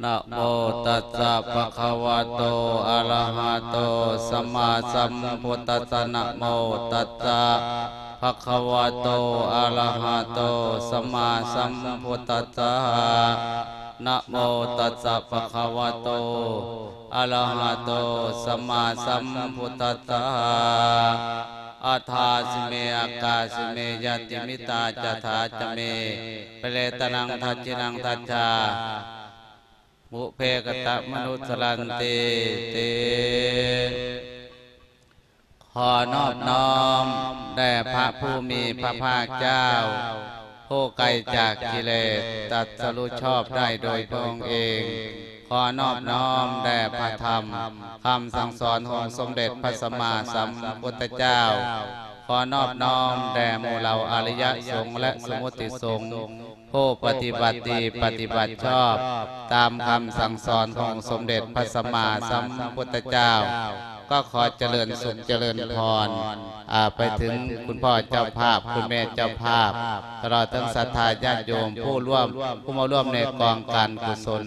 ນະໂມຕັດສະ ພະຄະວະໂຕ ອະລະຫະໂຕ ສຳມາສຳພຸດທັດສະ ນະໂມຕັດສະ ພະຄະວະໂຕ ອະລະຫະໂຕ ສຳມາສຳພຸດທັດສະ ນະໂມຕັດສະ ພະຄະວະໂຕ ອະລະຫະໂຕ ສຳມາສຳພຸດທັດສະ ອັດຖາສິເມ ອາກາສິເມ ຍາຕິມິດຕາ ຈະຖາຈະເມ ປະເລຕະນັງ ທັດຖິນັງ ທັດສາ ບຸບເພກະຕະມະນຸດສະລັນຕິ ຕິ ຂໍນອບນ້ອມແດ່ພະຜູ້ມີພະພາກເຈົ້າ ຜູ້ໄກຈາກກິເລດ ຕັດສະຮູ້ຊອບໄດ້ໂດຍພະອົງເອງ. ຂໍນອບນ້ອມແດ່ພະທຳ ຄຳສັ່ງສອນຂອງສົມເດັດພະສຳມາສຳພຸດທະເຈົ້າ. ຂໍນອບນ້ອມແດ່ໝູ່ເຫຼົ່າອະລິຍະສົງ ແລະ ສົມມຸດຕິສົງ ຜູ້ປະຕິບັດດີປະຕິບັດຊອບ ຕາມຄຳສັ່ງສອນຂອງສົມເດັດພະສຳມາສຳພຸດທະເຈົ້າ. ກໍຂໍຈະເລີນສຸກຈະເລີນພອນ ອາ ໄປເຖິງຄຸນພໍ່ເຈົ້າພາບ ຄຸນແມ່ເຈົ້າພາບ ຕະຫຼອດທັງສັດທາຍາດໂຍມ ຜູ້ຮ່ວມ ຜູ້ມາຮ່ວມໃນກອງການກຸສົນ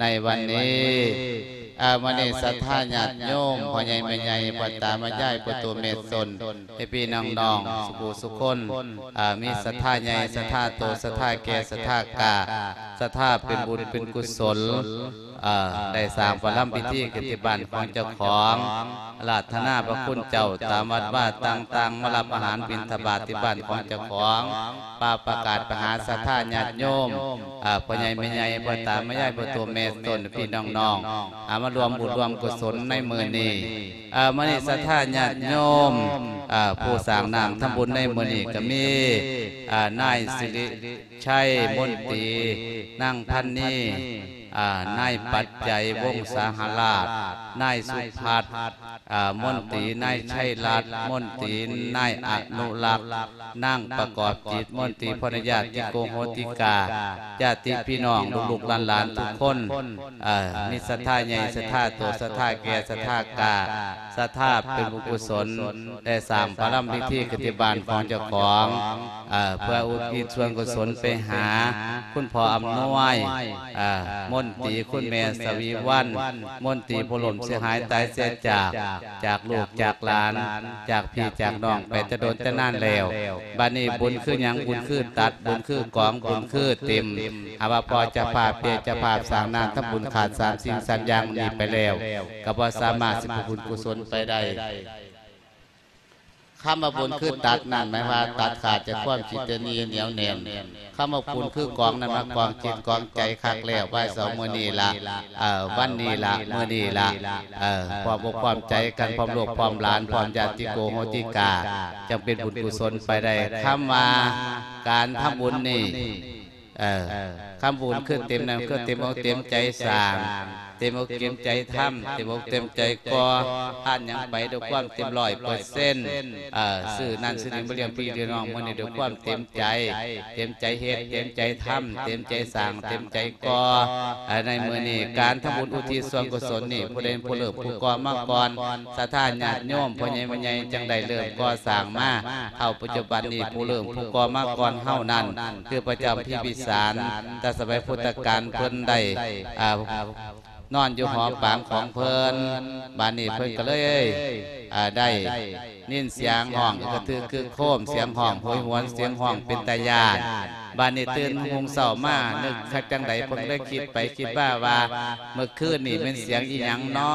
ໃນວັນນີ້. ອາ ມື້ນີ້ສັດທາຍາດໂຍມ ພໍ່ໃຫຍ່ແມ່ໃຫຍ່ ພໍ່ຕາແມ່ຍາຍ ພໍ່ໂຕແມ່ຕົນ ພີ່ໆນ້ອງໆ ສຸຜູ້ສຸຄົນ ອາ ມີສັດທາໃຫຍ່ ສັດທາໂຕ ສັດທາແກ່ ສັດທາກ້າ ສັດທາເປັນບຸນເປັນກຸສົນ ເອີ ໄດ້ສ້າງປະລຳພິທີຂຶ້ນທີ່ບ້ານຂອງເຈົ້າຂອງ ອາລາທະນາພະຄຸນເຈົ້າຕາມວັດວາຕ່າງໆ ມາຮັບອາຫານບິນທະບາດທີ່ບ້ານຂອງເຈົ້າຂອງ ປາປະກາດໄປຫາສັດທາຍາດໂຍມ ເອີ ພໍ່ໃຫຍ່ແມ່ໃຫຍ່ ພໍ່ຕາແມ່ຍາຍ ພໍ່ໂຕແມ່ຕົນ ພີ່ນ້ອງໆ ເອົາມາຮ່ວມບຸນຮ່ວມກຸສົນໃນມື້ນີ້. ເອີ ມື້ນີ້ສັດທາຍາດໂຍມ ເອີ ຜູ້ສ້າງນ້ຳທຳບຸນໃນມື້ນີ້ກໍມີ ເອີ ນາຍສິລິ ໄຊມົນຕີ, ນາງພັນນີ, ອາ ນາຍປັດໄຈ ວົງສາຫະລາດ, ນາຍສຸພັດ ອາ ມົນຕີ, ນາຍໄຊລັດ ມົນຕີ, ນາຍອະນຸລັກ, ນາງປະກອບຈິດ ມົນຕີ, ພອນຍາດຕິໂກໂຫຕິກາ, ຍາດຕິພີ່ນ້ອງ ລູກໆຫຼານໆທຸກຄົນ ເອີ ມີສັດທາໃຫຍ່ ສັດທາໂຕ ສັດທາແກ່ ສັດທາກ້າ ສັດທາເປັນບຸນກຸສົນ ໄດ້ສ້າງປະລຳພິທີຂຶ້ນທີ່ບ້ານຂອງເຈົ້າຂອງ ເອີ ເພື່ອອຸທິດສ່ວນກຸສົນໄປຫາຄຸນພໍ່ອຳນວຍ ເອີ ມົນຕີ, ຄຸນແມ່ສະຫວີວັນ ມົນຕີ ຜູ້ລົ້ມເສຍຫາຍຕາຍເສຍຈາກ ຈາກລູກຈາກຫຼານ ຈາກພີ່ຈາກນ້ອງໄປແຕ່ດົນແຕ່ນານແລ້ວ. ບັດນີ້ບຸນຄືຫຍັງ? ບຸນຄືຕັດ, ບຸນຄືກອງ, ບຸນຄືເຕັມ. ຫາກວ່າພໍ່ເຈົ້າພາບ, ແມ່ເຈົ້າພາບສ້າງນ້ຳທຳບຸນຂາດສາມສິ່ງສາມຢ່າງນີ້ໄປແລ້ວ ກໍບໍ່ສາມາດຊິເປັນບຸນກຸສົນໄປໄດ້. ຄຳວ່າບຸນຄືຕັດນັ້ນ ໝາຍວ່າຕັດຂາດຈາກຄວາມຄິດຕະໜີໜຽວແໜ້ນ. ຄຳວ່າບຸນຄືກອງນັ້ນ ມາກອງຈິດກອງໃຈຄັກແລ້ວ ໄວ້ເສົາມື້ນີ້ລະ ເອີ ວັນນີ້ລະ ມື້ນີ້ລະ ເອີ ພ້ອມອົກພ້ອມໃຈກັນ ພ້ອມລູກພ້ອມຫຼານ ພ້ອມຍາດຕິໂກໂຫຕິກາ ຈັ່ງເປັນບຸນກຸສົນໄປໄດ້. ຄຳວ່າການທຳບຸນນີ້ ເອີ ຄຳບຸນຄືເຕັມນັ້ນ ຄືເຕັມອົກເຕັມໃຈສ້າງ ເຕັມອົກເຕັມໃຈທຳ ເຕັມອົກເຕັມໃຈກໍ່ ທານຫຍັງໄປດ້ວຍຄວາມເຕັມຮ້ອຍເປີເຊັນ ເອີ ຊື້ນັ້ນຊື້ນີ້ມາລ້ຽງພີ່ລ້ຽງນ້ອງມື້ນີ້ດ້ວຍຄວາມເຕັມໃຈ ເຕັມໃຈເຮັດ ເຕັມໃຈທຳ ເຕັມໃຈສ້າງ ເຕັມໃຈກໍ່ ເອີ ໃນມື້ນີ້ການທຳບຸນອຸທິດສ່ວນກຸສົນນີ້ ຜູ້ໃດເປັນຜູ້ເລີ່ມຜູ້ກໍ່ມາກ່ອນ ສັດທາຍາດໂຍມ ພໍ່ໃຫຍ່ແມ່ໃຫຍ່ ຈັ່ງໄດ້ເລີ່ມກໍ່ສ້າງມາ ເທົ່າປັດຈຸບັນນີ້ ຜູ້ເລີ່ມຜູ້ກໍ່ມາກ່ອນເຮົານັ້ນ ຄືພະເຈົ້າພິມພິສານ ແຕ່ສະໄໝພຸດທະການເພິ່ນໄດ້ ອາ ນອນຢູ່ຫໍປາງຂອງເພິ່ນ ບາດນີ້ເພິ່ນກໍເລີຍ ອາ ໄດ້ຍິນສຽງຮ້ອງກະຖືກຄຶກໂຄມ ສຽງຮ້ອງໂຫຍຫວນ ສຽງຮ້ອງເປັນຕາຢ້ານ. ບາດນີ້ຕື່ນຮຸ່ງເຊົ້າມາ ນຶກຄັກຈັ່ງໃດ ເພິ່ນເລີຍຄິດໄປຄິດມາວ່າ ເມື່ອຄືນນີ້ແມ່ນສຽງອີ່ຫຍັງນໍ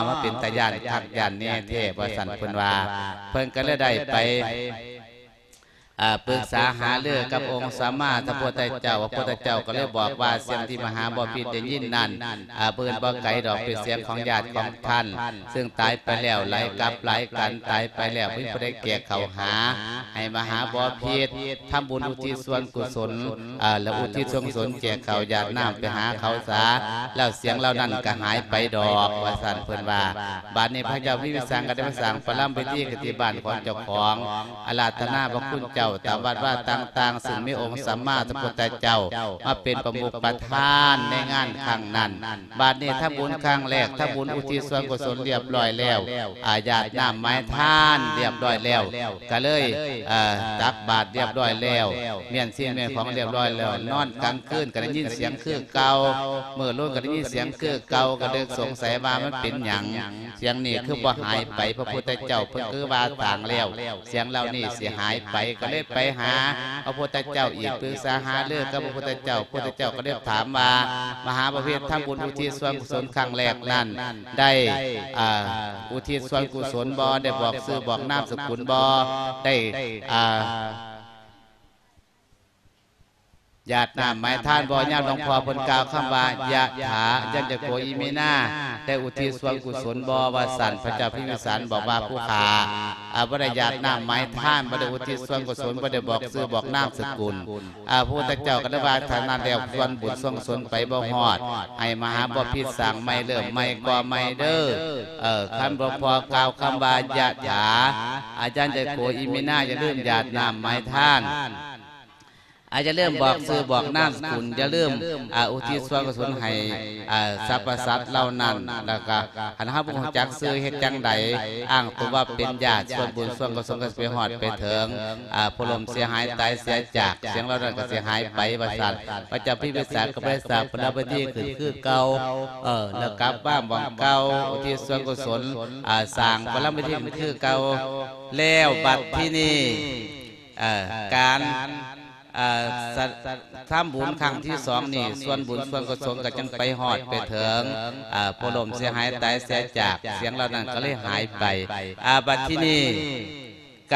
ມາເປັນຕາຢ້ານຄັກຢ້ານແນ່ແທ້ ວ່າຊັ້ນເພິ່ນວ່າ. ເພິ່ນກໍເລີຍໄດ້ໄປ ອາ ປຶກສາຫາລືກັບອົງສຳມາສຳພຸດທະເຈົ້າ ພະພຸດທະເຈົ້າກໍເລີຍບອກວ່າ ສຽງທີ່ມະຫາບໍພິດໄດ້ຍິນນັ້ນ ອາ ບໍ່ອື່ນບໍ່ໄກດອກ ເປັນສຽງຂອງຍາດຂອງທ່ານ ຊຶ່ງຕາຍໄປແລ້ວ ໄຫຼກັບໄຫຼກັນ ຕາຍໄປແລ້ວ ບໍ່ມີຜູ້ໃດແກ່ເຂົ້າຫາ ໃຫ້ມະຫາບໍພິດ ທຳບຸນອຸທິດສ່ວນກຸສົນ ເອີ ແລະ ອຸທິດສ່ວນກຸສົນແກ່ເຂົາ ຢາດນ້ຳໄປຫາເຂົາສາ ແລ້ວສຽງເຫຼົ່ານັ້ນກໍຫາຍໄປດອກ ວ່າຊັ້ນເພິ່ນວ່າ. ບາດນີ້ພະເຈົ້າພິມພິສານກໍໄດ້ມາສ້າງປະລຳພິທີກັນທີ່ບ້ານຂອງເຈົ້າຂອງ ອາລາທະນາພະຄຸນເຈົ້າ ຕາມວັດວາຕ່າງໆ ຊຶ່ງມີອົງສຳມາສຳພຸດທະເຈົ້າມາເປັນປະມຸກປະທານໃນງານຄັ້ງນັ້ນ. ບາດນີ້ທຳບຸນຄັ້ງແລກ ທຳບຸນອຸທິດສ່ວນກຸສົນລຽບຮ້ອຍແລ້ວ, ອາ ຢາດນ້ຳໃຫ້ທານລຽບຮ້ອຍແລ້ວ, ກະເລີຍ ເອີ ຕັກບາດລຽບຮ້ອຍແລ້ວ, ມ້ຽນສິ່ງມ້ຽນຂອງລຽບຮ້ອຍແລ້ວ, ນອນກາງຄືນກະໄດ້ຍິນສຽງຄືເກົ່າ, ມື້ລຸນກະໄດ້ຍິນສຽງຄືເກົ່າ, ກະເລີຍສົງໄສວ່າມັນເປັນຫຍັງ ສຽງນີ້ຄືບໍ່ຫາຍໄປ? ພະພຸດທະເຈົ້າເພິ່ນຄືວ່າສ້າງແລ້ວ ສຽງເຫຼົ່ານີ້ຊິຫາຍໄປ, ກໍເລີຍໄປຫາພະພຸດທະເຈົ້າອີກ, ປຶກສາຫາລືກັບພະພຸດທະເຈົ້າ. ພະພຸດທະເຈົ້າກໍເລີຍຖາມວ່າ ມະຫາບໍພິດທຳບຸນອຸທິດສ່ວນກຸສົນຄັ້ງແລກນັ້ນ ໄດ້ ອ່າ ອຸທິດສ່ວນກຸສົນບໍ່? ໄດ້ບອກຊື່ບອກນາມສະກຸນບໍ່? ໄດ້ ອ່າ ຢາດນ້ຳໃຫ້ທານບໍ່? ຍາມຫຼວງພໍ່ເພິ່ນກ່າວຄຳວ່າ ຍະຖາ ຍັນຈະໂກ ອິມິນາ ໄດ້ອຸທິດສ່ວນກຸສົນບໍ່ ວ່າຊັ້ນ. ພະເຈົ້າພິມພິສານບອກວ່າ ຜູ້ຂ້າ ອາ ບໍ່ໄດ້ຢາດນ້ຳໃຫ້ທານ, ບໍ່ໄດ້ອຸທິດສ່ວນກຸສົນ, ບໍ່ໄດ້ບອກຊື່ບອກນາມສະກຸນ. ອາ ພະພຸດທະເຈົ້າກໍໄດ້ວ່າ ຖ້ານັ້ນແລ້ວ ສ່ວນບຸນສ່ວນກຸສົນໄປບໍ່ຮອດ, ໃຫ້ມະຫາບໍພິດສ້າງໃໝ່, ເລີ່ມໃໝ່, ກໍ່ໃໝ່ເດີ້. ເອີ ຄັນຫຼວງພໍ່ກ່າວຄຳວ່າ ຍະຖາ ອາ ຍັນຈະໂກ ອິມິນາ ຢ່າລືມຢາດນ້ຳໃຫ້ທານ. ອາ ຢ່າລືມບອກຊື່ບອກນາມສະກຸນ, ຢ່າລືມ ອາ ອຸທິດສ່ວນກຸສົນໃຫ້ ອາ ສັບພະສັດເຫຼົ່ານັ້ນ. ແລ້ວກະຄັນເຮົາບໍ່ຮູ້ຈັກຊື່ເຮັດຈັ່ງໃດ? ອ້າງຕົວວ່າເປັນຍາດ, ສ່ວນບຸນສ່ວນກຸສົນກໍຊິໄປຮອດໄປເຖິງ ອາ ຜູ້ລົ້ມເສຍຫາຍຕາຍເສຍຈາກ, ສຽງເຫຼົ່ານັ້ນກໍຊິຫາຍໄປ ວ່າຊັ້ນ. ພະເຈົ້າພິມພິສານກໍບໍ່ໄດ້ສ້າງປະລະມະທິຂຶ້ນຄືເກົ່າ, ເອີ ແລ້ວກັບມາໝ່ອງເກົ່າ, ອຸທິດສ່ວນກຸສົນ ອາ ສ້າງປະລະມະທິຂຶ້ນຄືເກົ່າ. ແລ້ວບັດທີນີ້ ເອີ ການ ເອີ ສະ ທຳບຸນຄັ້ງທີສອງນີ້ ສ່ວນບຸນສ່ວນກຸສົນກໍຈຶ່ງໄປຮອດໄປເຖິງ ເອີ ຜູ້ລົ້ມເສຍຫາຍຕາຍເສຍຈາກ, ສຽງເຫຼົ່ານັ້ນກໍເລີຍຫາຍໄປ. ອາ ບັດທີນີ້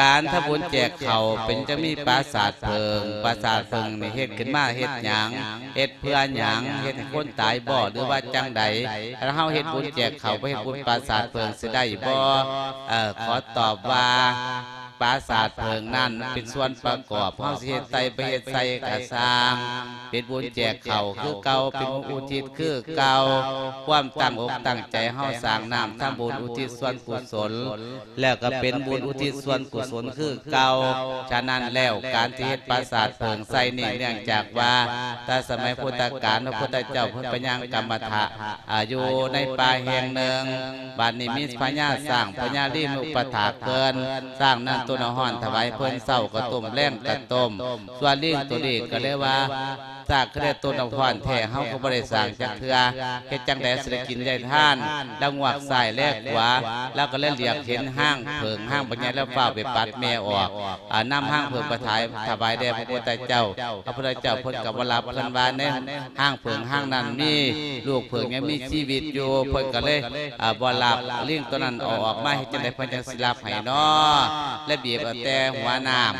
ການທຳບຸນແຈກເຂົ້າເປັນຈັ່ງມີປາສາດເຜິ້ງ, ປາສາດເຜິ້ງນີ້ເຮັດຂຶ້ນມາເຮັດຫຍັງ? ເຮັດເພື່ອຫຍັງ? ເຮັດໃຫ້ຄົນຕາຍບໍ່ ຫຼືວ່າຈັ່ງໃດ? ຖ້າເຮົາເຮັດບຸນແຈກເຂົ້າ ບໍ່ເຮັດບຸນປາສາດເຜິ້ງ ຊິໄດ້ບໍ່? ເອີ ຂໍຕອບວ່າ ປາສາດເຜິ້ງນັ້ນເປັນສ່ວນປະກອບ, ເຮົາຊິເຮັດໃສ່ບໍ່ເຮັດໃສ່ກະຊ່າງ, ເປັນບຸນແຈກເຂົ້າຄືເກົ່າ, ເປັນບຸນອຸທິດຄືເກົ່າ. ຄວາມຕັ້ງອົກຕັ້ງໃຈເຮົາສ້າງນ້ຳທຳບຸນອຸທິດສ່ວນກຸສົນ ແລ້ວກໍເປັນບຸນອຸທິດສ່ວນກຸສົນຄືເກົ່າ. ສະນັ້ນແລ້ວ ການທີ່ເຮັດປາສາດເຜິ້ງໃສ່ນີ້ ເນື່ອງຈາກວ່າ ແຕ່ສະໄໝພຸດທະການ ພະພຸດທະເຈົ້າເພິ່ນໄປຍ່າງກຳມະຖະ ອາ ຢູ່ໃນປ່າແຫ່ງໜຶ່ງ, ບາດນີ້ມີພະຍາຊ້າງ ພະຍາລີມາອຸປະຖາກເພິ່ນ, ຊ້າງນັ້ນຕົ້ນນ້ຳຮ້ອນຖວາຍເພິ່ນ, ເຊົ້າກໍຕົ້ມ ແລງກໍຕົ້ມ. ສ່ວນລີງໂຕນີ້ກໍເລີຍວ່າ ຊ້າງຄືໄດ້ຕົ້ນນ້ຳຮ້ອນແທ້ ເຮົາກໍບໍ່ໄດ້ສ້າງຈັກເທື່ອ, ເຮັດຈັ່ງໃດຊິໄດ້ກິນໄດ້ທານ? ລາວງວກຊ້າຍແລຂວາ, ລາວກໍເລີຍຫຼຽກເຫັນຮາງເຜິ້ງ ຮາງບັກໃຫຍ່, ລາວຟ້າວໄປປັດແມ່ອອກ, ອາ ນຳຮາງເຜິ້ງໄປຖວາຍ ຖວາຍແດ່ພະພຸດທະເຈົ້າ. ພະພຸດທະເຈົ້າເພິ່ນກໍບໍ່ຮັບ, ເພິ່ນວ່າໃນຮາງເຜິ້ງຮາງນັ້ນມີລູກເຜິ້ງຍັງມີຊີວິດຢູ່, ເພິ່ນກໍເລີຍ ອາ ບໍ່ຮັບ. ລີງໂຕນັ້ນເອົາອອກມາເຮັດຈັ່ງໃດ ເພິ່ນຈັ່ງຊິຮັບໃຫ້ນໍ? ແລະ ບີບເອົາແຕ່ຫົວນ້ຳ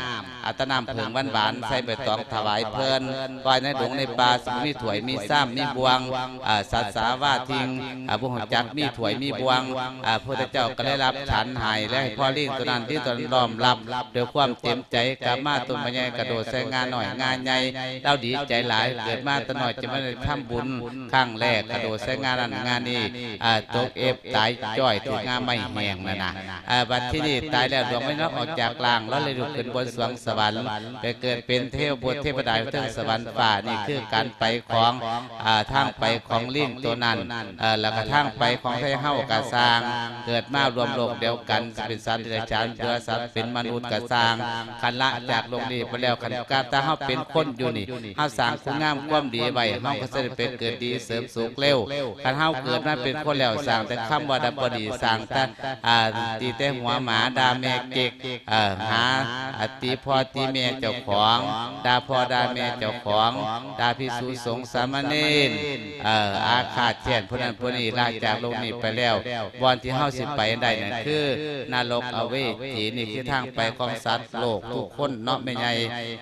ອາ ຕານ້ຳເຜິ້ງຫວານໆ ໃສ່ໃບຕອງຖວາຍເພິ່ນ, ວ່າໃນດົງໃນປ່າຊິບໍ່ມີຖ້ວຍມີຊາມມີບ່ວງ, ອາ ສັດສາວາທິງ ອາ ບໍ່ຮູ້ຈັກມີຖ້ວຍມີບ່ວງ. ອາ ພະພຸດທະເຈົ້າກໍໄດ້ຮັບສັນໃຫ້ ແລະ ໃຫ້ພໍ່ລີງໂຕນັ້ນ ລີງໂຕນັ້ນນ້ອມຮັບດ້ວຍຄວາມເຕັມໃຈ, ກັບມາຕົ້ນໄມ້ໃຫຍ່ກະໂດດໃສ່ງານ້ອຍງາໃຫຍ່, ລາວດີໃຈຫຼາຍ, ເກີດມາແຕ່ນ້ອຍຈະມາໄດ້ທຳບຸນຄັ້ງແລກ, ກະໂດດໃສ່ງານັ້ນງານີ້, ອາ ຕົກເອັບຕາຍຈ້ອຍ ຖືກງາໄມ້ແຫ້ງນັ້ນນະ. ອາ ບັດທີນີ້ຕາຍແລ້ວ ດວງວິນຍານອອກຈາກຮ່າງ ລາວເລີຍລຸກຂຶ້ນບົນສວງສະຫວັນ ໄປເກີດເປັນເທວະບຸດເທວະດາຢູ່ເທິງສະຫວັນຟ້າ. ນີ້ຄືການໄປຂອງ ອາ ທາງໄປຂອງລີງໂຕນັ້ນ, ເອີ ແລ້ວກະທາງໄປຂອງໄທເຮົາກະຊ່າງ, ເກີດມາລວມໂລກດຽວກັນ ຊິເປັນສັດເດຍລະສານ ຫຼືວ່າສັດເປັນມະນຸດກະຊ່າງ, ຄັນລະຈາກໂລກນີ້ໄປແລ້ວ, ຄັນການ ຖ້າເຮົາເປັນຄົນຢູ່ນີ້ ເຮົາສ້າງຄຸນງາມຄວາມດີໄວ້ ເຮົາກໍຈະໄດ້ໄປເກີດດີເສີມສຸກເລັວ. ຄັນເຮົາເກີດມາເປັນຄົນແລ້ວ ສ້າງແຕ່ຄຳວ່າດຳບໍ່ດີ, ສ້າງແຕ່ ອາ ຕີແຕ່ຫົວໝາ, ດ່າແມ່ເກັກ, ເອີ ຫາ ອາ ຕີພໍ່ຕີແມ່ເຈົ້າຂອງ, ດ່າພໍ່ດ່າແມ່ເຈົ້າຂອງ, ດ່າພິກຂຸສົງສາມະເນນ, ເອີ ອາຄາດແຄ້ນຜູ້ນັ້ນຜູ້ນີ້, ລະຈາກໂລກນີ້ໄປແລ້ວ, ບ່ອນທີ່ເຮົາຊິໄປໄດ້ນັ້ນຄືນະລົກອະເວຈີ. ນີ້ຄືທາງໄປຂອງສັດໂລກທຸກຄົນເນາະແມ່ໃຫຍ່.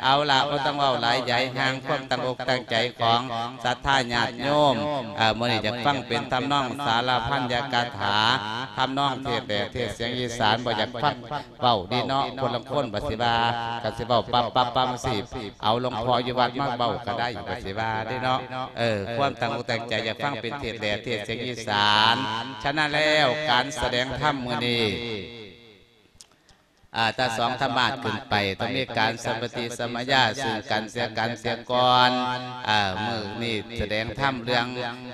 ເອົາລະ ບໍ່ຕ້ອງເວົ້າຫຼາຍໃຫຍ່ຫ່າງ, ຄວາມຕັ້ງອົກຕັ້ງໃຈຂອງສັດທາຍາດໂຍມ, ເອີ ມື້ນີ້ຢາກຟັງເປັນທຳນອງສາລະພັນຍະກາຖາ, ທຳນອງເທດແດ່ເທດສຽງອີສານ. ບໍ່ຢາກຟັງເວົ້າດີເນາະ, ຄົນລາງຄົນບັດຊິວ່າ ກໍຊິເວົ້າປັບໆໆ ຊິເອົາຫຼວງພໍ່ຢູ່ວັດມາເວົ້າກໍໄດ້ ບັດຊິວ່າເດ້ເນາະ. ເອີ ຄວາມຕັ້ງອົກຕັ້ງໃຈຢາກຟັງເປັນເທດແດ່ເທດສຽງອີສານ. ສະນັ້ນແລ້ວ ການສະແດງທຳມື້ນີ້ ອ່າ ຕາສອງທຳມາດຂຶ້ນໄປ ຕ້ອງມີການສຳປະຕິສຳມະຍາຊຶ່ງກັນແລະກັນເສຍກ່ອນ. ອ່າ ມື້ນີ້ສະແດງທຳເລື່ອງ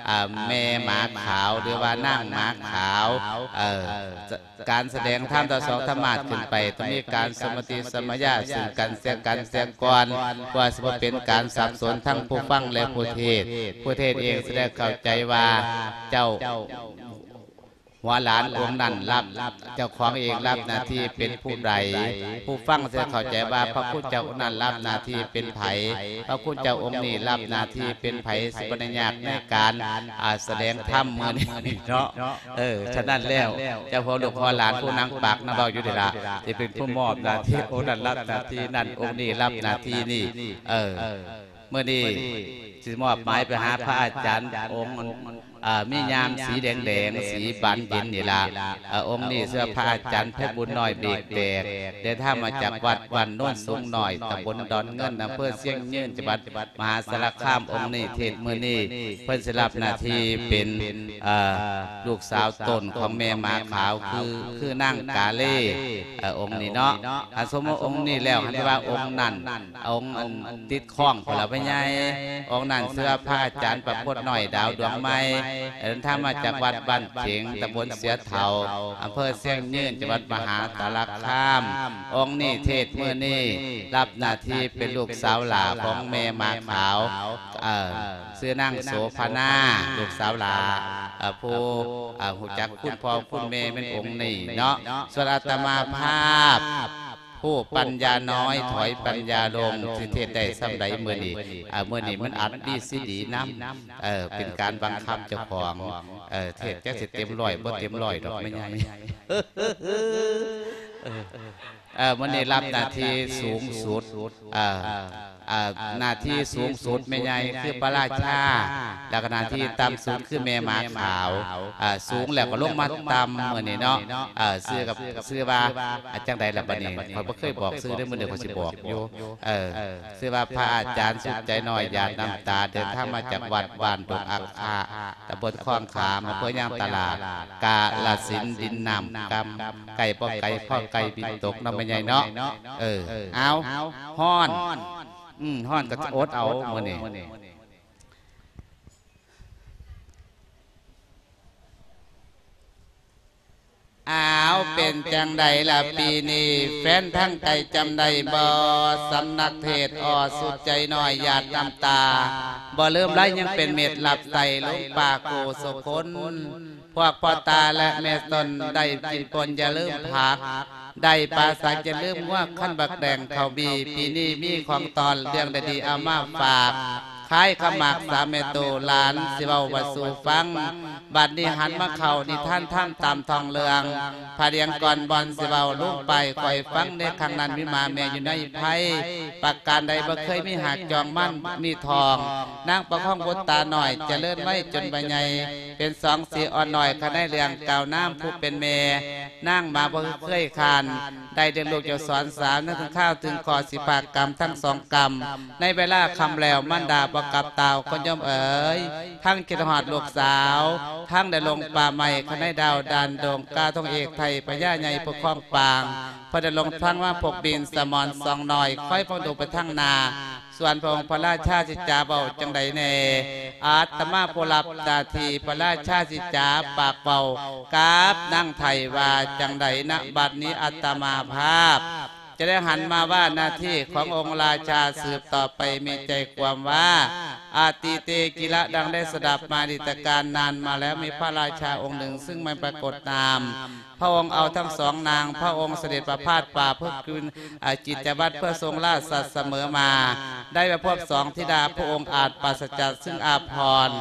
ອ່າ ແມ່ໝາຂາວ ຫຼືວ່ານາງໝາຂາວ. ເອີ ການສະແດງທຳຕາສອງທຳມາດຂຶ້ນໄປ ຕ້ອງມີການສຳປະຕິສຳມະຍາຊຶ່ງກັນແລະກັນເສຍກ່ອນ ເພື່ອຊິບໍ່ເປັນການສັບສົນທັງຜູ້ຟັງ ແລະ ຜູ້ເທດ. ຜູ້ເທດເອງສະແດງເຂົ້າໃຈວ່າເຈົ້າ ຫົວຫຼານອົງນັ້ນຮັບ ເຈົ້າຂອງເອງຮັບໜ້າທີ່ເປັນຜູ້ໃດ, ຜູ້ຟັງຈະເຂົ້າໃຈວ່າພະຄຸນເຈົ້າອົງນັ້ນຮັບໜ້າທີ່ເປັນໃຜ, ພະຄຸນເຈົ້າອົງນີ້ຮັບໜ້າທີ່ເປັນໃຜ, ຊິບໍ່ໄດ້ຍາກໃນການ ອ່າ ສະແດງທຳມື້ນີ້ເນາະ. ເອີ ສະນັ້ນແລ້ວ ເຈົ້າພວກລູກພໍ່ຫຼານຜູ້ນັ່ງປາກນັ່ງເວົ້າຢູ່ນີ້ລະ ຊິເປັນຜູ້ມອບໜ້າທີ່ ອົງນັ້ນຮັບໜ້າທີ່ນັ້ນ ອົງນີ້ຮັບໜ້າທີ່ນີ້. ເອີ ມື້ນີ້ຊິມອບໝາຍໄປຫາພະອາຈານອົງ ເອີ ມີຍາມສີແດງໆ ສີບານເຢັນນີ້ລະ. ເອີ ອົງນີ້ຊື່ພະອາຈານໄພບຸນນ້ອຍເບກແຕກ ເດີນທາງມາຈາກວັດບ້ານໂນນສູງນ້ອຍ ຕຳບົນດອນເງິນ ອຳເພີຊຽງຍືນ ຈັງຫວັດມະຫາສາລະຄາມ. ອົງນີ້ເທດມື້ນີ້ ເພິ່ນຊິຮັບໜ້າທີ່ເປັນ ເອີ ລູກສາວຕົ້ນຂອງແມ່ໝາຂາວ ຄື ຄືນາງກາເລ. ເອີ ອົງນີ້ເນາະ ຄັນສົມມຸດອົງນີ້ແລ້ວ ຄັນຊິວ່າອົງນັ້ນ ອົງອັນຕິດ ຄ້ອງພຸ້ນລະ ພໍ່ໃຫຍ່. ອົງນັ້ນຊື່ວ່າພະອາຈານປະພົດນ້ອຍ ດາວດວງໃໝ່ ເດີນທາງມາຈາກວັດບ້ານເຂງ ຕຳບົນເສຍເຖົ້າ ອຳເພີຊຽງຍືນ ຈັງຫວັດມະຫາສາລະຄາມ. ອົງນີ້ເທດມື້ນີ້ ຮັບໜ້າທີ່ເປັນລູກສາວຫຼ້າຂອງແມ່ໝາຂາວ ເອີ ຊື່ນາງໂສພະນາ ລູກສາວຫຼ້າ ເອີ ຜູ້ ເອີ ຮູ້ຈັກຄຸນພໍ່ຄຸນແມ່ແມ່ນອົງນີ້ເນາະ. ສ່ວນອາດຕະມາພາບ ຜູ້ປັນຍານ້ອຍ ຖອຍປັນຍາລົງ ຊິເທດໄດ້ສ່ຳໃດມື້ນີ້? ເອີ ມື້ນີ້ມັນອັດມີຊີດີນຳ ເອີ ເປັນການບັງຄັບເຈົ້າຂອງ ເອີ ເທດຈັກຊິເຕັມຮ້ອຍບໍ່ເຕັມຮ້ອຍດອກແມ່ໃຫຍ່. ເອີ ມື້ນີ້ຮັບໜ້າທີ່ສູງສຸດ ເອີ ເອີ ໜ້າທີ່ສູງສຸດແມ່ໃຫຍ່ຄືພະລາຊາ ແລ້ວກໍໜ້າທີ່ຕ່ຳສຸດຄືແມ່ໝາຂາວ. ເອີ ສູງແລ້ວກໍລົງມາຕ່ຳມື້ນີ້ເນາະ. ເອີ ຊື່ກັບ ຊື່ວ່າ ອາ ຈັ່ງໃດລະບັດນີ້ ຂ້ອຍບໍ່ເຄີຍບອກຊື່ເດ້ ມື້ນີ້ຂ້ອຍຊິບອກຢູ່. ເອີ ຊື່ວ່າພະອາຈານສຸດໃຈນ້ອຍ ຫຍາດນ້ຳຕາ ເດີນທາງມາຈາກວັດບ້ານດົງອັກຄະ ຕຳບົນຄອງຂາມ ອຳເພີຍາງຕະຫຼາດ ກາລະສິນ ດິນນ້ຳກຳ ໃກ້ບໍ່ໄກ ພໍໃກ້ບິນຕົກເນາະ ແມ່ໃຫຍ່ເນາະ. ເອີ ເອົາ ຮ້ອນ ອືມ ຮ້ອນກໍອົດເອົາມື້ນີ້. ອ້າວ ເປັນຈັ່ງໃດລະປີນີ້ ແຟນທາງໄກຈຳໄດ້ບໍ່? ສຳນັກເທດ ອ ສຸດໃຈນ້ອຍ ຫຍາດນ້ຳຕາ ບໍ່ລືມໄລຍັງເປັນເມັດ ຮັບໃສ່ຫຼົງປ່າກູ່ສຸຄົນ. ພວກພໍ່ຕາ ແລະ ແມ່ຕົນ ໄດ້ກິນປົ່ນຢ່າລືມຜັກ ໄດ້ປາສັກຢ່າລືມງົວ ຄັນບັກແດງເຂົ້າບີ ປີນີ້ມີຂອງຕ້ອນ ເລື່ອງໃດດີເອົາມາຝາກ ຂາຍເຂົ້າໝາກສາມແມ່ຕູ້ ຫຼານຊິເວົ້າວ່າສູ່ຟັງ. ບັດນີ້ຫັນມາເວົ້ານິທານທຳຕາມທ້ອງເລື່ອງ ພະດຽງກ່ອນບ່ອນຊິເວົ້າ ລຸງປ້າຍຂ້ອຍຟັງ ໃນຄັ້ງນັ້ນມີໝາແມ່ຢູ່ໃນໄພ ປະການໃດບໍ່ເຄີຍມີຫາກຈອງມັນມີທອງ ນາງປະຄອງບຸດຕານ້ອຍ ຈະເລີນໄວຈົນວ່າໃຫຍ່ ເປັນສອງສີອ່ອນນ້ອຍ ຄັນໃນເລື່ອງກ່າວນາມຜູ້ເປັນແມ່ ນາງມາບໍ່ເຄີຍຄານ ໄດ້ລ້ຽງລູກເຈົ້າສອນສາວ ຍັງເຖິງຄາວເຖິງຂໍຊິພາກຳທັງສອງກຳ ໃນເວລາຄ່ຳແລ້ວ ມານດາບໍ່ກັບຕາວ ຄົນໂຍມເອີຍ ທັງຄິດຮອດລູກສາວ ທັງໄດ້ລົງປ່າໄມ້ ຄັນໃນດາວດ່ານດົງ ກາທອງເອກໄທ ພະຍາໃຫຍ່ຜູ້ຄອງປາງ ເພິ່ນໄດ້ລົງທາງມາພົບບິນ ສະໝອນສອງນ້ອຍ ຄອຍເຝົ້າດູໄປທາງໜ້າ ສ່ວນພະອົງພະລາຊາຊິຈາເວົ້າຈັ່ງໃດແດ່? ອາດຕະມາຜູ້ຮັບໜ້າທີ່ພະລາຊາຊິຈາປາກເວົ້າກັບນາງໄທວ່າຈັ່ງໃດນະ? ບັດນີ້ອາດຕະມາພາບຈະໄດ້ຫັນມາວ່າໜ້າທີ່ຂອງອົງລາຊາສືບຕໍ່ໄປມີໃຈຄວາມວ່າ ອະຕິເຕກິລະ ດັ່ງໄດ້ສະດັບມາດີແຕ່ການນານມາແລ້ວ ມີພະລາຊາອົງໜຶ່ງ ຊຶ່ງມາປາກົດນາມ ພະອົງເອົາທັງສອງນາງ ພະອົງສະເດັດປະພາດປ່າເພື່ອຄືນ ອາ ກິດຈະວັດເພື່ອຊົງລາຊະສະເໝີມາ ໄດ້ມາພົບສອງທິດາ ພະອົງອາດປາສະຈາກຊຶ່ງອາພອນ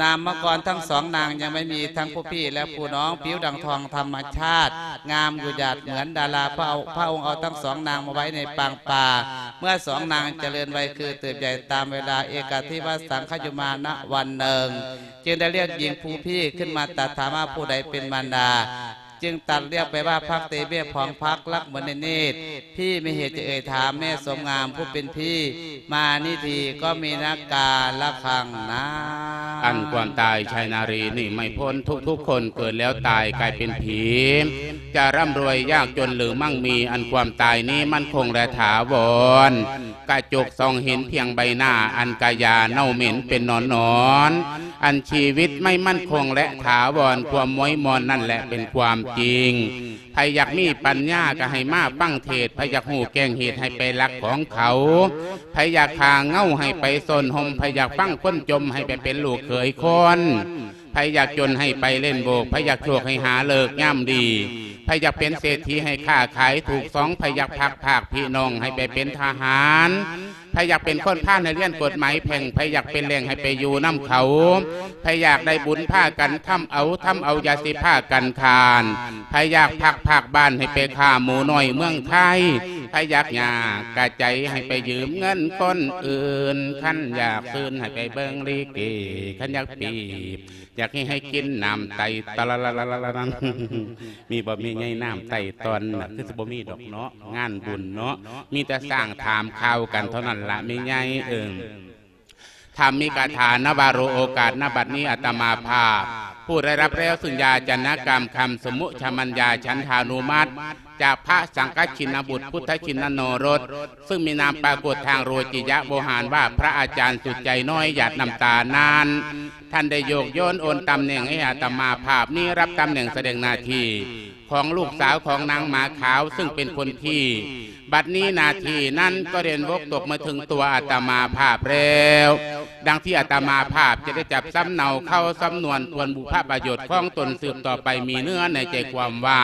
ນາມມະກອນທັງສອງນາງຍັງໄມ່ມີ ທັງຜູ້ພີ່ ແລະ ຜູ້ນ້ອງ ຜິວດັ່ງທອງທຳມະຊາດ ງາມຢູ່ຢາດເໝືອນດາລາ ພະອົງ ພະອົງເອົາທັງສອງນາງມາໄວ້ໃນປາງປ່າ ເມື່ອສອງນາງຈະເລີນໄວຄືເຕີບໃຫຍ່ຕາມເວລາ ເອກາທິວະສັງຄະຍຸມານະ ວັນໜຶ່ງ ຈຶ່ງໄດ້ລຽກຍິງຜູ້ພີ່ຂຶ້ນມາຕັດຖາມວ່າຜູ້ໃດເປັນມານດາ ຈຶ່ງຕັດລຽກໄປວ່າ ພັກເຕເວະ ພອງພັກລັກມະນີເນດ ພີ່ມີເຫດຈະເອີ່ຍຖາມແມ່ສົມງາມຜູ້ເປັນພີ່ ມານິທີກໍມີນາກາລະຄັງນາ. ອັນຄວາມຕາຍ ຊາຍນາຣີ ໜີໄມ່ພົ້ນ ທຸກໆຄົນເກີດແລ້ວຕາຍກາຍເປັນຜີ ຈະຮ່ຳລວຍຍາກຈົນຫຼືໝັ່ງມີ ອັນຄວາມຕາຍນີ້ໝັ້ນຄົງແລະຖາວອນ ກະຈົກສ່ອງເຫັນພຽງໃບໜ້າ ອັນກະຢາເນົ່າເໝັນເປັນໜອນໆ ອັນຊີວິດໄມ່ໝັ້ນຄົງແລະຖາວອນ ຄວາມມວຍມອນນັ້ນແຫຼະເປັນຄວາມຈິງ. ໃຜຢາກມີປັນຍາກະໃຫ້ມາຟັງເທດ ໃຜຢາກຮູ້ແກ້ງເຫດໃຫ້ໄປລັກຂອງເຂົາ ໃຜຢາກຫາເຫງົ້າໃຫ້ໄປໂຊນຮົ່ມ ໃຜຢາກຟັງຄົນຈົ່ມໃຫ້ໄປເປັນລູກເຂີຍຄົນ ໃຜຢາກຈົນໃຫ້ໄປຫຼິ້ນໂບກ ໃຜຢາກໂຊກໃຫ້ຫາເລີກຍາມດີ ໃຜຢາກເປັນເສດຖີໃຫ້ຄ້າຂາຍຖືກຊອງ ໃຜຢາກພັກພາກພີ່ນ້ອງໃຫ້ໄປເປັນທະຫານ ໃຜຢາກເປັນຄົນພານໃຫ້ຮຽນກົດໝາຍແພ່ງ ໃຜຢາກເປັນແຫຼ້ງໃຫ້ໄປຢູ່ນຳເຂົາ ໃຜຢາກໄດ້ບຸນພາກັນທຳເອົາ ທຳເອົາຢ່າຊິພາກັນຄ້ານ ໃຜຢາກພັກພາກບ້ານໃຫ້ໄປຄ້າໝູນ້ອຍເມືອງໄທ ໃຜຢາກຍາກກະໃຈໃຫ້ໄປຢືມເງິນຄົນອື່ນ ຄັນຢາກຊື່ນໃຫ້ໄປເບິ່ງລິເກ ຄັນຢາກປີບ ຢາກໃຫ້ ໃຫ້ກິນນ້ຳໄຕຕະລະລະລະລະລະນັ້ນ ມີບໍ່ແມ່ໃຫຍ່ນ້ຳໄຕຕອນນະ? ຄືຊິບໍ່ມີດອກເນາະ ງານບຸນເນາະ ມີແຕ່ສ້າງຖາມຂ່າວກັນເທົ່ານັ້ນລະແມ່ໃຫຍ່ເອີຍ. ທຳມີກາຖານະວາໂຣໂອກາດ ນະບັດນີ້ອາດຕະມາພາບ ຜູ້ໄດ້ຮັບແລ້ວຊຶ່ງຢາຈະນະກຳຄຳສະມຸຊະມັນຍາ ສັນທານຸມັດ ຈາກພະສັງຄະຊິນນະບຸດ ພຸດທະຊິນນະໂນລົດ ຊຶ່ງມີນາມປາກົດທາງໂລກິຍະໂວຫານວ່າ ພະອາຈານສຸດໃຈນ້ອຍ ຫຍາດນ້ຳຕານັ້ນ ທ່ານໄດ້ໂຍກໂຍນໂອນຕຳແໜ່ງໃຫ້ອາດຕະມາພາບນີ້ ຮັບຕຳແໜ່ງສະແດງໜ້າທີ່ຂອງລູກສາວຂອງນາງໝາຂາວ ຊຶ່ງເປັນຄົນທີ່ ບັດນີ້ໜ້າທີ່ນັ້ນກໍໄດ້ຕົກມາເຖິງຕົວອາດຕະມາພາບແລ້ວ ດັ່ງທີ່ອາດຕະມາພາບຈະໄດ້ຈັບສຳເນົາເຂົ້າສຳນວນ ປວນບຸພະປະໂຫຍດຂອງຕົນສືບຕໍ່ໄປ ມີເນື້ອໃນໃຈຄວາມວ່າ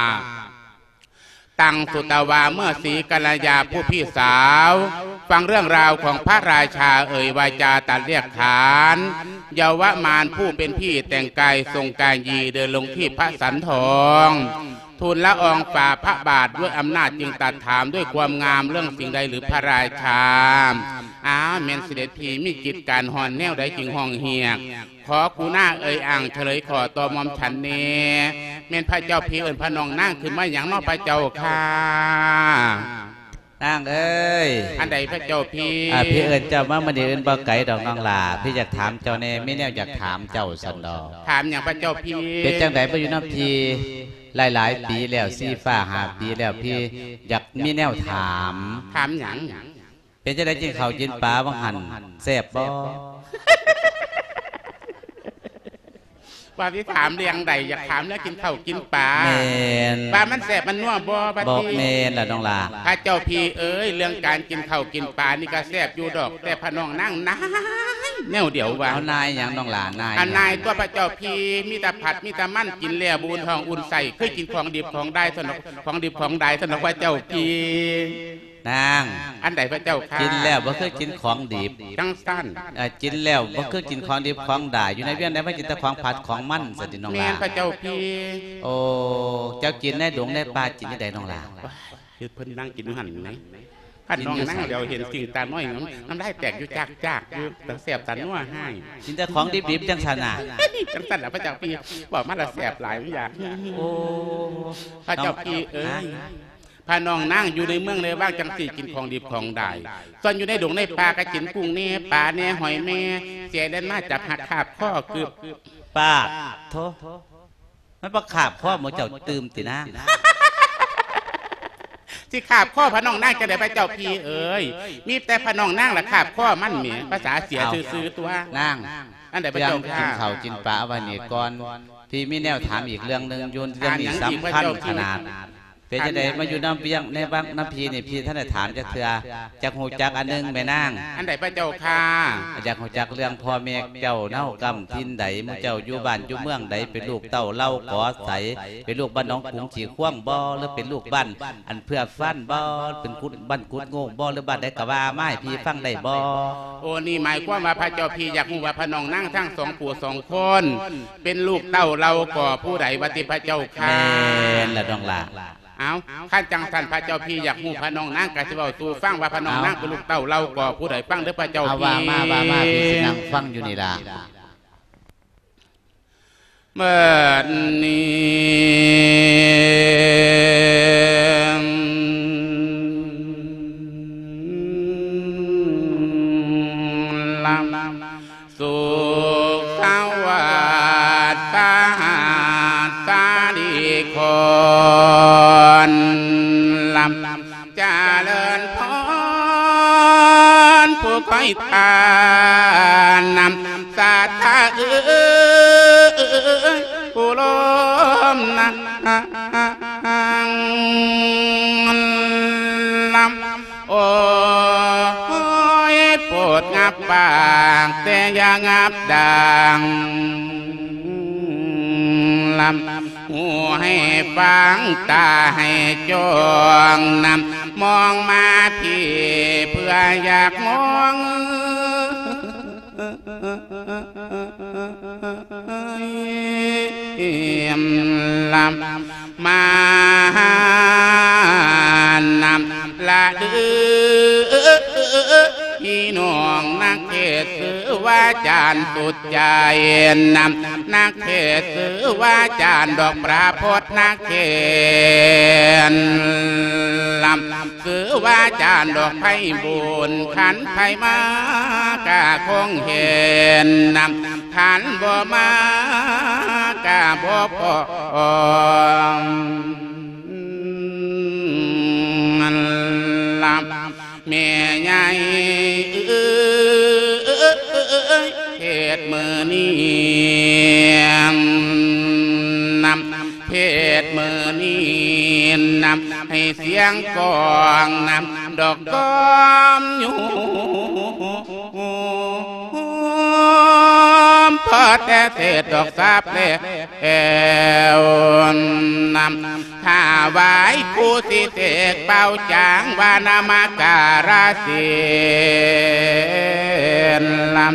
ຕັງສຸຕະວາ ເມື່ອສີກັນລະຍາຜູ້ພີ່ສາວ ຟັງເລື່ອງລາວຂອງພະລາຊາເອີ່ຍວາຈາຕັດລຽກຂານ ເຍົາວະມານຜູ້ເປັນພີ່ແຕ່ງກາຍຊົງກາຍຢີ ເດີນລົງທີ່ພະສັນທອງ ທູນລະອອງຝ່າພະບາດດ້ວຍອຳນາດ ຈຶ່ງຕັດຖາມດ້ວຍຄວາມງາມ ເລື່ອງສິ່ງໃດຫຼືພະລາຊາ? ອ້າວ ແມ່ນສະເດັດພີ່ມີກິດການຮ້ອນແນວໃດຈຶ່ງຮ້ອງຮຽກ? ຂໍກຸນາເອີ່ຍອ້າງສະເຫຼີຍຂໍຕໍ່ໝ່ອມສັນແດ່ ແມ່ນພະເຈົ້າພີ່ເອີ້ນພະນ້ອງນາງຂຶ້ນມາຫຍັງເນາະພະເຈົ້າຂ້າ? ນາງເອີຍ ອັນໃດພະເຈົ້າພີ່? ອ່າ ພີ່ເອີ້ນເຈົ້າມາມື້ນີ້ອື່ນບໍ່ໄກດອກນ້ອງຫຼ້າ ພີ່ຢາກຖາມເຈົ້າແດ່ ມີແນວຢາກຖາມເຈົ້າຊັ້ນດອກ. ຖາມຫຍັງພະເຈົ້າພີ່? ເປັນຈັ່ງໃດມາຢູ່ນຳພີ່ຫຼາຍໆປີແລ້ວ ສີ່ຫ້າປີແລ້ວ ພີ່ຢາກມີແນວຖາມ. ຖາມຫຍັງ? ເປັນຈັ່ງໃດກິນເຂົ້າກິນປາວ່າງຫັ້ນ ແຊບບໍ່? ວ່າຊິຖາມເລື່ອງໃດ? ຢາກຖາມເລື່ອງກິນເຂົ້າກິນປາ. ແມ່ນ. ວ່າມັນແຊບມັນນົວບໍ່ບັດນີ້? ບໍ່ແມ່ນລະນ້ອງຫຼ້າ. ພະເຈົ້າພີ່ເອີຍ ເລື່ອງການກິນເຂົ້າກິນປານີ້ກະແຊບຢູ່ດອກ ແຕ່ພະນ້ອງນາງນາຍແນວດຽວວ່າ. ເອົານາຍຫຍັງນ້ອງຫຼ້າ? ນາຍ ອັນນາຍຕົວະພະເຈົ້າພີ່ ມີແຕ່ຜັດມີແຕ່ມັນ ກິນແລ້ວບໍ່ອຸ່ນທ້ອງອຸ່ນໄສ້ ຄືກິນຂອງດິບຂອງດາຍຊັ້ນດອກ ຂອງດິບຂອງດາຍຊັ້ນດອກພະເຈົ້າພີ່. ນາງ ອັນໃດພະເຈົ້າຂ້າ? ກິນແລ້ວບໍ່ຄືກິນຂອງດິບ. ຈັ່ງຊັ້ນ. ເອີ ກິນແລ້ວບໍ່ຄືກິນຂອງດິບຂອງດາຍ ຢູ່ໃນວຽງໃດມາກິນແຕ່ຂອງຜັດຂອງມັນຊັ້ນຕິນ້ອງຫຼ້າ. ແມ່ນພະເຈົ້າພີ່. ໂອ້ ເຈົ້າກິນໃນດົງໃນປ່າກິນຈັ່ງໃດນ້ອງຫຼ້າ? ໂອ້ຍ ເພິ່ນນັ່ງກິນຢູ່ຫັ້ນແຫຼະ ຄັນນ້ອງນັ່ງດຽວເຫັນສິ່ງຕານ້ອຍ ນ້ຳລາຍແຕກຢູ່ຈາກໆຢູ່ ຕາແຊບຕານົວຮ້າຍ. ກິນແຕ່ຂອງດິບໆ ຈັ່ງຊັ້ນນະ. ຈັ່ງຊັ້ນລະພະເຈົ້າພີ່ ເວົ້າມາລະແຊບຫຼາຍ ມັນຢາກ. ໂອ້ ພະເຈົ້າພີ່ເອີຍ ພະນ້ອງນາງຢູ່ໃນເມືອງໃນວັງຈັ່ງຊີ້ ກິນຂອງດິບຂອງດາຍ ສ່ວນຢູ່ໃນດົງໃນປ່າກະກິນກຸ້ງແດ່ ປາແດ່ ຫອຍແດ່ ເສຍແລ່ນມາຈັບຫັກຄາບຄໍກຶບ. ປາດໂທ ມັນບໍ່ຄາບຄໍໝູ່ເຈົ້າຕື່ມຕິນາງ? ຊິຄາບຄໍພະນ້ອງນາງຈັ່ງໃດພະເຈົ້າພີ່ເອີຍ? ມີແຕ່ພະນ້ອງນາງລະຄາບຄໍມັນແໝ ພາສາເສຍຊື່ໆຕົວະ. ນາງ ອັນໃດພະເຈົ້າຂ້າ? ເລື່ອງກິນເຂົ້າກິນປາເອົາໄວ້ນີ້ກ່ອນ ພີ່ມີແນວຖາມອີກເລື່ອງໜຶ່ງຢູ່ ເລື່ອງນີ້ສຳຄັນຂະໜາດ. ເປັນຈັ່ງໃດມາຢູ່ນຳວຽງໃນວັງນຳພີ່ນີ້ ພີ່ທັນໄດ້ຖາມຈັກເທື່ອ ຢາກຮູ້ຈັກອັນໜຶ່ງແມ່ນາງ. ອັນໃດພະເຈົ້າຂ້າ? ຢາກຮູ້ຈັກເລື່ອງພໍ່ແມ່ເຈົ້າເນົາກຳຖິ່ນໃດ ໝູ່ເຈົ້າຢູ່ບ້ານຢູ່ເມືອງໃດ ເປັນລູກເຕົ້າເຫຼົ່າກໍໃສ ເປັນລູກບ້ານໜອງກຸງຂີ້ຄວາງບໍ່ ຫຼືເປັນລູກບ້ານອັນເພື່ອຟັນບໍ່ ເປັນກຸດ ບ້ານກຸດໂງ່ງບໍ່ ຫຼືບ້ານໃດກະວ່າມາໃຫ້ພີ່ຟັງໄດ້ບໍ່? ໂອ ນີ້ໝາຍຄວາມວ່າພະເຈົ້າພີ່ຢາກຮູ້ວ່າພະນ້ອງນາງທັງສອງຜູ້ສອງຄົນ ເປັນລູກເຕົ້າເຫຼົ່າກໍຜູ້ໃດວ່າຕິພະເຈົ້າຂ້າ? ແມ່ນລະນ້ອງຫຼ້າ. ເອົາ ຄັນຈັ່ງຊັ້ນພະເຈົ້າພີ່ຢາກຮູ້ພະນ້ອງນາງ ກະຊິເວົ້າສູ່ຟັງວ່າພະນ້ອງນາງເປັນລູກເຕົ້າເຫຼົ່າກໍຜູ້ໃດ ຟັງເດີພະເຈົ້າພີ່. ເອົາ ວ່າມາ ວ່າມາ ພີ່ຊິນັ່ງຟັງຢູ່ນີ້ລະ. ບັດນີ້ ຜູ້ລົມນາງລຳ ໂອ້ຍ ໂປດງັບປາກ ແຕ່ຢ່າງັບດັງ ລຳ ຫູໃຫ້ຟັງ ຕາໃຫ້ຈ້ອງນຳ ມອງມາພີ້ ເພື່ອຢາກມອງ ລຳ ມານຳລະເດີ ພີ່ນ້ອງນັກເທດ ຊື່ວ່າຈານສຸດໃຈນຳ ນັກເທດຊື່ວ່າຈານດອກປະພົດນັກເທດ ລຳ ຄືວ່າຈານດອກໄພບຸນ ຄັນໃຜມາກະຄົງເຫັນນຳ ຄັນບໍ່ມາກະບໍ່ພໍ ລຳ ແມ່ໃຫຍ່ເອີຍ ເທດມື້ນີ້ນຳ ເທດມື້ນີ້ນຳ ໃຫ້ສຽງກ້ອງນຳ ດອກກ້ອມຢູ່ ພໍແຕ່ເສດດອກສາບແລ້ວນຳ ຖວາຍຄູສິເສກເປົ່າຈາງ ວ່ານະມະກາລະສິນລຳ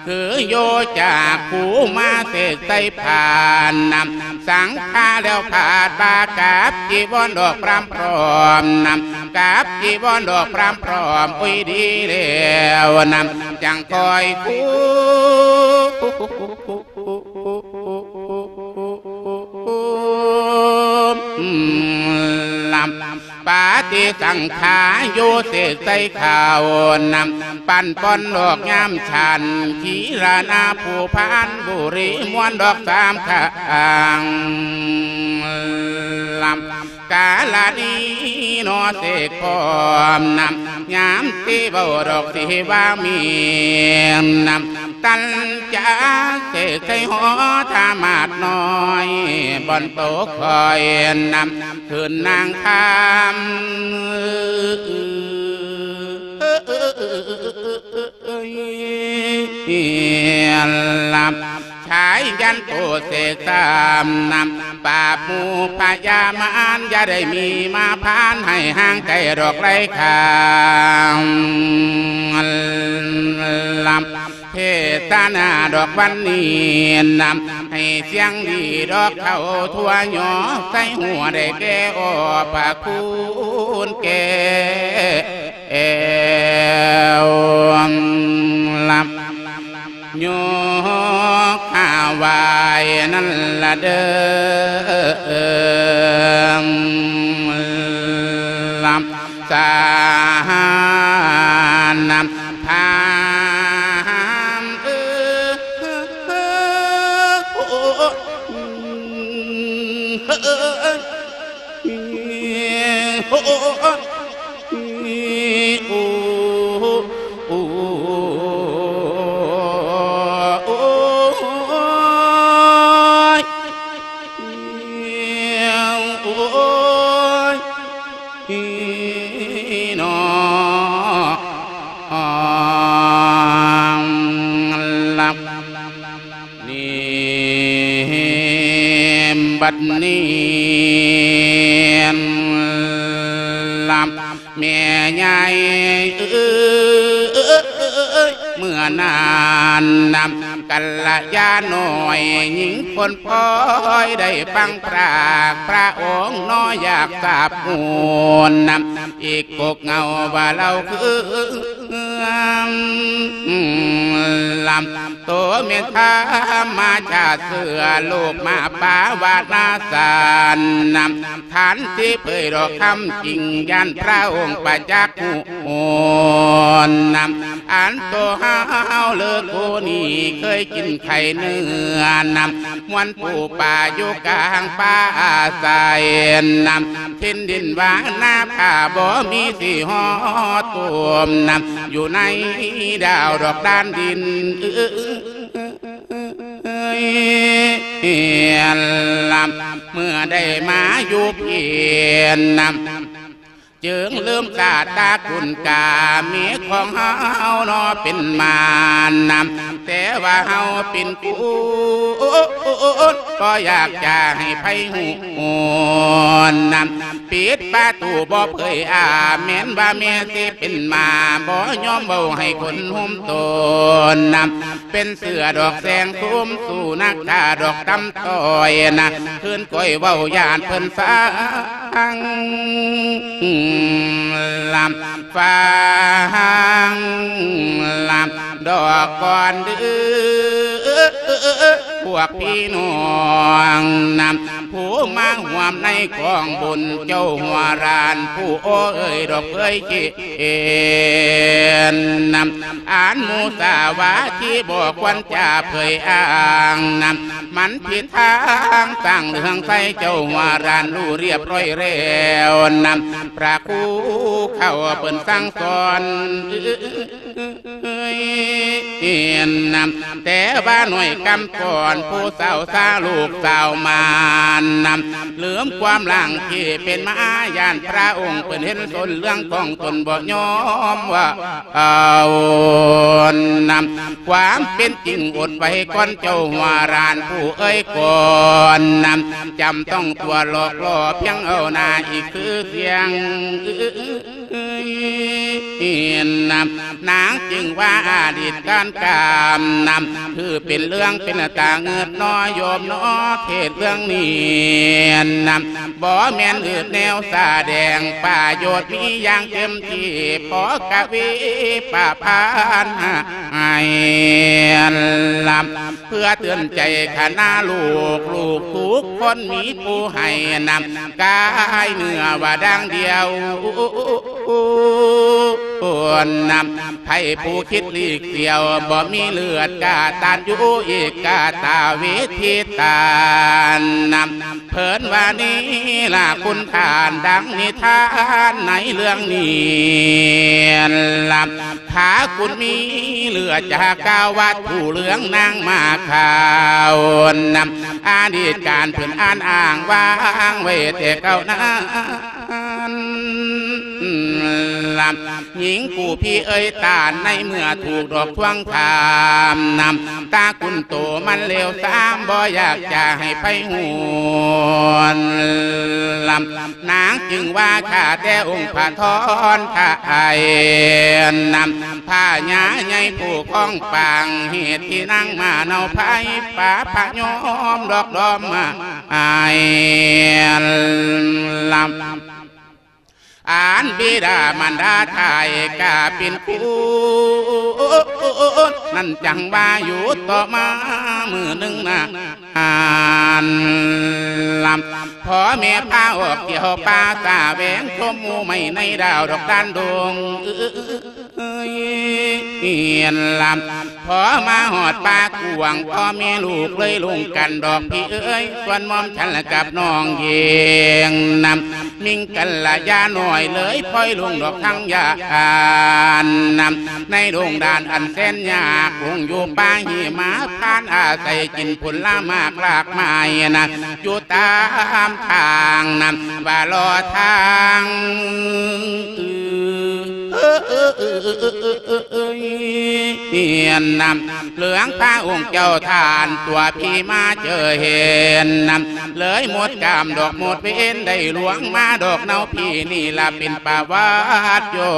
ຄືໂຍຈາກຄູມາເສກໃສ່ພານນຳ ສັງຄາແລ້ວພາດບາກັບຈີວອນດອກພຣຳພ້ອມນຳ ກັບຈີວອນດອກພຣຳພ້ອມ ໂອ້ຍ ດີແລ້ວນຳ ຈັ່ງຄ່ອຍຄູ ລຳ ປະຕິສັງຂາໂຍເສກໃສ່ເຂົ້ານຳ ປັ້ນປ່ອນດອກຍາມຊັ້ນ ຄີລະນາພູພານບຸຣີ ມ່ວນດອກສາມຂ້າງ ລຳ ກາລະນີນໍເສກພ້ອມນຳ ຍາມທີ່ເວົ້າດອກທີ່ວ່າມີນຳ ຕັນຈະເສກໃສ່ຫໍທາມາດນ້ອຍ ບ່ອນໂຕຄອຍນຳ ຄືນນາງຄຳ ເອີຍ ລຳ ຊາຍຍັນໂຕເສກສາມນຳ ປາບໝູ່ພະຍາມານ ຢ່າໄດ້ມີມາຜ່ານ ໃຫ້ຫ່າງໄກດອກໄລຄາງ ລຳ ເທດສະໜາດອກວັນນີ້ນຳ ໃຫ້ສຽງດີດອກເຂົ້າທົ່ວ ຍໍໃສ່ຫົວໄດ້ແກ່ ໂອພະຄຸນແກ້ວ ລຳ ຍົກຂາວາຍນັ້ນລະເດີ ລຳ ສານນຳ ພາມເອີ ໂອ້ ໂອ້ ໂອ້ ໂອ້ ໂອ້ຍ ໂອ້ຍ ພີ່ນ້ອງ ລຳ ນີ້ ບັດນີ້ ລຳ ແມ່ໃຫຍ່ເອີຍ ເມື່ອນານນຳ ກັນລະຍານ້ອຍຍິງຄົນ ພອຍໄດ້ຟັງພຣາກພຣະອົງ ໜໍຢາກສາບຮູ້ນຳ ອີກກົກເງົາວ່າເລົ່າຄື ລຳ ໂຕແມ່ນທຳມະຊາດເສືອ ລູກມາປາວານາສານນຳ ທ່ານທີ່ເຜີຍດອກຄຳຈິງ ຢ້ານພຣະອົງປະຈັກຮູ້ນຳ ອັນໂຕເຮົາເລີກຜູ້ນີ້ ເຄີຍກິນໄຂ່ເນື້ອນຳ ມ່ວນປູປາຢູ່ກາງປ່າອາໄສນຳ ຖິ່ນດິນຫວ່າງນາຜາ ບໍ່ມີຊິຮອດຕົມນຳ ຢູ່ໃນດາວດອກດ້ານດິນ ເອີຍ ເມື່ອໄດ້ມາຢູ່ພີ້ນນະ ຈຶ່ງລືມຊາດຕະກຸນກາເມຂອງເຮົາເນາະເປັນມານນະ ແຕ່ວ່າເຮົາເປັນຄູນ ບໍ່ຢາກຈະໃຫ້ໃຜຮູ້ນະ ປິດປະຕູບໍ່ເຜີຍອາ ແມ່ນວ່າແມ່ຊິເປັນໝາ ບໍ່ຍອມເວົ້າໃຫ້ຄົນຮູ້ຕົນນະ ເປັນເສືອດອກແສງໂສມ ສູ້ນັກຂ້າດອກຕຳຕ້ອຍນະ ຄືນກ້ອຍເວົ້າຢ້ານເພິ່ນຟັງ ລຳຟັງ ລຳດອກກ່ອນເດີ້ ພວກພີ່ນ້ອງນະ ຜູ້ມາຮ່ວມໃນກອງບຸນ ເຈົ້າຫົວລ້ານຜູ້ໂອ້ເອີຍດອກເອີຍເຄ ເຫັນນຳ ອັນມຸສາວາທີບໍ່ຄວນຈະເຜີຍອ້າງນຳ ມັນຜິດທາງສ້າງເລື່ອງໃສ່ ເຈົ້າຫົວລ້ານຮູ້ລຽບຮ້ອຍແລ້ວນຳ ພະຄູເຂົາເພິ່ນສັ່ງສອນ ເຫັນນຳ ແຕ່ວ່າໜ້ອຍກຳກ່ອນ ຜູ້ສາວຊາລູກສາວມານນຳ ລືມຄວາມຫຼັງທີ່ເປັນມາ ຢ້ານພະອົງເພິ່ນເຫັນສົນເລື່ອງຂອງຕົນ ບໍ່ຍອມວ່າເອົານຳ ຄວາມເປັນຈິງອົດໄວ້ກ່ອນ ເຈົ້າຫົວລ້ານຜູ້ເອີຍກ່ອນນຳ ຈຳຕ້ອງຕົວະຫຼອກຫຼໍ່ ພຽງເອົາໜ້າອີກຊື່ສຽງ ນຳ ນາງຈຶ່ງວ່າອະດີດການການນຳ ຄືເປັນເລື່ອງເປັນຕາງຶດໜໍ່ໂຍມເນາະ ເຂດເລື່ອງນີ້ນຳ ບໍ່ແມ່ນອຶດແນວສະແດງ ປະໂຫຍດມີຢ່າງເຕັມທີ່ ພໍກະວີປະພັນໃຫ້ລຳ ເພື່ອເຕືອນໃຈຄະນະລູກ ລູກທຸກຄົນມີຜູ້ໃຫ້ນຳ ກາຍເນື້ອວ່າດັ່ງດຽວນຳ ໃຜຜູ້ຄິດຫຼີກສຽວ ບໍ່ມີເລືອດກະຕັນຢູ່ ເອກະຕາເວທີຕານນຳ ເພິ່ນວ່ານີ້ລະຄຸນທ່ານ ດັ່ງນິທານໃນເລື່ອງນີ້ລະ ພະຄຸນມີເຫຼືອຈາກາວັດ ຜູ້ເຫຼືອງນາງມາຂາວນຳ ອະດີດການເພິ່ນອ່ານອ້າງວາງໄວ້ແຕ່ເກົ່ານັ້ນລະ ຍິງຜູ້ພີ່ເອີຍຕານ ໃນເມື່ອຖືກດອກທວງຖາມນຳ ຕະກຸນໂຕມັນເລວຊາມ ບໍ່ຢາກຈະໃຫ້ໃຜຮູ້ລະ ນາງຈຶ່ງວ່າ ຂ້າແຕ່ອົງພະທອນໄທນຳ ພະຍາໃຫຍ່ຜູ້ຄອງປາງ ເຫດທີ່ນາງມາເນົາໄພ ປາພະຍອມດອກດອມມາອາຍລຳ ອັນບິດາມານດາໄທກະເປັນຄູນ ນັ້ນຈັ່ງວ່າຢູ່ຕໍ່ມາມື້ໜຶ່ງນາ ອັນລຳ ພໍ່ແມ່ພາອອກທ່ຽວປ່າສະແຫວງ ຊົມໝູ່ໄມ້ໃນດາວດອກດານດົງ ເອີຍ ເອີຍ ລຳ ພໍມາຮອດປ່າກວ້າງ ພໍ່ແມ່ລູກເລີຍລົງກັນດອກພີ່ເອີຍ ສ່ວນໝອມສັນລະກັບນ້ອງເຢງນຳ ມິງກັນລະຍານ້ອຍເລີຍ ພອຍລົງດອກທາງຍານນຳ ໃນດົງດານອັນແສນຍາກ ລົງຢູ່ປ່າຫິມະພານ ອາໄສກິນຜົນລະໝາກລາກໄມ້ນະ ຢູ່ຕາມທາງນຳ ວ່າລໍທາງ ເອີຍ ນຳ ເຫຼືອງພະອົງເຈົ້າທ່ານຕົວະພີ່ມາເຈີເຫັນນຳ ເລີຍໝົດກາມດອກໝົດເວນ ໄດ້ຫຼວງມາດອກເນົາ ພີ່ນີ້ລະເປັນປະຫວັດຍ້ອ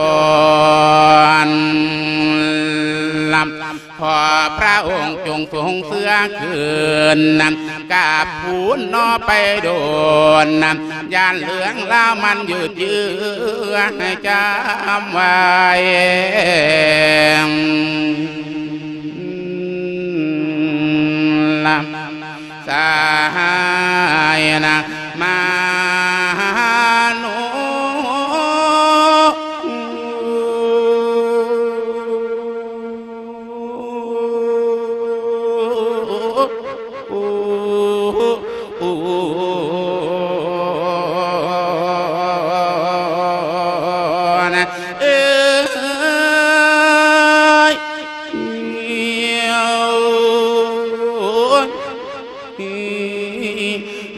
ນລຳ ຂໍພະອົງຈົ່ງຊົງເຊື່ອຄືນນຳ ກາບຄູນເນາະໄປໂດນນຳ ຢ້ານເລື່ອງລາວມັນຍືດເຢື້ອ ໃຫ້ຈຳໄວ້ລຳ ສະຫາຍນະມາໂນ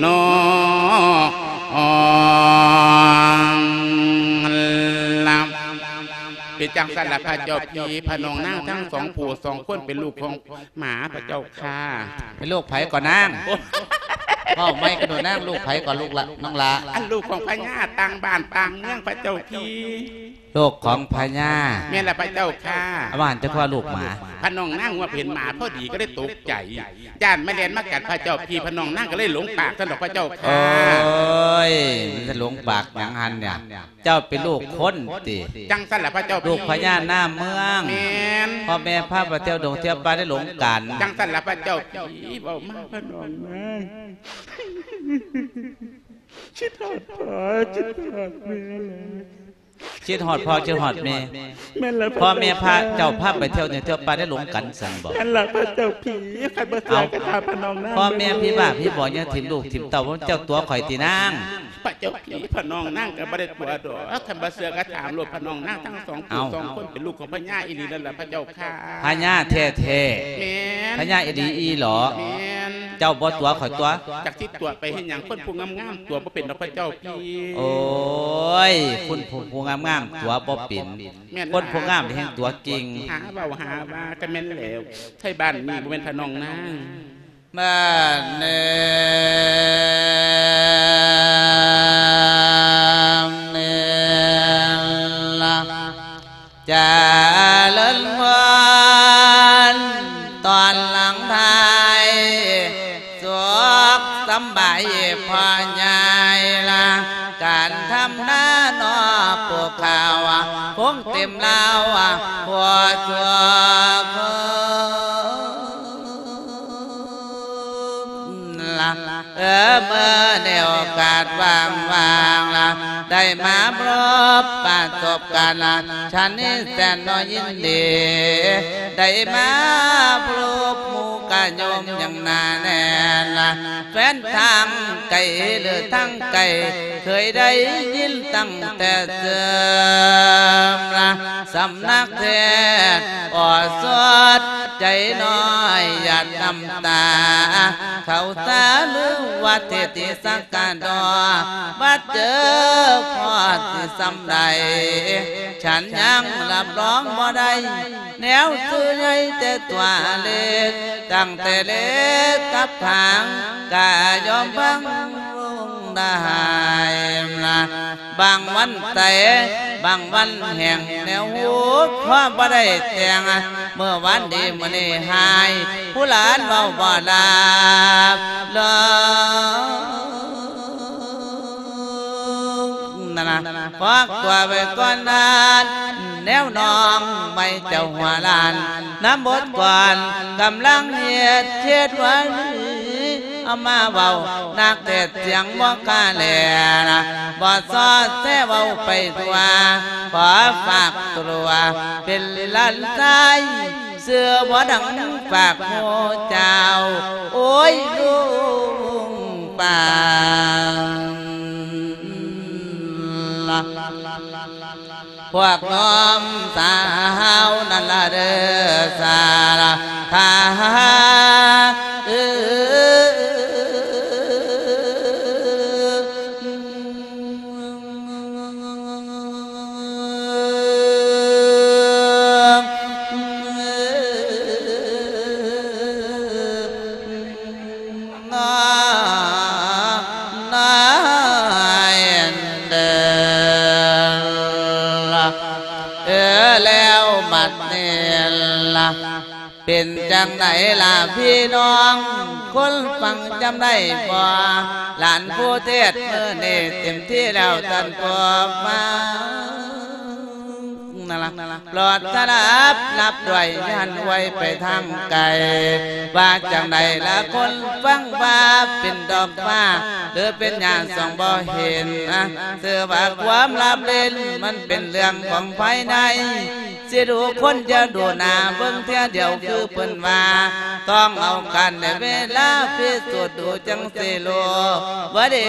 ນອງລະ ເປັນຈັ່ງຊັ້ນລະພະເຈົ້າພີ່ ພະນ້ອງນາງທັງສອງຜູ້ສອງຄົນເປັນລູກຂອງ ໝາພະເຈົ້າຂ້າ. ເປັນລູກໃຜກໍນາງ? ໂອ້ ເວົ້າໃໝ່ກໍດູນາງ ລູກໃຜກໍລູກລະ ນ້ອງຫຼ້າ? ອັນລູກຂອງພະຍາຕ່າງບ້ານຕ່າງເມືອງພະເຈົ້າພີ່. ລູກຂອງພະຍາ? ແມ່ນລະພະເຈົ້າຂ້າ. ອາ ວ່າຫັ້ນ ເຈົ້າຄືວ່າລູກໝາ? ພະນ້ອງນາງວ່າເຫັນໝາພໍດີກໍເລີຍຕົກໃຈ ຢ້ານມາແລ່ນມາກັດພະເຈົ້າພີ່ ພະນ້ອງນາງກໍເລີຍຫຼົງປາກຊັ້ນດອກພະເຈົ້າຂ້າ. ໂອ້ຍ ມັນຈະຫຼົງປາກຫຍັງຫັ້ນເນຍ? ເຈົ້າເປັນລູກຄົນຕິ? ຈັ່ງຊັ້ນລະພະເຈົ້າພີ່. ລູກພະຍານາເມືອງ? ແມ່ນ. ພໍ່ແມ່ພາໄປທ່ຽວດົງທ່ຽວປ່າໄດ້ຫຼົງກັນ? ຈັ່ງຊັ້ນລະພະເຈົ້າພີ່. ເວົ້າມາພະນ້ອງນາງ ຄິດຮອດພໍ່ ຄິດຮອດແມ່ຫຼາຍ. ຄິດຮອດພໍ່ ຄິດຮອດແມ່. ແມ່ນລະພະ ພໍ່ແມ່ພາເຈົ້າພາໄປທ່ຽວດົງທ່ຽວປ່າໄດ້ຫຼົງກັນຊັ້ນບໍ? ແມ່ນລະພະເຈົ້າພີ່. ຄັນບໍ່ເຊື່ອກໍຖາມພະນ້ອງນາງ. ເອົ້າ ພໍ່ແມ່ຜີບ້າຜີບອດຍັງຖິ້ມລູກຖິ້ມເຕົ້າ ເຈົ້າຕົວະຂ້ອຍຕິນາງ? ພະເຈົ້າພີ່ ພະນ້ອງນາງກໍບໍ່ໄດ້ຕົວະດອກ ຄັນບໍ່ເຊື່ອກໍຖາມໂລດ ພະນ້ອງນາງທັງສອງຜູ້ ເອົ້າ ສອງຄົນເປັນລູກຂອງພະຍາອີ່ຫຼີນັ້ນລະພະເຈົ້າຂ້າ. ພະຍາແທ້ໆ? ແມ່ນ. ພະຍາອີ່ຫຼີອີ່ຫຼໍ? ແມ່ນ. ເຈົ້າບໍ່ຕົວະຂ້ອຍຕົວະ? ຈັກຊິຕົວະໄປເຮັດຫຍັງ ຄົນຜູ້ງາມໆຕົວະບໍ່ເປັນດອກພະເຈົ້າພີ່. ໂອ້ຍ ຄົນຜູ້ງາມໆຕົວະບໍ່ເປັນ. ແມ່ນ. ຄົນຜູ້ງາມແຮ່ງຕົວະເກັ່ງ. ຫາເວົ້າຫາວ່າກໍແມ່ນແລ້ວ ໄທບ້ານນີ້ບໍ່ແມ່ນພະນ້ອງນາງ. ບ້ານເອີຍ ເອີຍລະ ຈະເລີນພອນ ຕອນຫຼັງທ້າຍ ສຸກສຳບາຍພໍ່ໃຫຍ່ລະ ການທຳນານໍປູກຂ້າວ ຄົງເຕັມລາວ ພໍສຸກ ລະ ເອີ ເມື່ອໃນໂອກາດວ່າງໆລະ ໄດ້ມາພົບປະສົບກັນລະ ສັນນີ້ແສນໜ້ອຍຍິນດີ ໄດ້ມາພົບໝູ່ກະໂຍມຢ່າງໜາແໜ້ນລະ ແຟນທາງໄກ ຫຼື ທາງໃກ້ ເຄີຍໄດ້ຍິນຕັ້ງແຕ່ເສີມລະ ສຳນັກເທດ ອອດສົດໃຈນ້ອຍ ຫຍາດນ້ຳຕາເຂົ້າສາລືວ່າເທດທີ່ສັກກະດໍ ມາເຈີພໍດຊິສ່ຳໃດ ສັນຍັງຮັບຮອງບໍ່ໄດ້ ແນວຊື່ໃຫຍ່ແຕ່ຕົວເລັກ ຕັ້ງແຕ່ເລັກກັບຂາງ ກະຍອມຟັງໄດ້ລະ ບາງວັນໃສ ບາງວັນແຫ້ງ ແນວຮູ້ຄວາມບໍ່ໄດ້ແຕ່ງ ເມື່ອວານດີມື້ນີ້ຫາຍ ຜູ້ຫຼານເວົ້າບໍ່ລາບລອງ ນັ້ນນະ ພາກຕົວໄວ້ກ່ອນນານ ແນວນ້ອງໄມ້ເຈົ້າຫົວລ້ານ ນຳບົດກ່ອນກຳລັງເຮັດ ເຮັດວ່ານີ້ ເອົາມາເວົ້າ ນັກເທດສຽງບໍ່ກະແລນະ ບໍ່ຊອດແຊເວົ້າໄປທົ່ວ ຂໍຝາກຕົວເປັນຫຼານຊາຍ ຊື່ບໍ່ດັງຝາກໝູ່ເຈົ້າ ໂອ້ຍ ລຸງປານລະ ພວກນ້ອງສາວນັ້ນລະເດີ ສາລະທາ ເອີ ເອີ ແລ້ວບັດນີ້ລະ ເປັນຈັ່ງໃດລະພີ່ນ້ອງ ຄົນຟັງຈຳໄດ້ບໍ່? ຫຼານຜູ້ເທດມື້ນີ້ເຕັມທີ່ແລ້ວ ທ່ານຜູ້ຟັງນັ້ນລະ ໂປດສະດັບຮັບດ້ວຍ ຢ່າຫັນໄຫວໄປທາງໄກ ວ່າຈັ່ງໃດລະຄົນຟັງວ່າເປັນດອກຟ້າ ຫຼືເປັນຫຍ້າສ່ອງບໍ່ເຫັນ ຊື່ວ່າຄວາມລາບຫຼິ້ນ ມັນເປັນເລື່ອງຂອງພາຍໃນ ຊິດູຄົນຢ່າດູໜ້າ ເບິ່ງເທື່ອດຽວຄືເພິ່ນວ່າ ຕ້ອງເອົາການແລະເວລາພິສູດ ດູຈັ່ງຊິຮູ້ວ່າເດັ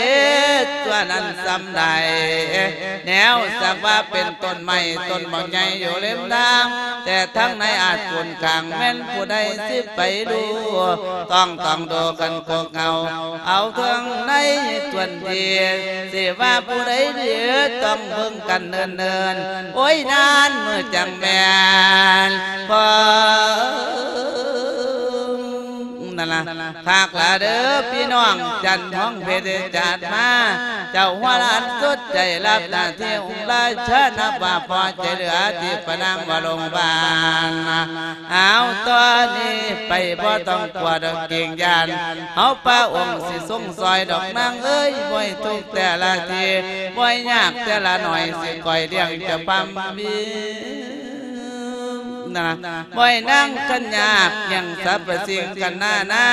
ກຕົວນັ້ນສ່ຳໃດ ແນວສັກວ່າເປັນຕົ້ນໄມ້ຕົ້ນໝາກ ໃຫຍ່ຢູ່ເລັມທາງ ແຕ່ທາງໃນອາດກຸນກາງ ແມ່ນຜູ້ໃດຊິໄປຮູ້ ຕ້ອງ ຕ້ອງດູກັນໂກກເງົາ ເອົາເຖິງໃນສ່ວນທີ່ ຊິວ່າຜູ້ໃດດີ ຕ້ອງເບິ່ງກັນເນີນໆ ໂອ້ຍ ນານມື້ຈັ່ງແມ່ນພໍ ນັ້ນລະ ຄັກລະເດີພີ່ນ້ອງ ຈັນທອງເພັດຈັດມາ ເຈົ້າຫົວຫຼານສຸດໃຈ ຮັບໜ້າທີ່ອົງລາຊາ ນັບວ່າພໍໃຈເຫຼືອທີ່ປະນາມວ່າໂລງບານ ເອົາ ຕອນນີ້ໄປບໍ່ຕ້ອງກົວດອກເກງຢ້ານ ເຮົາພະອົງຊິຊົງຊ່ອຍດອກນາງເອີຍ ບໍ່ໃຫ້ທຸກແຕ່ລະທີ ບໍ່ໃຫ້ຍາກແຕ່ລະໜ້ອຍ ຊິຄອຍລ້ຽງເຈົ້າພາມີ ນະ ບໍ່ໃຫ້ນາງຄັນຍາກ ຍັງສັບພະສິ່ງກັນໜ້ານາ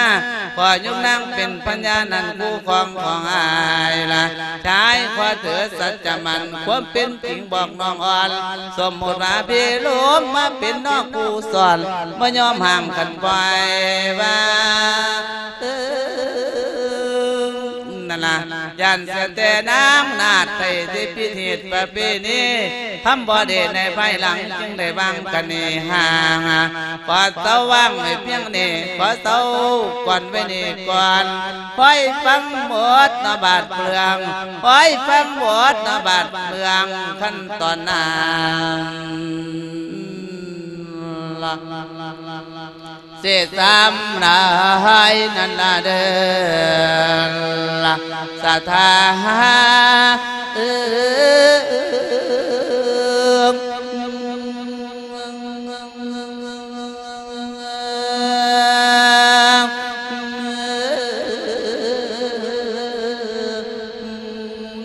ຂໍຍົກນາງເປັນພະຍານ ອັນຄູ່ຄອງຂອງອ້າຍລະ ຊາຍຂໍຖືສັດຈະໝັ້ນ ຄວາມເປັນຈິງບອກນ້ອງອ່ອນ ສົມມຸດວ່າພີ່ລົມມາເປັນນ້ອງຄູ່ສອນ ບໍ່ຍອມຫ້າມກັນປ່ອຍວ່າ ເອີ ນັ້ນລະ ຢ້ານເສຍແຕ່ນາມນາດໄປທີ່ພິທີປະເພນີ ທຳບໍ່ໄດ້ໃນພາຍຫຼັງ ຈຶ່ງໄດ້ວາງກັນນີ້ຫ່າງ ຂໍເຊົາວາງໄວ້ພຽງນີ້ ຂໍເຊົາກ່ອນໄວ້ນີ້ກ່ອນ ຂໍໃຫ້ຟັງໝົດນະບາດເລື່ອງ ຂໍໃຫ້ຟັງໝົດນະບາດເລື່ອງ ຂັ້ນຕອນນັ້ນລະ ເສດສາມຫຼາຍນັ້ນລະເດີລະ ສະຖາເອີ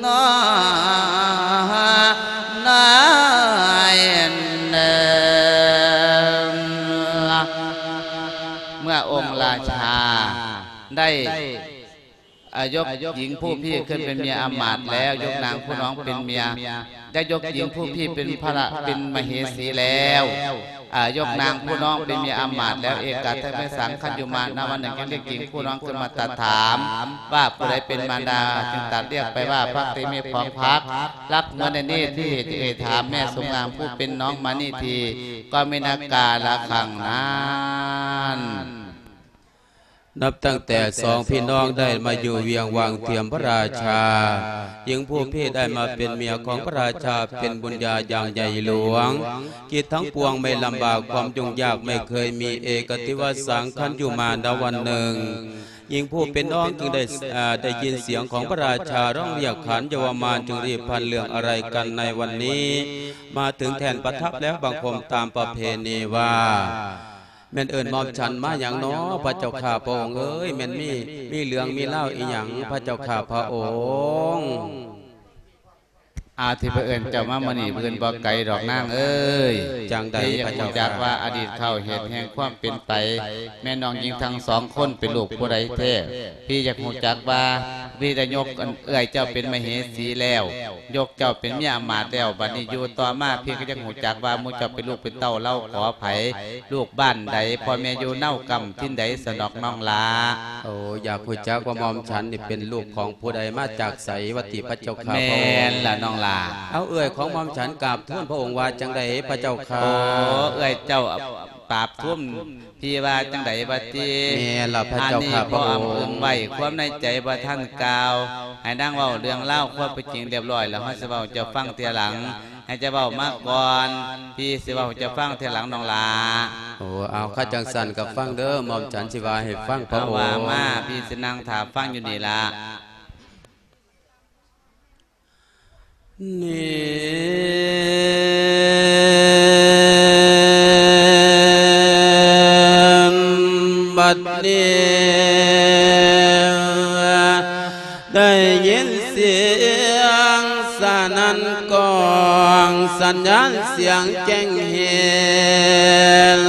ນ້ອຍເອີ ເມື່ອອົງລາຊາໄດ້ ອາ ຍົກຍິງຜູ້ພີ້ຂຶ້ນເປັນເມຍອຳມາດແລ້ວ ຍົກນາງຜູ້ນ້ອງເປັນເມຍ ໄດ້ຍົກຍິງຜູ້ພີ້ເປັນພະລະ ເປັນມະເຫສີແລ້ວ ອາ ຍົກນາງຜູ້ນ້ອງເປັນເມຍອຳມາດແລ້ວ ເອກະທະເມສັງ ຄັນຢູ່ມານະວັນໜຶ່ງ ຈຶ່ງລຽກຍິງຜູ້ນ້ອງຂຶ້ນມາຕັດຖາມ ວ່າຜູ້ໃດເປັນມານດາ ຈຶ່ງຕັດລຽກໄປວ່າ ພັກຕິເມ ຂອງພັກ ລັກເມື່ອໃນນີ້ທີ່ເອກະທະເມສັງ ເອຖາມແມ່ສົມງາມຜູ້ເປັນນ້ອງມານີທີ່ ກໍມີນາກາລະຄັງນັ້ນ. ນັບຕັ້ງແຕ່ສອງພີ່ນ້ອງໄດ້ມາຢູ່ວຽງວັງທຽມພະລາຊາ, ຍິງຜູ້ພີ້ໄດ້ມາເປັນເມຍຂອງພະລາຊາ ເປັນບຸນຍາຢ່າງໃຫຍ່ຫຼວງ. ກິດທັງປວງໄມ່ລຳບາກ ຄວາມຫຍຸ້ງຍາກໄມ່ເຄີຍມີ, ເອກະທິວະສັງ ຄັນຢູ່ມານະວັນໜຶ່ງ, ຍິງຜູ້ເປັນນ້ອງຈຶ່ງໄດ້ ເອີ ໄດ້ຍິນສຽງຂອງພະລາຊາຮ້ອງລຽກຂານເຍົາວະມານ ຈຶ່ງຣີບພັນເລື່ອງອາໄລກັນໃນວັນນີ້ ມາເຖິງແທ່ນປະທັບແລ້ວ ບັງຄົມຕາມປະເພນີວ່າ ແມ່ນເອີ້ນໝ່ອມສັນມາຫຍັງນໍ ພະເຈົ້າຂ້າພະອົງເອີຍ? ແມ່ນມີ ມີເລື່ອງມີລາວອີ່ຫຍັງ ພະເຈົ້າຂ້າພະອົງ? ອາ ທີ່ພະເອີ້ນເຈົ້າມາມື້ນີ້ ເພິ່ນບໍ່ໄກດອກນາງເອີຍ. ຈັ່ງໃດ ທີ່ຢາກຮູ້ຈັກວ່າອະດີດເຂົາເຫດແຫ່ງຄວາມເປັນໄປ ແມ່ນ້ອງຍິງທັງສອງຄົນເປັນລູກຜູ້ໃດແທ້? ພີ່ຢາກຮູ້ຈັກວ່າ ພີ່ໄດ້ຍົກເອື້ອຍເຈົ້າເປັນມະເຫສີແລ້ວ ຍົກເຈົ້າເປັນເມຍອຳມາດແລ້ວ ບັດນີ້ຢູ່ຕໍ່ມາ ພີ່ກໍຢາກຮູ້ຈັກວ່າໝູ່ເຈົ້າເປັນລູກເປັນເຕົ້າລາວຂອງໃຜ ລູກບ້ານໃດ ພໍ່ແມ່ຢູ່ເນົາກຳຖິ່ນໃດ ສະດອກນ້ອງຫຼ້າ. ໂອ້ ຢາກຮູ້ຈັກວ່າໝ່ອມສັນນີ້ເປັນລູກຂອງຜູ້ໃດ ມາຈາກໃສ ວ່າຕິ ພະເຈົ້າຂ້າພະອົງ? ແມ່ນລະນ້ອງຫຼ້າ. ເອົາ ເອື້ອຍຂອງໝ່ອມສັນກາບທູນພະອົງວ່າຈັ່ງໃດ ພະເຈົ້າຂ້າ? ໂອ້ ເອື້ອຍເຈົ້າ ປາບທຸມ ພີ່ວ່າຈັ່ງໃດຫວາຕິ? ແມ່ນລະພະເຈົ້າຂ້າພະອົງ. ອັນນີ້ພໍ່ອຳເອີງໄວ້ ຄວາມໃນໃຈບໍ່ທັນກ່າວ ໃຫ້ນາງເວົ້າເລື່ອງລາວຄວາມເປັນຈິງລຽບລ້ອຍ ແລ້ວເຮົາຊິເວົ້າໃຫ້ເຈົ້າຟັງທີຫຼັງ ໃຫ້ເຈົ້າເວົ້າມາກ່ອນ ພີ່ຊິເວົ້າໃຫ້ເຈົ້າຟັງທີຫຼັງນ້ອງຫຼ້າ. ໂອ້ ເອົາ ຄັນຈັ່ງຊັ້ນກໍຟັງເດີ ໝ່ອມສັນຊິວ່າໃຫ້ຟັງພະອົງ. ເອົາ ວ່າມາ ພີ່ຊິນັ່ງຖ້າຟັງຢູ່ນີ້ລະ. ນີ້ ບັດນີ້ ໄດ້ຍິນສຽງສະໜັ່ນກ້ອງ ສັນຍານສຽງແຈ້ງເຫັ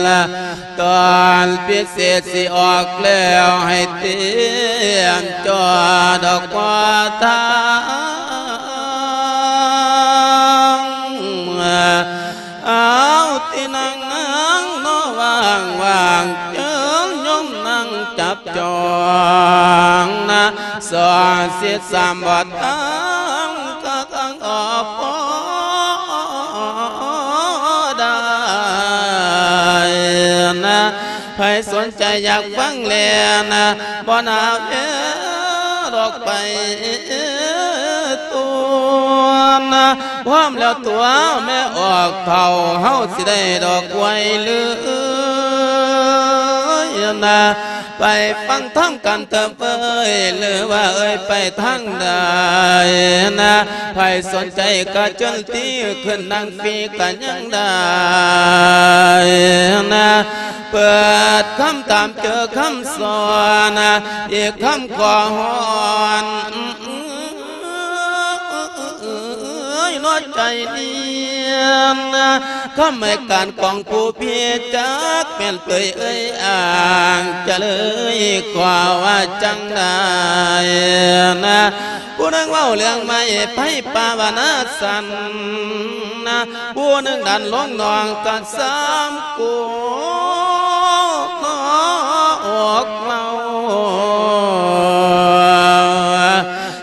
ນ ຕອນພິເສດຊິອອກແລ້ວ ໃຫ້ຕຽມຈອດອອກມາທາງ ເອົາ ທີ່ນັ່ງນາງເນາະວ່າງໆ ເຈີໂຍມນັ່ງຈັບຈ້ອງນະ ສອດສິດສາມບໍ່ທັນກະກັງອອກ ໃຜສົນໃຈຢາກຟັງແລນະ ບໍ່ໜ້າແວດອກໄປຕົວະ ພ້ອມແລ້ວຕົວະແມ່ອອກເຖົ້າ ເຮົາຊິໄດ້ດອກໄວເລີຍນະ ໄປຟັງທຳກັນເທີເອີຍ ຫຼືວ່າເອີຍໄປທາງໃດນະ ໃຜສົນໃຈກະເຊີນຕີຂຶ້ນນັ່ງຟຣີກະຍັງໄດ້ນະ ເປີດຄຳຖາມເຈີຄຳສອນນະ ອີກຄຳຂໍຮ້ອນ ເອີຍ ເນາະໃຈນຽນນະ ຄຳໃຫ້ການຂອງຜູ້ເພດ ຈັກແມ່ນເປີຍເອີຍອ້າງ ຈະເລີຍຂໍວ່າຈັ່ງໃດນະ ຜູ້ໜຶ່ງເວົ້າເລື່ອງໄມ້ໄຜ່ປ່າວ່າໜ້າສັນນະ ຜູ້ໜຶ່ງດັນລົງໜອງກະສາມໂກນອກເລົ່າ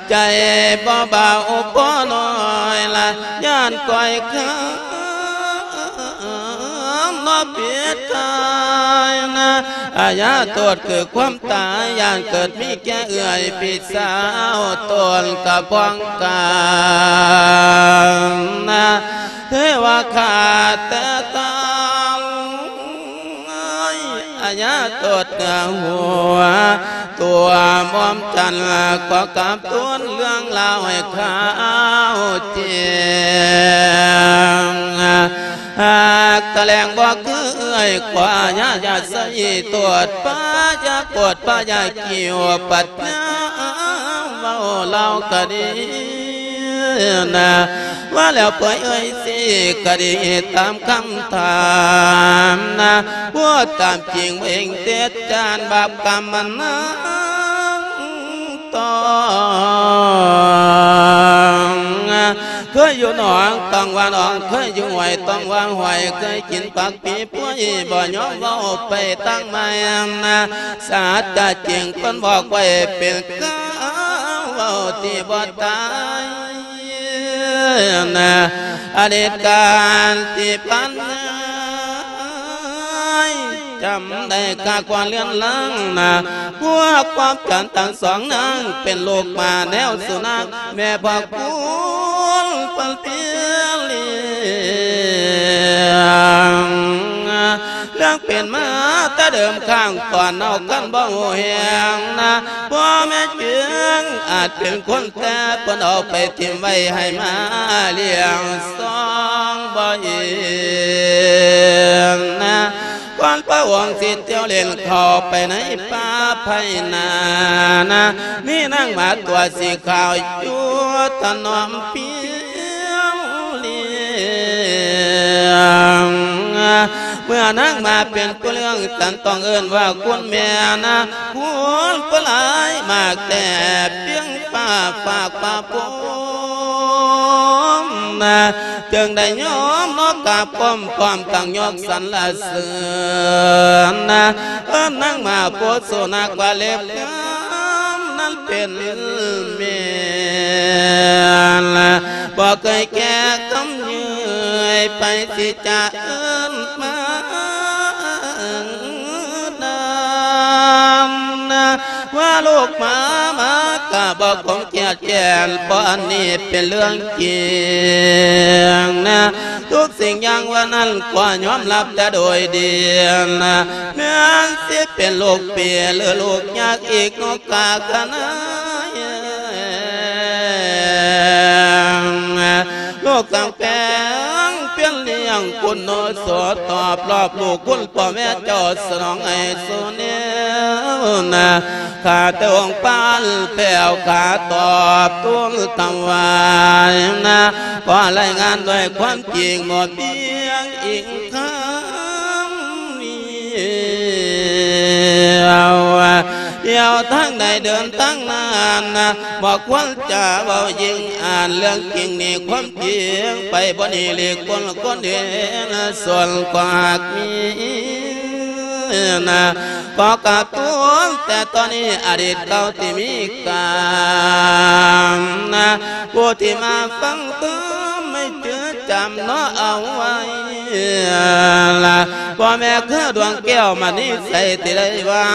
ໃຈບໍ່ເບົາພໍນ້ອຍລະ ຢ້ານກ້ອຍຄາມເນາະເປັນຕາຍນະ ອາຍາໂທດຄືຄວາມຕາຍ ຢ້ານເກີດມີແກ່ເອື້ອຍພີ່ສາວ ໂຕນກະພ້ອງກັນນະ ເທວະຄາດແຕ່ຕາຍ ອາຍາໂຕດເໜືອຫົວ ຕົວໝອມຈັນ ຂໍກາບທູນເລື່ອງລາວໃຫ້ເຂົ້າໃຈນະ ຫາກຕະແຫຼງບໍ່ຄືເອື້ອຍ ຂໍອາຍາຢ່າໃສ່ໂທດ ພະຢ່າໂກດ ພະຢ່າກິ້ວ ປັດຍາເວົ້າລາວກະດີນະ ວ່າແລ້ວເປີຍເອີຍຊິກະດີຕາມຄຳຖາມນະ ຜູ້ຕາມຈິງເອງເຕັດຈານບາບກຳມັນນາງ ຕ້ອງ ເຄີຍຢູ່ໜອງຕ້ອງວ່າໜອງ ເຄີຍຢູ່ຫ້ວຍຕ້ອງວ່າຫ້ວຍ ເຄີຍກິນຜັກປີປ່ວຍ ບໍ່ຍອມເວົ້າໄປທາງໃໝ່ນະ ສາດຈະຈິງເພິ່ນບອກໄວ້ເປັນກາວເວົ້າທີ່ບໍ່ຕາຍນະ ອະດີດການທີ່ຜ່ານມາ ຈຳໄດ້ກາກວ່າເລື່ອນລາງນະ ພວກຄວາມຈັນທັງສອງນາງ ເປັນລູກໝາແນວສຸນັກ ແມ່ພໍ່ຄຸນເພິ່ນເປັນລ້ຽງ ເລື່ອງເປັນມາແຕ່ເດີມຂ້າງກ່ອນເຮົາກັນບໍ່ຮູ້ແຮງນະ ພໍ່ແມ່ຈຶ່ງອາດເປັນຄົນ ແຕ່ເພິ່ນເອົາໄປຖິ້ມໄວ້ໃຫ້ໝາລ້ຽງສອງບໍ່ອີກນະ ກ່ອນພະອົງຊິທ່ຽວເຫຼັ້ນເຂົ້າໄປໃນປ່າໄພນານະ ມີນາງໝາຕົວສີຂາວຢູ່ຖະໜອມພຽວລ້ຽງ ເມື່ອນາງໝາເປັນຜູ້ລ້ຽງສັນ ຕ້ອງເອີ້ນວ່າຄຸນແມ່ນະ ຄຸນຜູ້ຫຼາຍມາກແຕ່ພຽງຟ້າຝາກພະພົມນະ ຈຶ່ງໄດ້ຍອມເນາະກາບກ້ອມພ້ອມຕັ້ງຍົກສັນລະເສີນນະ ເອີ້ນນາງໝາໂພຊົນາກວ່າເລັບງາມນັ້ນເປັນແມ່ນ ບໍ່ເຄີຍແກ້ຄຳເຍີ້ຍ ໃຜຊິຈະເອີ້ນມາ ນານນະ ວ່າລູກໝາ ໝາກະບໍ່ຄົງຄຽດແຄ້ນ ເພາະອັນນີ້ເປັນເລື່ອງຈິງນະ ທຸກສິ່ງຢ່າງວ່ານັ້ນກໍຍອມຮັບແຕ່ໂດຍດີນະ ແມ່ນຊິເປັນລູກເປ ຫຼືລູກຍາກອີກເນາະກາກະນາຍ ໂລກກາງແປງປ່ຽນລ້ຽງຄຸນໂນໂສ ຕອບລອບລູກຄຸນພໍ່ແມ່ເຈົ້າສະໜອງໃຫ້ສູ່ແນວນະ ຂ້າແຕ່ອົງປານແພ້ວຂ້າຕອບທູນຖວາຍນະ ຂໍລາຍງານດ້ວຍຄວາມຈິງບໍ່ບຽງອີງຄຳ ດຽວ ດຽວທາງໃດເດີນທາງນັ້ນນະ ບໍ່ຄວນຈະເວົ້າຍິ່ງອ່ານ ເລື່ອງຈິງນີ້ຄວາມຈິງ ໄປບໍ່ໜີຫຼີກພົ້ນຄົນເຫັນ ສ່ວນຄວາມຮັກມີນະ ຂໍກາບທູນແຕ່ຕອນນີ້ ອະດີດເກົ່າທີ່ມີການນະ ຜູ້ທີ່ມາຟັງທຳໃຫ້ຈື່ຈຳ ເນາະເອົາໄວ້ລະ ພໍ່ແມ່ຄືດວງແກ້ວມະນີໃສທີ່ໄດ້ຫວາ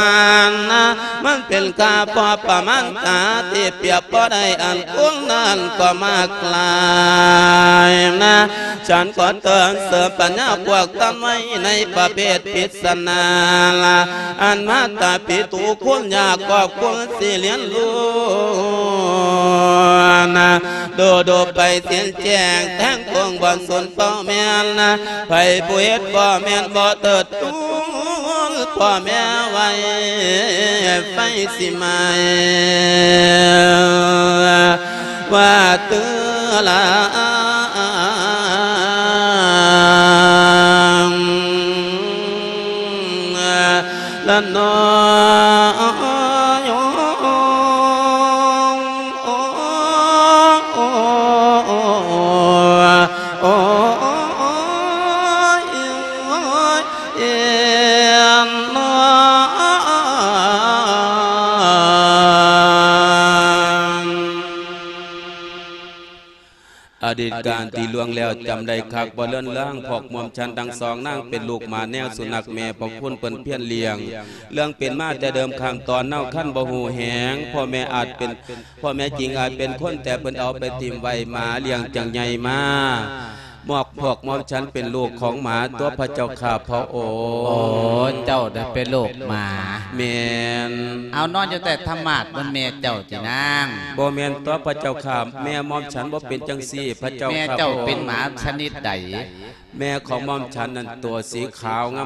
ນນະ ມັນເປັນຄ່າພໍປະມານກາທີ່ປຽບບໍ່ໄດ້ ອັນຄົນນັ້ນກໍມາກຫຼາຍນະ ສັນກໍເຕືອນເສີມປັນຍາພວກທ່ານໄວ້ໃນປະເພດພິດສະນາລະ ອັນມາຕາປິຕູຄຸນຍາກອບຄຸນຊິລຽນຮູ້ນະ ດູດູໄປສິ້ນແຈ້ງແທງຄົງບໍ່ສົນພໍ່ແມ່ນນະ ໃຜຜູ້ເຮັດບໍ່ແມ່ນບໍ່ເຕີດຕູນພໍ່ແມ່ໄວ້ ໄຟຊິໄໝ້ວ່າເຕືອລາ ລະນອຍ ໂອ້ຍ ໂອ້ຍ ໂອ້ຍ ເອັນນອຍ ອະດີດການທີ່ລ່ວງແລ້ວຈຳໄດ້ຄັກບໍ່ເລືອນລາງ ພວກໝ່ອມສັນທັງສອງນາງເປັນລູກໝາແນວສຸນັກແມ່ພະຄຸນເພິ່ນພຽນລ້ຽງ ເລື່ອງເປັນມາແຕ່ເດີມຂ້າງຕອນເນົາຄັນບໍ່ຮູ້ແຮງ ພໍ່ແມ່ອາດເປັນ ພໍ່ແມ່ຈິງອາດເປັນຄົນ ແຕ່ເພິ່ນເອົາໄປຖິ້ມໄວ້ ໝາລ້ຽງຈັ່ງໃຫຍ່ມາ ໝວກພວກໝ່ອມສັນເປັນລູກຂອງໝາຕົວະພະເຈົ້າຂ້າພະອົງ. ໂອ້ ເຈົ້າໄດ້ເປັນລູກໝາ. ແມ່ນ. ເອົານອນຢູ່ໃຕ້ທຳມາດ ມັນແມ່ເຈົ້າຕິນາງ? ບໍ່ແມ່ນຕົວະພະເຈົ້າຂ້າ ແມ່ໝ່ອມສັນບໍ່ເປັນຈັ່ງຊີ້ພະເຈົ້າຂ້າພະອົງ. ແມ່ເຈົ້າເປັນໝາຊະນິດໃດ? ແມ່ຂອງໝ່ອມສັນນັ້ນຕົວສີຂາວງາ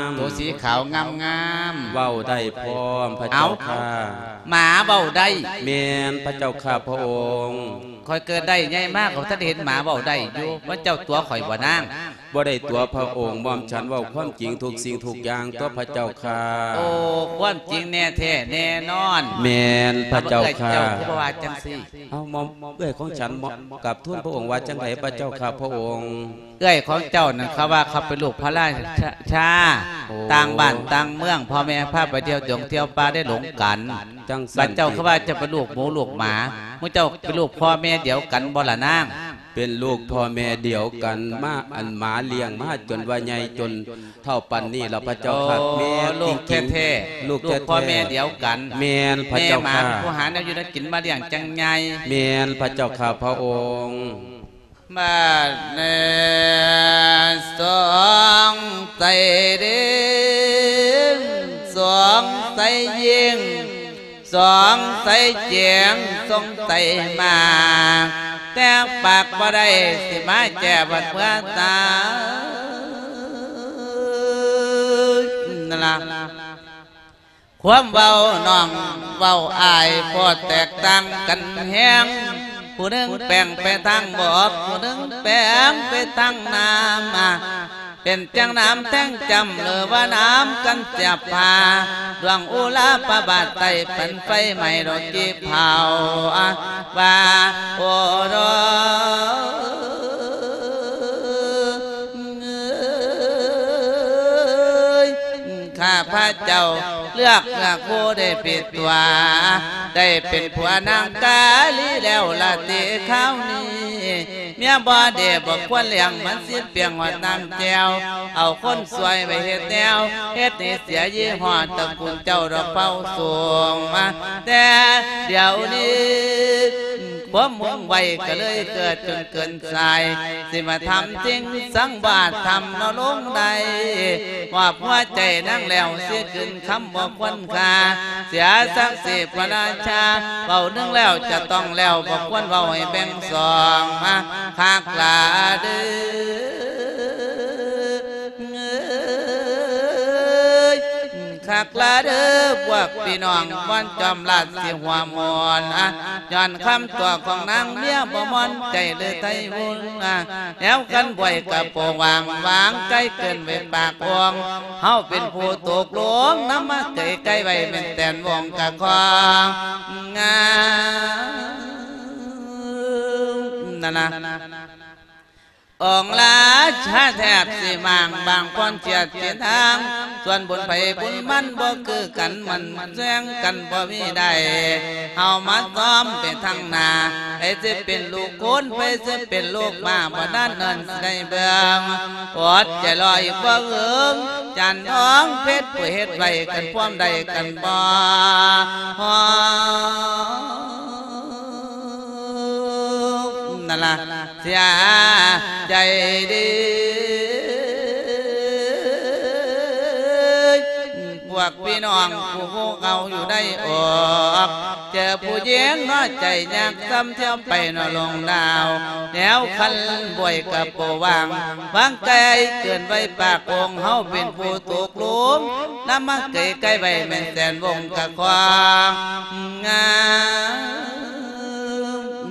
ມໆ. ຕົວສີຂາວງາມໆ. ເວົ້າໄດ້ພ້ອມພະເຈົ້າຂ້າ. ເອົ້າ ໝາເວົ້າໄດ້? ແມ່ນພະເຈົ້າຂ້າພະອົງ. ຂ້ອຍເກີດໄດ້ໃຫຍ່ມາກໍບໍ່ທັນເຫັນໝາເວົ້າໄດ້ຢູ່ ວ່າເຈົ້າຕົວະຂ້ອຍບໍ່ນາງ? ບໍ່ໄດ້ຕົວະພະອົງ ໝ່ອມສັນເວົ້າຄວາມຈິງທຸກສິ່ງທຸກຢ່າງຕົວະພະເຈົ້າຂ້າ. ໂອ້ ຄວາມຈິງແນ່ແທ້ແນ່ນອນ. ແມ່ນພະເຈົ້າຂ້າ. ເອື້ອຍເຈົ້າຄືບໍ່ວ່າຈັ່ງຊີ້? ເອົ້າ ໝ່ອມ ເອື້ອຍຂອງສັນ ໝ່ອມ ກາບທູນພະອົງວ່າຈັ່ງໃດພະເຈົ້າຂ້າພະອົງ? ເອື້ອຍຂອງເຈົ້ານັ້ນ ເຂົາວ່າເຂົາເປັນລູກພະລາຊາ ໂອ້ ຕ່າງບ້ານຕ່າງເມືອງ ພໍ່ແມ່ພາໄປທ່ຽວດົງທ່ຽວປ່າໄດ້ຫຼົງກັນ. ຈັ່ງຊັ້ນ ບັດເຈົ້າຄືວ່າເຈົ້າເປັນລູກໝູລູກໝາ ໝູເຈົ້າເປັນລູກພໍ່ແມ່ດຽວກັນບໍ່ລະນາງ? ເປັນລູກພໍ່ແມ່ດຽວກັນມາ ອັນໝາລ້ຽງມາຈົນວ່າໃຫຍ່ຈົນເຖົ້າປານນີ້ລະພະເຈົ້າຂ້າ. ໂອ້ ແມ່ນ ລູກແທ້ໆ ລູກແທ້ໆ ລູກພໍ່ແມ່ດຽວກັນ. ແມ່ນພະເຈົ້າຂ້າ. ແມ່ໝາເປັນຜູ້ຫາແນວຢູ່ແນວກິນມາລ້ຽງຈັ່ງໃຫຍ່. ແມ່ນພະເຈົ້າຂ້າພະອົງ. ບາດນີ້ສອງໃສເດງ ສອງໃສຍິງ ສອງໃສແຈງ ສອງໃສມາ ແຕ່ປາກບໍ່ໄດ້ ຊິມາແຈບັດເມື່ອຕາຍນັ້ນລະ. ຄວາມເວົ້ານ້ອງເວົ້າອ້າຍ ພໍແຕກຕ່າງກັນແຮງ ຜູ້ໜຶ່ງແປງໄປທາງບອກ ຜູ້ໜຶ່ງແປງໄປທາງນ້ຳ ເປັນຈັ່ງນ້ຳແທງຈ້ຳ ຫຼືວ່ານ້ຳກັນສຽບຜ້າ ດວງອຸລາພະບາດໃຕ້ ປັນໄຟໄໝ້ດອກກີບເຜົາ ວ່າໂອໂດ ເອີຍ ຂ້າພະເຈົ້າເລືອກເນື້ອຄູ່ໄດ້ຜິດຕົວ ໄດ້ເປັນຜົວນາງກາລີແລ້ວລະຕິຄາວນີ້ ເມຍບໍ່ເດບໍ່ຄວນລ້ຽງ ມັນຊິປ່ຽງຮອດນ້ຳແຈ່ວ ເອົາຄົນຊ່ວຍໄປເຮັດແນວ ເຮັດໃຫ້ເສຍຍີ່ຫໍ້ຕະກຸນເຈົ້າດອກເຜົ່າສູງມາ ແຕ່ດຽວນີ້ ຄວາມມຸ່ງໄຫວກໍເລີຍເກີດຈົນເກີນສາຍ ຊິມາທຳສິ່ງສັງວາດທຳເນາະລົງໄດ້ ມອບຫົວໃຈນາງແລ້ວຊິຂຶ້ນຄຳບໍ່ຄວນຄ່າ ເສຍສັກສີພະລາຊາ ເວົ້າໜຶ່ງແລ້ວຈະຕ້ອງແລ້ວ ບໍ່ຄວນເວົ້າໃຫ້ແບ່ງສອງມາ ຄັກຫຼາເດີ ເອີຍ ຄັກຫຼາເດີພວກພີ່ນ້ອງ ມ່ວນຈອມລາດຊິຫົວມ່ວນ ຍ້ອນຄຳຕົວະຂອງນາງເມຍບໍ່ມ່ອນໃຈເລີຍໄທວຸນ ແນວກັນບວຍກະໂປງວາງ ວາງໄກເກີນໄວ້ປາກອົງ ເຮົາເປັນຜູ້ຕົກລົງ ນຳມາເກຍໄກໄວ້ແມ່ນແຕ່ນວົງກະຄອງ ງາ ນັ້ນນະ. ອົງລາຊາແທບຊິມ້າງບາງພອນຈຽດເສັ້ນທາງ, ສ່ວນບຸນໃຜບຸນມັນບໍ່ຄືກັນ, ມັນແຊງກັນບໍ່ມີໄດ້. ເຮົາມາຊ້ອມໄປທາງໜ້າ, ໃຜຊິເປັນລູກໂຄນ, ໃຜຊິເປັນລູກມ້າ, ບໍ່ນັ້ນເນີນຊິໄດ້ເບິ່ງ. ອົດໃຈລໍອີກບໍ່ເຫິງ, ຈານທອງເພັດຜູ້ເຮັດໄວ້ກັນພວມໃດກັນບໍ່? ຮອ ນັ້ນລະ ເສຍໃຈເດີ ພວກພີ່ນ້ອງຜູ້ຮູ້ເກົ່າຢູ່ໃນອອກ, ເຈີຜູ້ຍິງເນາະໃຈຍາກຊ້ຳ ທ່ຽວໄປເນາະລົງດາວ, ແນວຄັນບວຍກະບໍ່ວ່າງ ວາງໄກເກີນໄວປາກອົງ, ເຮົາເປັນຜູ້ຕົກລົງ ນຳມາເກຍໄກໄວ້ແມ່ນແສນວົງກະຄວາງງາ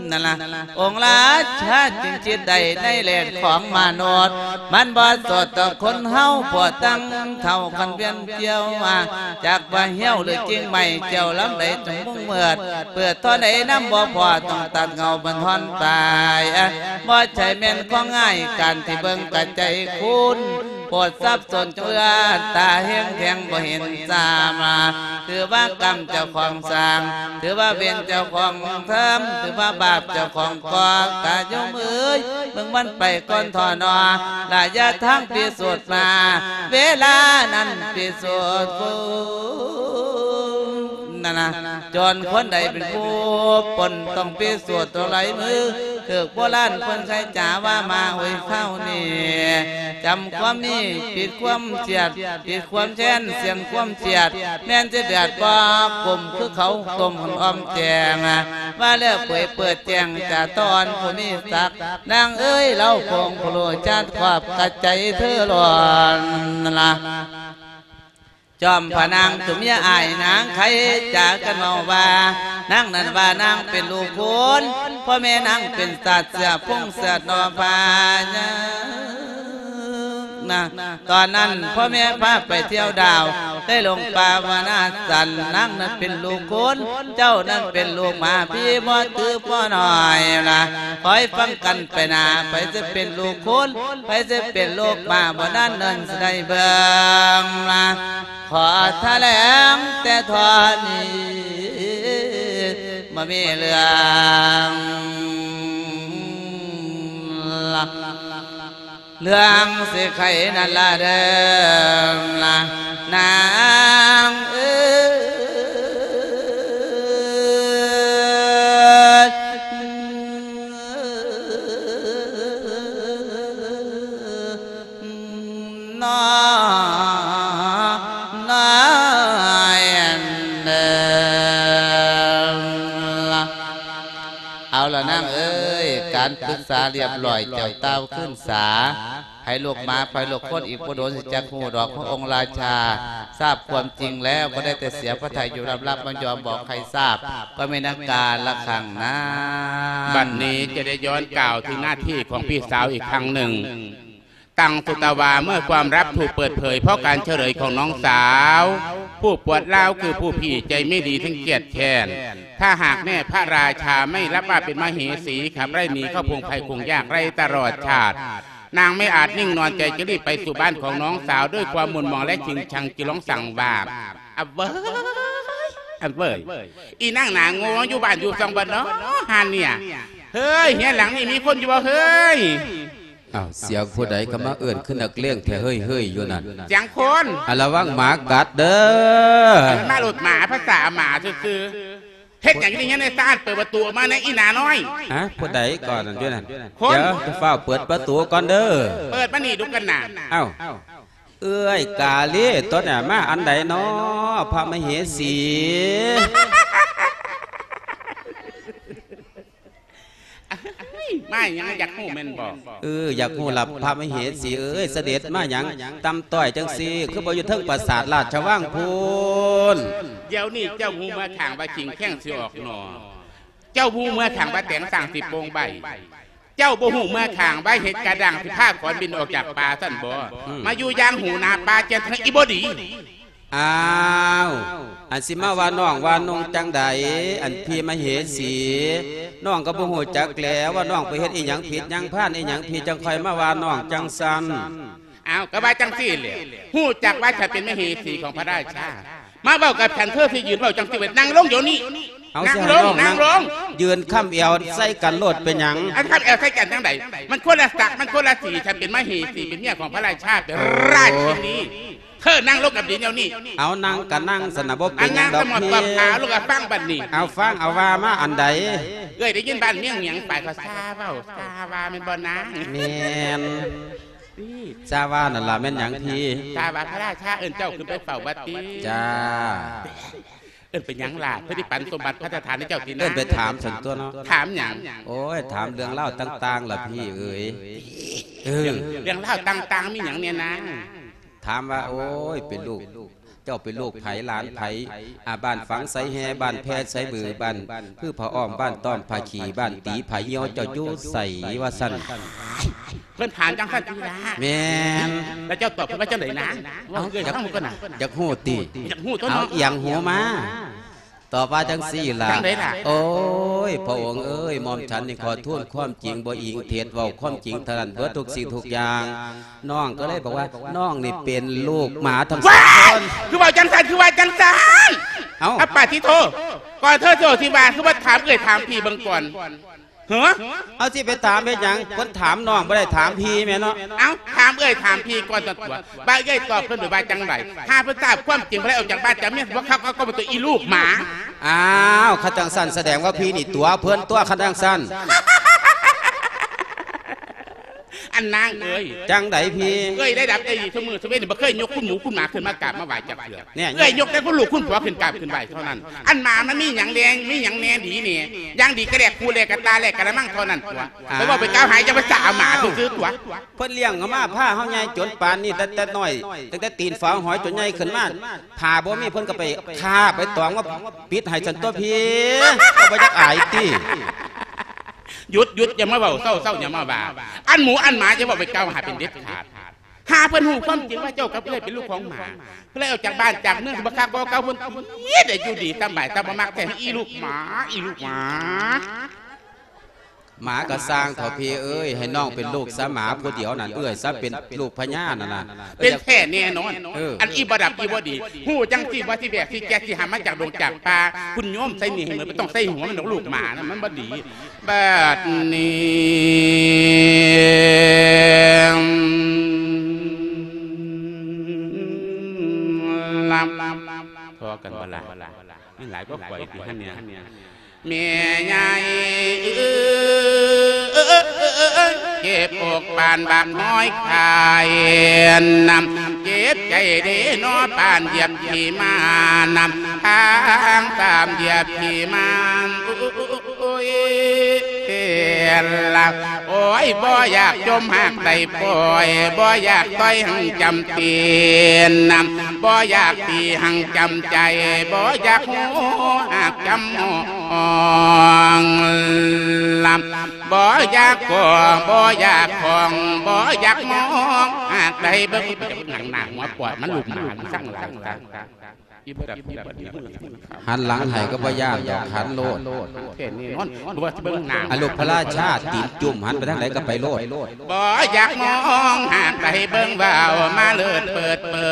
ມ. ນັ້ນລະ ອົງລາຊາຈຶ່ງຈິດໄດ້ໃນແດນຂອງມະນຸດ, ມັນບໍ່ສອດຕໍ່ຄົນເຮົາ ພວກຕັ້ງເຖົ້າຄັນວຽນຈຽວມາ, ຈັກວ່າຮຽວຫຼືກິ່ງໄມ້ ຈຽວລຳໃດຈົງມຸງເມີດ, ເປີດທໍ່ໃດນຳບໍ່ພໍ ຕ້ອງຕັດເຫງົ້າບັນທອນປາຍ. ບໍ່ໃຊ່ແມ່ນຂອງງ່າຍ ການທີ່ເບິ່ງກະໃຈຄຸນ ໂປດສັບສົນເຈື່ອ ຕາແຮງແທງບໍ່ເຫັນຊ້ຳ. ຖືວ່າກຳເຈົ້າຂອງສ້າງ ຖືວ່າເວນເຈົ້າຂອງທຳ ຖືວ່າບາບເຈົ້າຂອງກໍ່. ກະໂຍມເອີຍ ເບິ່ງມັນໄປກ່ອນທໍ້ໜໍ ລະຍະທາງພິສູດມາ ເວລານັ້ນພິສູດ ນັ້ນນະ ຈົນຄົນໃດເປັນຜູ້ປົນ ຕ້ອງພິສູດດ້ວຍລາຍມື. ຖືກໂບລານເພິ່ນໃຊ້ຈາວ່າ ມາໂອຍຄາວນີ້ ຈຳຄວາມມີ ປິດຄວາມເສຍດ ປິດຄວາມແຄ້ນ ສ່ຽງຄວາມເສຍດ ແມ່ນຊິເດືອດບໍ່ກົມ ຄືເຂົາຕົ້ມຫອມແຈງ ວ່າແລ້ວເຜີຍເປີດແຈ້ງ ຈາຕອນຜູ້ມີສັກ ນາງເອີຍ ລາວຄົງຜູ້ຮູ້ຈາດຄວາບ ກະໃຈເທີຮ້ອນລະ. ຈອມພະນາງຕົວເມຍອ້າຍນາງໄຄຈາກັນເວົ້າວ່າ ນາງນັ້ນວ່ານາງເປັນລູກຄຸນ ພໍ່ແມ່ນາງເປັນຊາດເຊື້ອພົງຊາດນໍພາຍານະ. ຕອນນັ້ນພໍ່ແມ່ພາໄປທ່ຽວດາວ ໄດ້ລົງປ່າວະນາສັນ ນາງນັ້ນເປັນລູກຄຸນ ເຈົ້ານັ້ນເປັນລູກໝາ ພີ່ບໍ່ຖືພໍ່ນ້ອຍລະ ຄອຍຟັງກັນໄປໜ້າ ໃຜຊິເປັນລູກຄຸນ ໃຜຊິເປັນລູກໝາ ບໍ່ນັ້ນເນີນຊິໄດ້ເບິ່ງລະ. ຂໍຖະແຫຼງແຕ່ທໍ່ນີ້ ບໍ່ມີເລື່ອງລະ ເລື່ອງຊິໄຂນັ້ນລະເດີລະ ນາງເອີຍ. ນ້ອຍເດີລະ ເອົາລະນາງເອີຍ ການປຶກສາລຽບລ້ອຍ ເຈົ້າຕ່າວຄືນສາ ໃຜລູກໝາ ໃຜລູກຄົນ ອີກບໍ່ດົນຊິຈັກຮູ້ດອກ ພະອົງລາຊາຊາບຄວາມຈິງແລ້ວ ບໍ່ໄດ້ແຕ່ເສຍພະໄທຢູ່ລຳໆ ບໍ່ຍອມບອກໃຜຊາບ ກໍແມ່ນກາລະຄັ້ງນັ້ນ. ບັດນີ້ຈະໄດ້ຍ້ອນກ່າວເຖິງໜ້າທີ່ຂອງພີ່ສາວອີກຄັ້ງໜຶ່ງ. ຕັ້ງສຸດຕະວາເມື່ອຄວາມລັບຖືກເປີດເຜີຍ ເພາະການສະເຫຼີຍຂອງນ້ອງສາວ ຜູ້ປວດຮ້າວຄືຜູ້ພີ່ໃຈໄມ່ດີທັງກຽດແຄ້ນ. ຖ້າຫາກແມ່ພະລາຊາໄມ່ຮັບວ່າເປັນມະເຫສີ ຂັບໄລ່ໜີເຂົ້າພົງໄພຄົງຍາກໄຮ້ຕະຫຼອດຊາດ. ນາງໄມ່ອາດນິ່ງນອນໃຈ ຈະລີບໄປສູ່ບ້ານຂອງນ້ອງສາວດ້ວຍຄວາມໝູນໝອງ ແລະ ຈຶງຊັງຈຶ່ງລອງສັ່ງວ່າ ອະເວີຍ ອະເວີຍ ອີນາງໜ້າໂງ່ ຢູ່ບ້ານຢູ່ຊ່ອງບໍ່ນໍຫັ້ນເນ່ຍ? ເຮີ້ຍ ເຮືອນຫຼັງນີ້ມີຄົນຢູ່ບໍ່ເຮີ້ຍ? ອ້າວ ສຽງຜູ້ໃດກໍມາເອີ້ນຄືນັກເລງແທ້ເຮີ້ຍໆ ຢູ່ນັ້ນ? ສຽງຄົນ ອາ ລະວັງໝາກັດເດີ. ມາໂລດໝາ ພາສາໝາຊື່ໆ. ເຮັດຫຍັງຢູ່ໃນເຮືອນໃນຊານ? ເປີດປະຕູອອກມາແດ່ ອີໜ້ານ້ອຍ. ຮະ? ຜູ້ໃດກ່ອນນັ້ນຢູ່ນັ້ນ? ຄົນ. ດຽວ ຈະຟ້າວເປີດປະຕູກ່ອນເດີ. ເປີດມານີ້ດູກັນນະ. ອ້າວ ເອື້ອຍກາລີຕົວນີ້ມາອັນໃດນໍ ພະມະເຫສີ? ມາຫຍັງ ຢາກຮູ້ແມ່ນບໍ່? ເອີ ຢາກຮູ້ລະ ພະມະເຫສີເອີຍ ສະເດັດມາຫຍັງຕ່ຳຕ້ອຍຈັ່ງຊີ້ ຄືບໍ່ຢູ່ເທິງປາສາດລາຊະວັງພຸ້ນ? ດຽວນີ້ເຈົ້າຮູ້ເມືອຂ້າງວ່າກິ່ງແຂ້ງຊິອອກໜໍ່ ເຈົ້າຮູ້ເມືອຂ້າງວ່າແຕງສ້າງຊິໂປ່ງໃບ ເຈົ້າບໍ່ຮູ້ເມືອຂ້າງວ່າເຫັດກະດ້າງຊິພາຂອນບິນອອກຈາກປ່າຊັ້ນບໍ່? ອືມ ມາຢູ່ຢ່າງຫູໜ້າປ່າຈຽນເທິງອີບໍ່ດີ. ອ້າວ ອັນຊິມາວ່ານ້ອງວ່ານຸ່ງຈັ່ງໃດ? ອັນພີ່ມະເຫສີ ນ້ອງກໍບໍ່ຮູ້ຈັກແຫຼະ ວ່ານ້ອງໄປເຮັດອີ່ຫຍັງຜິດຫຍັງພານອີ່ຫຍັງ ພີ່ຈັ່ງຄ່ອຍມາວ່ານ້ອງຈັ່ງຊັ້ນ. ອ້າວ ກໍວ່າຈັ່ງຊີ້ແຫຼະ ຮູ້ຈັກວ່າຂ້ອຍເປັນມະເຫສີຂອງພະລາຊາ ມາເວົ້າກັບຂ້ອຍ ເທີຊິຢືນເວົ້າຈັ່ງຊີ້ໄວ້ ນັ່ງລົງດຽວນີ້. ເອົາ ນັ່ງລົງ ຊິໃຫ້ນ້ອງນັ່ງ ນັ່ງລົງ ຢືນຄ້ຳແອວໃສ່ກັນໂລດ ເປັນຫຍັງ? ອັນຄ້ຳແອວໃສ່ກັນຈັ່ງໃດ? ມັນຄົນລະສັກ ມັນຄົນລະສີ ຂ້ອຍເປັນມະເຫສີ ເປັນເມຍຂອງພະລາຊາ ເປັນ ໂອ້ ລາຊິນີ. ເທີນັ່ງລົງກັບດິນດຽວນີ້. ເອົາ ນັ່ງກະນັ່ງຊັ້ນນະ ບໍ່ເປັນຫຍັງດອກພີ່. ອາ ນັ່ງສະໝອບປອບຂາວ ລູກກະຟັງບັດນີ້. ເອົາ ຟັງ ເອົາ ວ່າມາອັນໃດ? ເອື້ອຍໄດ້ຍິນບ້ານເມືອງຫຍັງໄປ ເຂົາຊາເວົ້າ ຊາວ່າແມ່ນບໍ່ນາງ? ແມ່ນ ຊາວ່ານັ້ນລະ ແມ່ນຫຍັງພີ່? ຊາວ່າພະລາຊາເອີ້ນເຈົ້າຂຶ້ນໄປເຝົ້າບັດຕິ. ຈ້າ. ເອີ້ນໄປຫຍັງລະ? ເພິ່ນຊິປັນສົມບັດພັດທະຖານໃຫ້ເຈົ້າຕິນະ? ເອີ້ນໄປຖາມຊັ້ນຕົວະເນາະ. ຖາມຫຍັງ? ໂອ້ຍ ຖາມເລື່ອງລາວຕ່າງໆລະພີ່ເອີຍ. ເອີ ເລື່ອງລາວຕ່າງໆມີຫຍັງແດ່ນາງ? ຖາມວ່າ ໂອ້ຍ ເປັນລູກ ເຈົ້າເປັນລູກໃຜ ຫຼານໃຜ? ອາ ບ້ານຝັງໄຊແຮ່ ບ້ານແພໄຊບື ບ້ານຄືຜ້າອ້ອມ ບ້ານຕ້ອມຜ້າຂີ້ ບ້ານຕີຜ້າຫ່ຽວ ເຈົ້າຢູ່ໃສ? ວ່າຊັ້ນ. ເພິ່ນຖາມຈັ່ງຊັ້ນຕິລະ? ແມ່ນ. ແລ້ວເຈົ້າຕອບເພິ່ນວ່າຈັ່ງໃດນາ? ເວົ້າເອື້ອຍຟັງກ່ອນນາ. ຢາກຮູ້ຕິ? ຢາກຮູ້ຕົວະເນາະ. ເອົາ ອຽງຫູມາ ຕອບວ່າຈັ່ງຊີ້ລະ. ຈັ່ງໃດລະ? ໂອ້ຍ ພະອົງເອີຍ ໝ່ອມສັນນີ້ຂໍທູນຄວາມຈິງ ບໍ່ອີງເທັດ ເວົ້າຄວາມຈິງເທົ່ານັ້ນເບິດທຸກສິ່ງທຸກຢ່າງ. ນ້ອງກໍເລີຍບອກວ່າ ນ້ອງນີ້ເປັນລູກໝາທັງສອງຄົນ. ວ້າຍ! ຄືເວົ້າຈັ່ງຊັ້ນ ຄືວ່າຈັ່ງຊັ້ນ? ເອົ້າ ອາປາທິໂທ ກ່ອນເທີຊິເວົ້າຊິວ່າ ຄືວ່າຖາມເອື້ອຍຖາມພີ່ເບິ່ງກ່ອນ. ເຮີ ເອົາ ຊິໄປຖາມເຮັດຫຍັງ? ເພິ່ນຖາມນ້ອງ ບໍ່ໄດ້ຖາມພີ່ແມ່ນເນາະ. ເອົ້າ ຖາມເອື້ອຍຖາມພີ່ກ່ອນຕົວະ ວ່າເອື້ອຍຕອບເພິ່ນໄປວ່າຈັ່ງໃດ? ຫາເພິ່ນຊາບຄວາມຈິງ ເພິ່ນໄດ້ອອກຈາກບ້ານຈາກເມືອງ ບໍ່ຄັກກໍບໍ່ຕົວະ ອີລູກໝາ. ອ້າວ ຄັນຈັ່ງຊັ້ນສະແດງວ່າພີ່ນີ້ຕົວະເພິ່ນຕົວະ ຄັນຈັ່ງຊັ້ນ. ອັນນາງເອີຍ ຈັ່ງໃດພີ່? ເອື້ອຍໄດ້ຮັບໄດ້ດີຊຸມື້ຊຸເວັນນີ້ ບໍ່ເຄີຍຍົກຄຸນໝູຄຸນໝາຂຶ້ນມາກາບມາໄຫວ້ຈັກເທື່ອ. ແນ່ ເອື້ອຍຍົກແຕ່ຄຸນລູກຄຸນຜົວຂຶ້ນກາບຂຶ້ນໄຫວ້ເທົ່ານັ້ນ. ອັນໝາມັນມີຫຍັງແດ່ ມີຫຍັງແດ່ດີແດ່? ຢ່າງດີກະແລກຄູ່ແລກກະຕ່າແລກກະລະມັງເທົ່ານັ້ນຕົວະ. ອ່າ ໄປເວົ້າໄປກ່າວຫາ ຢ່າໄປສາໝາຊື່ໆຕົວະ. ເພິ່ນລ້ຽງເຮົາມາ ພາເຮົາໃຫຍ່ຈົນປານນີ້ ແຕ່ ແຕ່ນ້ອຍ ຕັ້ງແຕ່ຕີນຝາຫອຍຈົນໃຫຍ່ຂຶ້ນມາ ຜ້າບໍ່ມີ ເພິ່ນກໍໄປຄ້າໄປຕອງມາປິດໃຫ້ຊັ້ນຕົວະພີ່. ເຈົ້າບໍ່ຢາກອາຍຕິ? ຢຸດ ຢຸດ ຢ່າມາເວົ້າ ເຊົາ ເຊົາ ຢ່າມາວ່າ. ອັນໝູອັນໝາຢ່າເວົ້າໄປກ່າວຫາເປັນເດັດຂາດ. ຫາເພິ່ນຮູ້ຄວາມຈິງວ່າເຈົ້າກັບເອື້ອຍເປັນລູກຂອງໝາ ເພິ່ນເລີຍອອກຈາກບ້ານຈາກເມືອງ ບໍ່ຄັກບໍ່ເກົ່າ ເພິ່ນຄິດໄດ້ຢູ່ດີສະບາຍ ແຕ່ບໍ່ມັກແທ້ ອີລູກໝາ ອີລູກໝາ. ໝາກໍຊ່າງເຖາະພີ່ເອີຍ ໃຫ້ນ້ອງເປັນລູກສາໝາຜູ້ດຽວນັ້ນ ເອື້ອຍສາເປັນລູກພະຍານັ້ນນະ. ເປັນແທ້ແນ່ນອນ. ເອີ ອັນອີບໍ່ດັບອີບໍ່ດີ ຮູ້ຈັ່ງຊິວ່າຊິແບກຊິແກກຊິຫາມາຈາກດົງຈາກປ່າ ຄຸນໂຍມໃສ່ໜີ້ໃຫ້ໝົດ ບໍ່ຕ້ອງໃສ່ຫົວມັນດອອກ ລູກໝານະ ມັນບໍ່ດີ. ບາດນີ້ ພໍກັນບໍ່ລະ? ມີຫຼາຍກວ່າຂ້ອຍຕິຫັ້ນເນຍ. ແມ່ໃຫຍ່ເອີຍ ເຈັບອົກປານບັກຮອຍຄາຍນຳ ເຈັບໃຈເດ້ນໍ ປານຢຽບຂີ້ໝານຳ ທາງຕາມຢຽບຂີ້ໝານ ໂອ້ຍ ລະ ໂອ້ຍ ບໍ່ຢາກຈົ່ມຫາກໄດ້ປ່ອຍ ບໍ່ຢາກຕ່ອຍຫັ້ງຈຳເປັນນຳ ບໍ່ຢາກຕີຫັ້ງຈຳໃຈ ບໍ່ຢາກຮູ້ຫາກຈຳມອງລຳ ບໍ່ຢາກກໍບໍ່ຢາກຂອງ ບໍ່ຢາກມອງຫາກໄດ້ເບິ່ງ ໜັງໜ້າຫົວປອດມັນລູກໝານ ສັງຫຼາຍ ອີບໍ່ດັບ ອີບໍ່ດີ ຫັນຫຼັງໃຫ້ກໍບໍ່ຢ້ານດອກ ຫັນໂລດ. ແທ້ແນ່ນອນ ບໍ່ວ່າຊິເບິ່ງໜ້າ ອາ ລູກພະລາຊາຕີນຈຸ້ມ ຫັນໄປທາງໃດກໍໄປໂລດ. ບໍ່ຢາກມອງຫາກໄດ້ເບິ່ງ ເວົ້າມາເລີດເປີດເປີ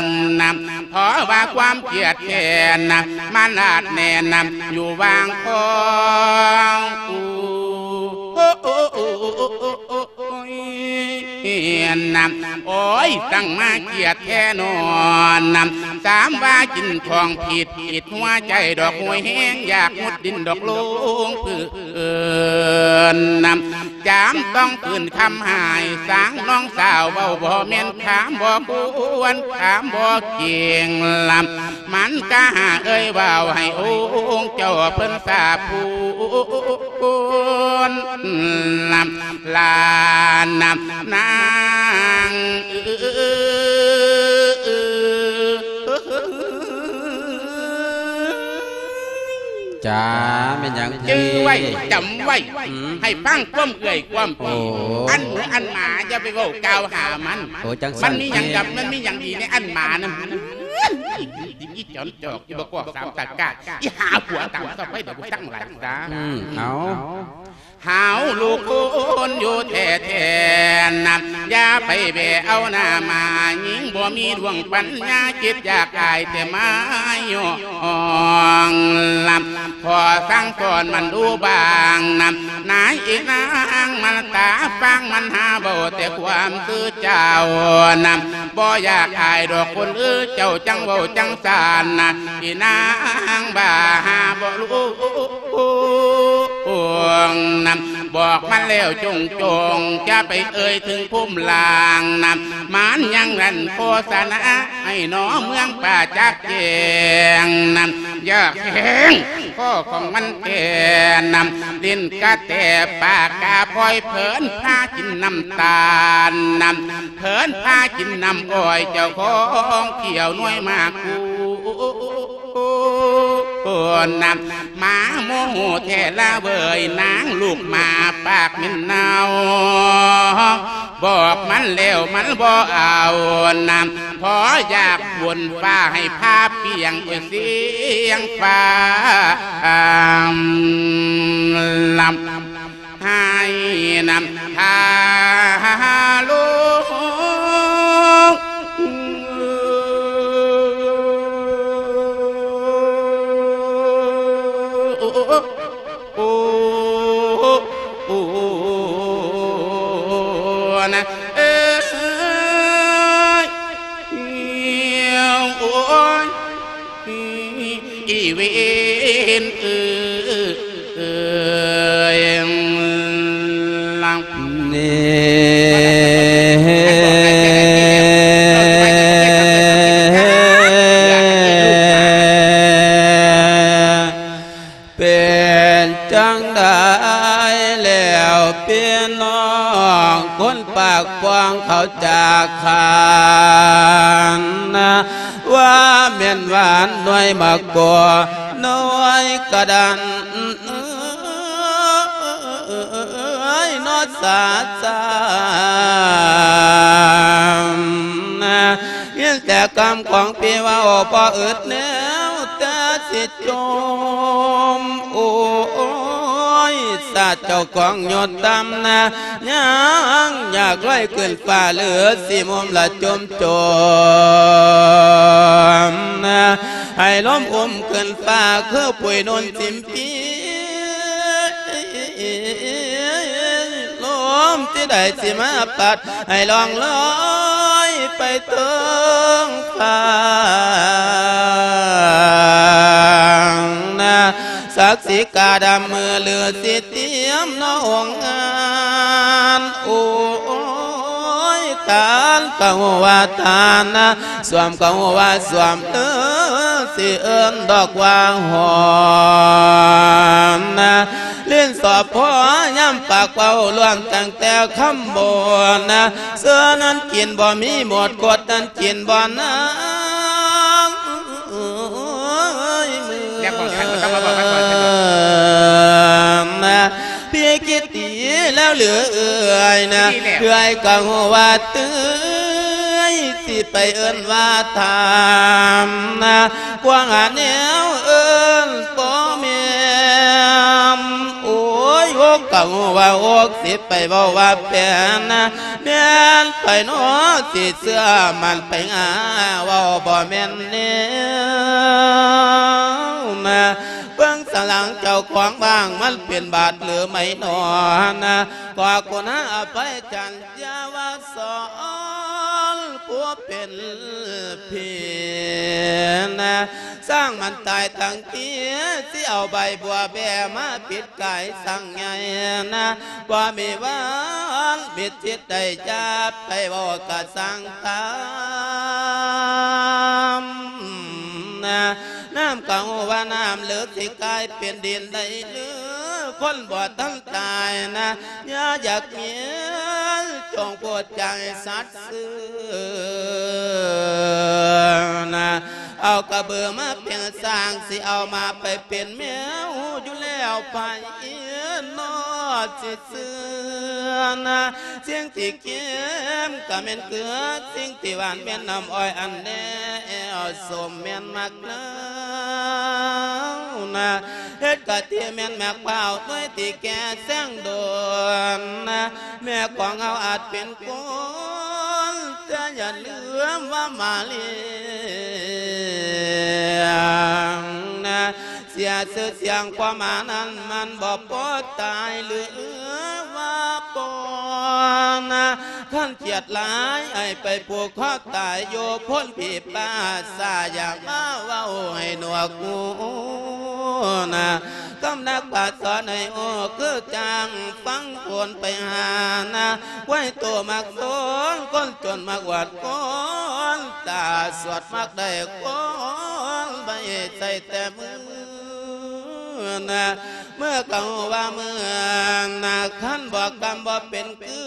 ງນຳ ເພາະວ່າຄວາມຄຽດແຄ້ນນຳ ມັນອາດແໜ້ນນຳ ຢູ່ຫວ່າງຄອງ ໂອ້ ໂອ້ ໂອ້ ໂອ້ ໂອ້ ໂອ້ ໂອ້ ໂອ້ຍ ໂອ້ຍ ນຳ ໂອ້ຍ ຕັ້ງມາຄຽດແທ້ນອນນຳ ສາມວ່າກິນຂອງຜິດ ຜິດຫົວໃຈດອກ ໂຫຍແຮງຢາກມຸດດິນດອກ ລົງພື້ນນຳ ຈຳຕ້ອງຟື້ນຄຳຫາຍ ສາງນ້ອງສາວເວົ້າບໍ່ແມ່ນ ຖາມບໍ່ຄວນ ຖາມບໍ່ເກັ່ງລຳ ມັນກະຫາເອີຍເວົ້າໃຫ້ອົງເຈົ້າເພິ່ນສາບຄູນນຳ ຫຼານນຳນາງເອີຍ. ຈ້າ ແມ່ນຫຍັງ ຈື່ໄວ້ ຈຳໄວ້ ອືມ ໃຫ້ຟັງຄວາມເອື້ອຍຄວາມ ໂອ້ ອັນໝູອັນໝາ ຢ່າໄປເວົ້າກ່າວຫາມັນ ໂອ້ ຈັ່ງຊັ້ນ ມັນມີຫຍັງກັບ ມັນມີຫຍັງດີໃນອັນໝານັ້ນ. ອີ່ ອີ່ຈອນຈອກ ອີ່ບໍ່ກອກສາມຕາກາດ ອີ່ຫາຜົວຕາມຊອບໄວ້ ດຽວກູສັ່ງຫຼາຍຊະ. ອືມ ເອົາ ເຮົາລູກຄົນຢູ່ແທ້ໆນະ ຢ່າໄປແບເອົາໜ້າມາຍິງ ບໍ່ມີດວງປັນຍາ ຄິດຢາກອາຍແຕ່ມາຍ້ອງລຳ ຂໍສັ່ງສອນມັນດູບາງນຳ ນາຍອີນາງມັນຕາຟັງ ມັນຫາເວົ້າແຕ່ຄວາມຄືເຈົ້ານຳ ບໍ່ຢາກອາຍດອກຄົນເອີຍ ເຈົ້າຈັ່ງເວົ້າຈັ່ງຊັ້ນນະ ອີນາງບ້າຫາບໍ່ຮູ້ນຳ ບອກມັນແລ້ວຈົງໆ ຢ່າໄປເອີ່ຍເຖິງພູມລ່າງນຳ ມັນຍັງລັນໂຄສະນາ ໃຫ້ໜໍເມືອງປ່າຈັກແຈ້ງນຳ ຢາກແຫ້ງຄໍຂອງມັນແກ່ນຳ ຫຼິ້ນກະແຕປາກກາພອຍ ເພີນພາກິນນ້ຳຕານນຳ ເພີນພາກິນນ້ຳອ້ອຍ ເຈົ້າຂອງຂ້ຽວໜ່ວຍໝາກກູນນຳ ໝາໂມໂຫແທ້ລະເວີຍ ນາງລູກໝາປາກເໝັນເນົ່າ ບອກມັນແລ້ວມັນບໍ່ເອົານຳ ພໍຢາກບົນຟ້າໃຫ້ພາປ່ຽງ ໂອ້ຍ ສຽງຟ້າລຳ ໃຫ້ນຳທາລົງ ໂອ້ ໂອ້ ໂອ້ ນະເອີຍ ໂອ້ຍ ອີເວນເອີຍ ເນ ເປັນຈັ່ງໃດແລ້ວພີ່ນ້ອງ ຄົນປາກປ້ອງເຂົາຈາກຂ້ານນະ ວ່າແມ່ນຫວານໜ່ວຍໝາກກົວ ໜ່ວຍກະດັນ ເອີຍ ເນາະສາຈານນະ ຍິນແຕ່ຄຳຂອງພີ່ເວົ້າ ບໍ່ອຶດແນວແຕ່ຊິຈົມ ໂອ້ຍ ຊາດເຈົ້າຂອງຍົດຕ່ຳນະ ຍັງຢາກລອຍຂຶ້ນຟ້າ ຫຼືຊິມຸມລະຈົມຈົມນະ ໃຫ້ລົມອຸ້ມຂຶ້ນຟ້າ ຄືປຸຍນຸ່ນສິມປີ ລົມທີ່ໃດຊິມາພັດ ໃຫ້ລ່ອງລອຍໄປເທິງຟ້ານະ ສັກສີກາດຳມືລືຊິຕຽມເນາະອົງງານ ໂອ້ຍ ທານກະຮູ້ວ່າທານນະ ສວມກະຮູ້ວ່າສວມເດີ ຊິເອີ້ນດອກວ່າຫອມນະ ຫຼິ້ນສອບພໍຍາມປາກເວົ້າ ລ້ວງຕັ້ງແຕ່ຄຳໂບນນະ ເສືອນັ້ນກິນບໍ່ມີໝົດ ກົດນັ້ນກິນບໍ່ນາງ ແລ້ວຂອງທ່ານກໍຕ້ອງມາບອກມາສອນເພິ່ນເນາະ ພີ່ຄິດດີແລ້ວຫຼືເອື້ອຍນະ ເອື້ອຍກໍຮູ້ວ່າເຕືອຍ ຊິໄປເອີ້ນວ່າຖາມນະ ກວາງຫາແນວເອີ້ນບໍ່ແມ່ນ ໂອ້ຍ ອົກກໍຮູ້ວ່າອົກ ຊິໄປເວົ້າວ່າແປນນະ ແມ່ນໃຜເນາະ ຊິເຊື່ອໝັ້ນໄປຫາ ເວົ້າບໍ່ແມ່ນແນວນະ ເບິ່ງສະຫຼັງເຈົ້າຂອງບ້າງ ມັນເປັນບາດຫຼືໄໝໜໍນະ ຂໍກຸນາອະໄພຈັນ ຢ່າວ່າສອນຜູ້ເປັນພີ່ນະ ສ້າງມັນຕາຍທັງທີ ຊິເອົາໃບບົວແບມາປິດກາຍສັງໃຫຍ່ນະ ບໍ່ມີວັນມິດຈິດໄດ້ ຢ່າໄປເວົ້າກະສັງຕາມນະ ນ້ຳກໍຮູ້ວ່ານ້ຳເລິກ ຊິກາຍເປັນດິນໄດ້ຫຼື ຄົນບໍ່ທັນຕາຍນະ ຢ່າຢາກມີ ຈົ່ງໂປດໃຈສັດຊື່ນະ ເອົາກະເບີມາເປັນຊ້າງ ຊິເອົາມາໄປເປັນແມວ ຮູ້ຢູ່ແລ້ວໃຜເນາະ ຊິເຊື່ອນະ ສິ່ງທີ່ເຄັມກໍແມ່ນເກືອ ສິ່ງທີ່ຫວານແມ່ນນ້ຳອ້ອຍ ອັນແນວສົ້ມແມ່ນໝາກເນົ່ານະ ເຮັດກະທິແມ່ນໝາກພ້າວ ໜ່ວຍທີ່ແກ່ແຊງດົນນະ ແມ່ຂອງເຮົາອາດເປັນຄົນ ແຕ່ຢ່າລືມວ່າມາລ້ຽງນະ ເສຍຊື່ສຽງຄວາມມານັ້ນ ມັນບໍ່ພໍຕາຍ ຫຼືວ່າບໍ່ນະ ຄັນຄຽດຫຼາຍ ໃຫ້ໄປຜູກຄໍຕາຍຢູ່ໂພນຜີປ່າ ສາຢ່າມາເວົ້າໃຫ້ໜວກຫູນະ ຄຳນັກປາດສອນໃຫ້ຮູ້ ຄືຈັ່ງຟັງຄົນໄປຫານະ ໄວ້ໂຕມັກສົນ ຄົນຈົນມັກອວດຄົນ ຕາສວດມັກໄດ້ຄົນ ໄວ້ໃສ່ແຕ່ມືນະ ເມື່ອກໍຮູ້ວ່າເມື່ອນະ ຄັນບໍ່ກຳບໍ່ເປັນຄື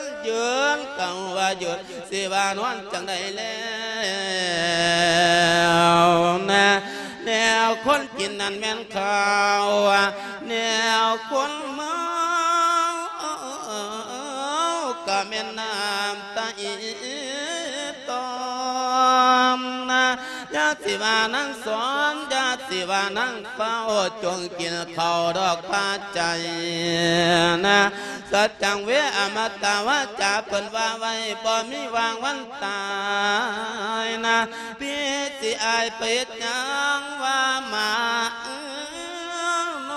ນ ຢືນກໍຮູ້ວ່າຢຸດ ຊິວ່ານອນຈັ່ງໃດແລ້ວນະ ແນວຄົນກິນນັ້ນແມ່ນເຂົ້າ ແນວຄົນເມົາກໍແມ່ນນ້ຳຕາອີ່ຕໍ່ມນະ ຢ່າຊິວ່ານາງສອນ ຢ່າຊິວ່ານາງເຝົ້າ ຈົ່ງກິນເຂົ້າດອກພາໃຈນະ ສັດຈັງເວ ອະມະຕະວາຈາ ເພິ່ນວ່າໄວ້ ບໍ່ມີຫວ່າງວັນຕາຍນະ ພີ່ຊິອາຍໄປເຮັດຫຍັງວ່າໝາເອີນອ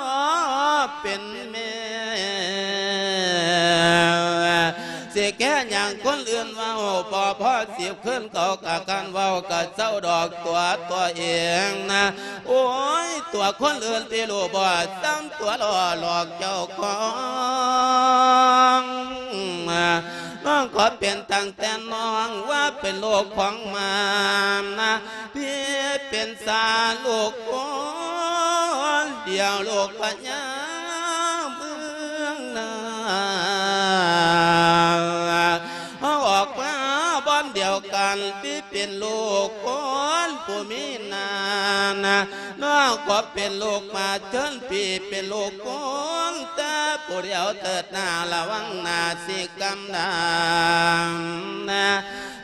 ເປັນແມ່ ຊິແຄ່ຫຍັງຄົນອື່ນເວົ້າ ບໍ່ພໍສິບຄືນເຂົາກະຄັນເວົ້າກະເຊົາດອກຕົວຕົວເອງນະ ໂອ້ຍ ຕົວຄົນອື່ນທີ່ຮູ້ບໍ່ ສ່ຳຕົວຫຼໍ່ຫຼອກເຈົ້າຂອງ ນ້ອງຂໍເປັນຕັ້ງແຕ່ນ້ອງວ່າເປັນລູກຂອງມານນະ ພີ່ເປັນຊາລູກຄົນດຽວ ລູກພະຍາເມືອງນາ ເຮົາອອກມາບ່ອນດຽວກັນ ພີ່ເປັນລູກຄົນຜູ້ມີນານະ ນ້ອງກໍເປັນລູກມາເຊີນ ພີ່ເປັນລູກຄົນ ແຕ່ຜູ້ດຽວເທີດນາ ລະວັງໜ້າຊິກຳດຳນະ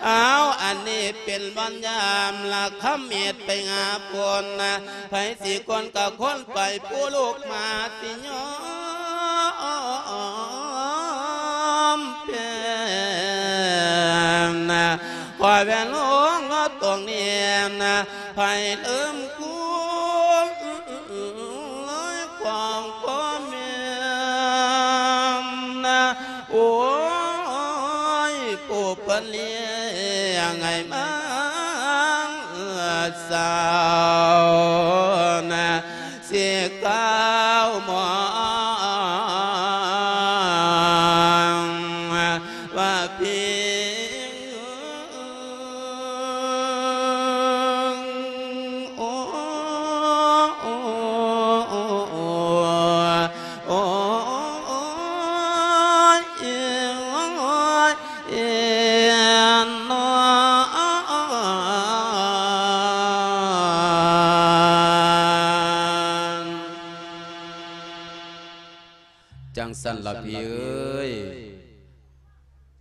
ເອົາ ອັນນີ້ເປັນວັນຍາມລະຄຳເມດໄປຫາພົນນະ ໃຜຊິຄົນກໍຄົນໄປ ຜູ້ລູກມາຊິຍອມແພ້ນະ ຂໍແວ່ນລົງເອົາຕົງນີ້ນະ ໃຜລືມຄຸນຂອງພໍ່ແມ່ນະ ໂອ້ຍ ຜູ້ເພິ່ນລ້ຽງໃຫ້ມາສາວນະ ຊິກ້າວມອງວ່າພີ່ ໂອ້ ໂອ້ ໂອ້ ໂອ້ ໂອ້ຍ ໂອ້ຍ ເອີນນອນ ຈັ່ງຊັ້ນລະພີ່ເອີຍ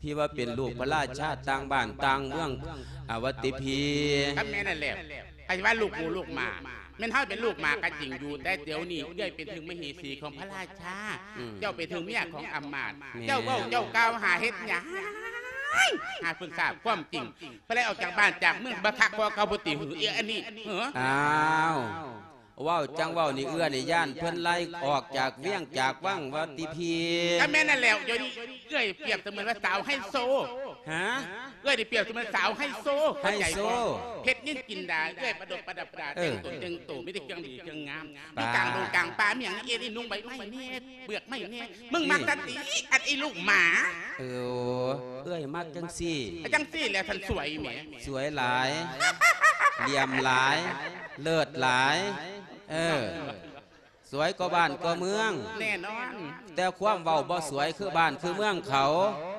ພີ່ວ່າເປັນລູກພະລາຊາຕ່າງບ້ານຕ່າງເມືອງ ອາ ວ່າຕິພີ່? ກໍແມ່ນນັ້ນແຫຼະ ໃຜວ່າລູກໝູລູກໝາ ແມ່ນເຮົາເປັນລູກໝາກໍຈິງຢູ່ ແຕ່ດຽວນີ້ເອື້ອຍເປັນເຖິງມະເຫສີຂອງພະລາຊາ ອືມ ເຈົ້າເປັນເຖິງເມຍຂອງອຳມາດ ແມ່ນ ເຈົ້າເວົ້າເຈົ້າກ່າວຫາເຮັດຫຍັງ ຫາເພິ່ນຊາບຄວາມຈິງ ເພິ່ນໄລ່ອອກຈາກບ້ານຈາກເມືອງ ບໍ່ຄັກພໍເກົ່າບໍ່ຕິຫື ເອີ ອັນນີ້ ເອີ ອ້າວ ເວົ້າຈັ່ງເວົ້ານີ້ ເອື້ອຍນີ້ຢ້ານເພິ່ນໄລ່ອອກຈາກວຽງຈາກວັງວ່າຕິພີ່? ກໍແມ່ນນັ້ນແຫຼະ ດຽວນີ້ເອື້ອຍປຽບສະເໝືອນວ່າສາວໄຮໂຊ ຮະ? ເອື້ອຍນີ້ປຽບສະເໝືອນສາວໄຮໂຊ ໄຮໂຊ ເຂົ້າໃຈບໍ່? ເພັດນິນຈິນດາ ເອື້ອຍປະດັບປະດາ ເອີ ແຕ່ງຕົນແຕ່ງໂຕ ມີແຕ່ເຄື່ອງດີເຄື່ອງງາມ ຢູ່ກາງດົງກາງປ່າ ມີຫຍັງ ເອ ນີ້ນຸ່ງໃບໄມ້ແດ່ ເປືອກໄມ້ແດ່ ມຶງມັກສັນຕິ ອັນອີ່ລູກໝາ. ເອີ ເອື້ອຍມັກຈັ່ງຊີ້ ຈັ່ງຊີ້ແຫຼະ ທ່ານສວຍແໝ ສວຍຫຼາຍ ຫຼ່ຽມຫຼາຍ ເລີດຫຼາຍ ເອີ ສວຍກວ່າບ້ານກວ່າເມືອງ ແນ່ນອນ ແຕ່ຄວາມເວົ້າບໍ່ສວຍຄືບ້ານຄືເມືອງເຂົາ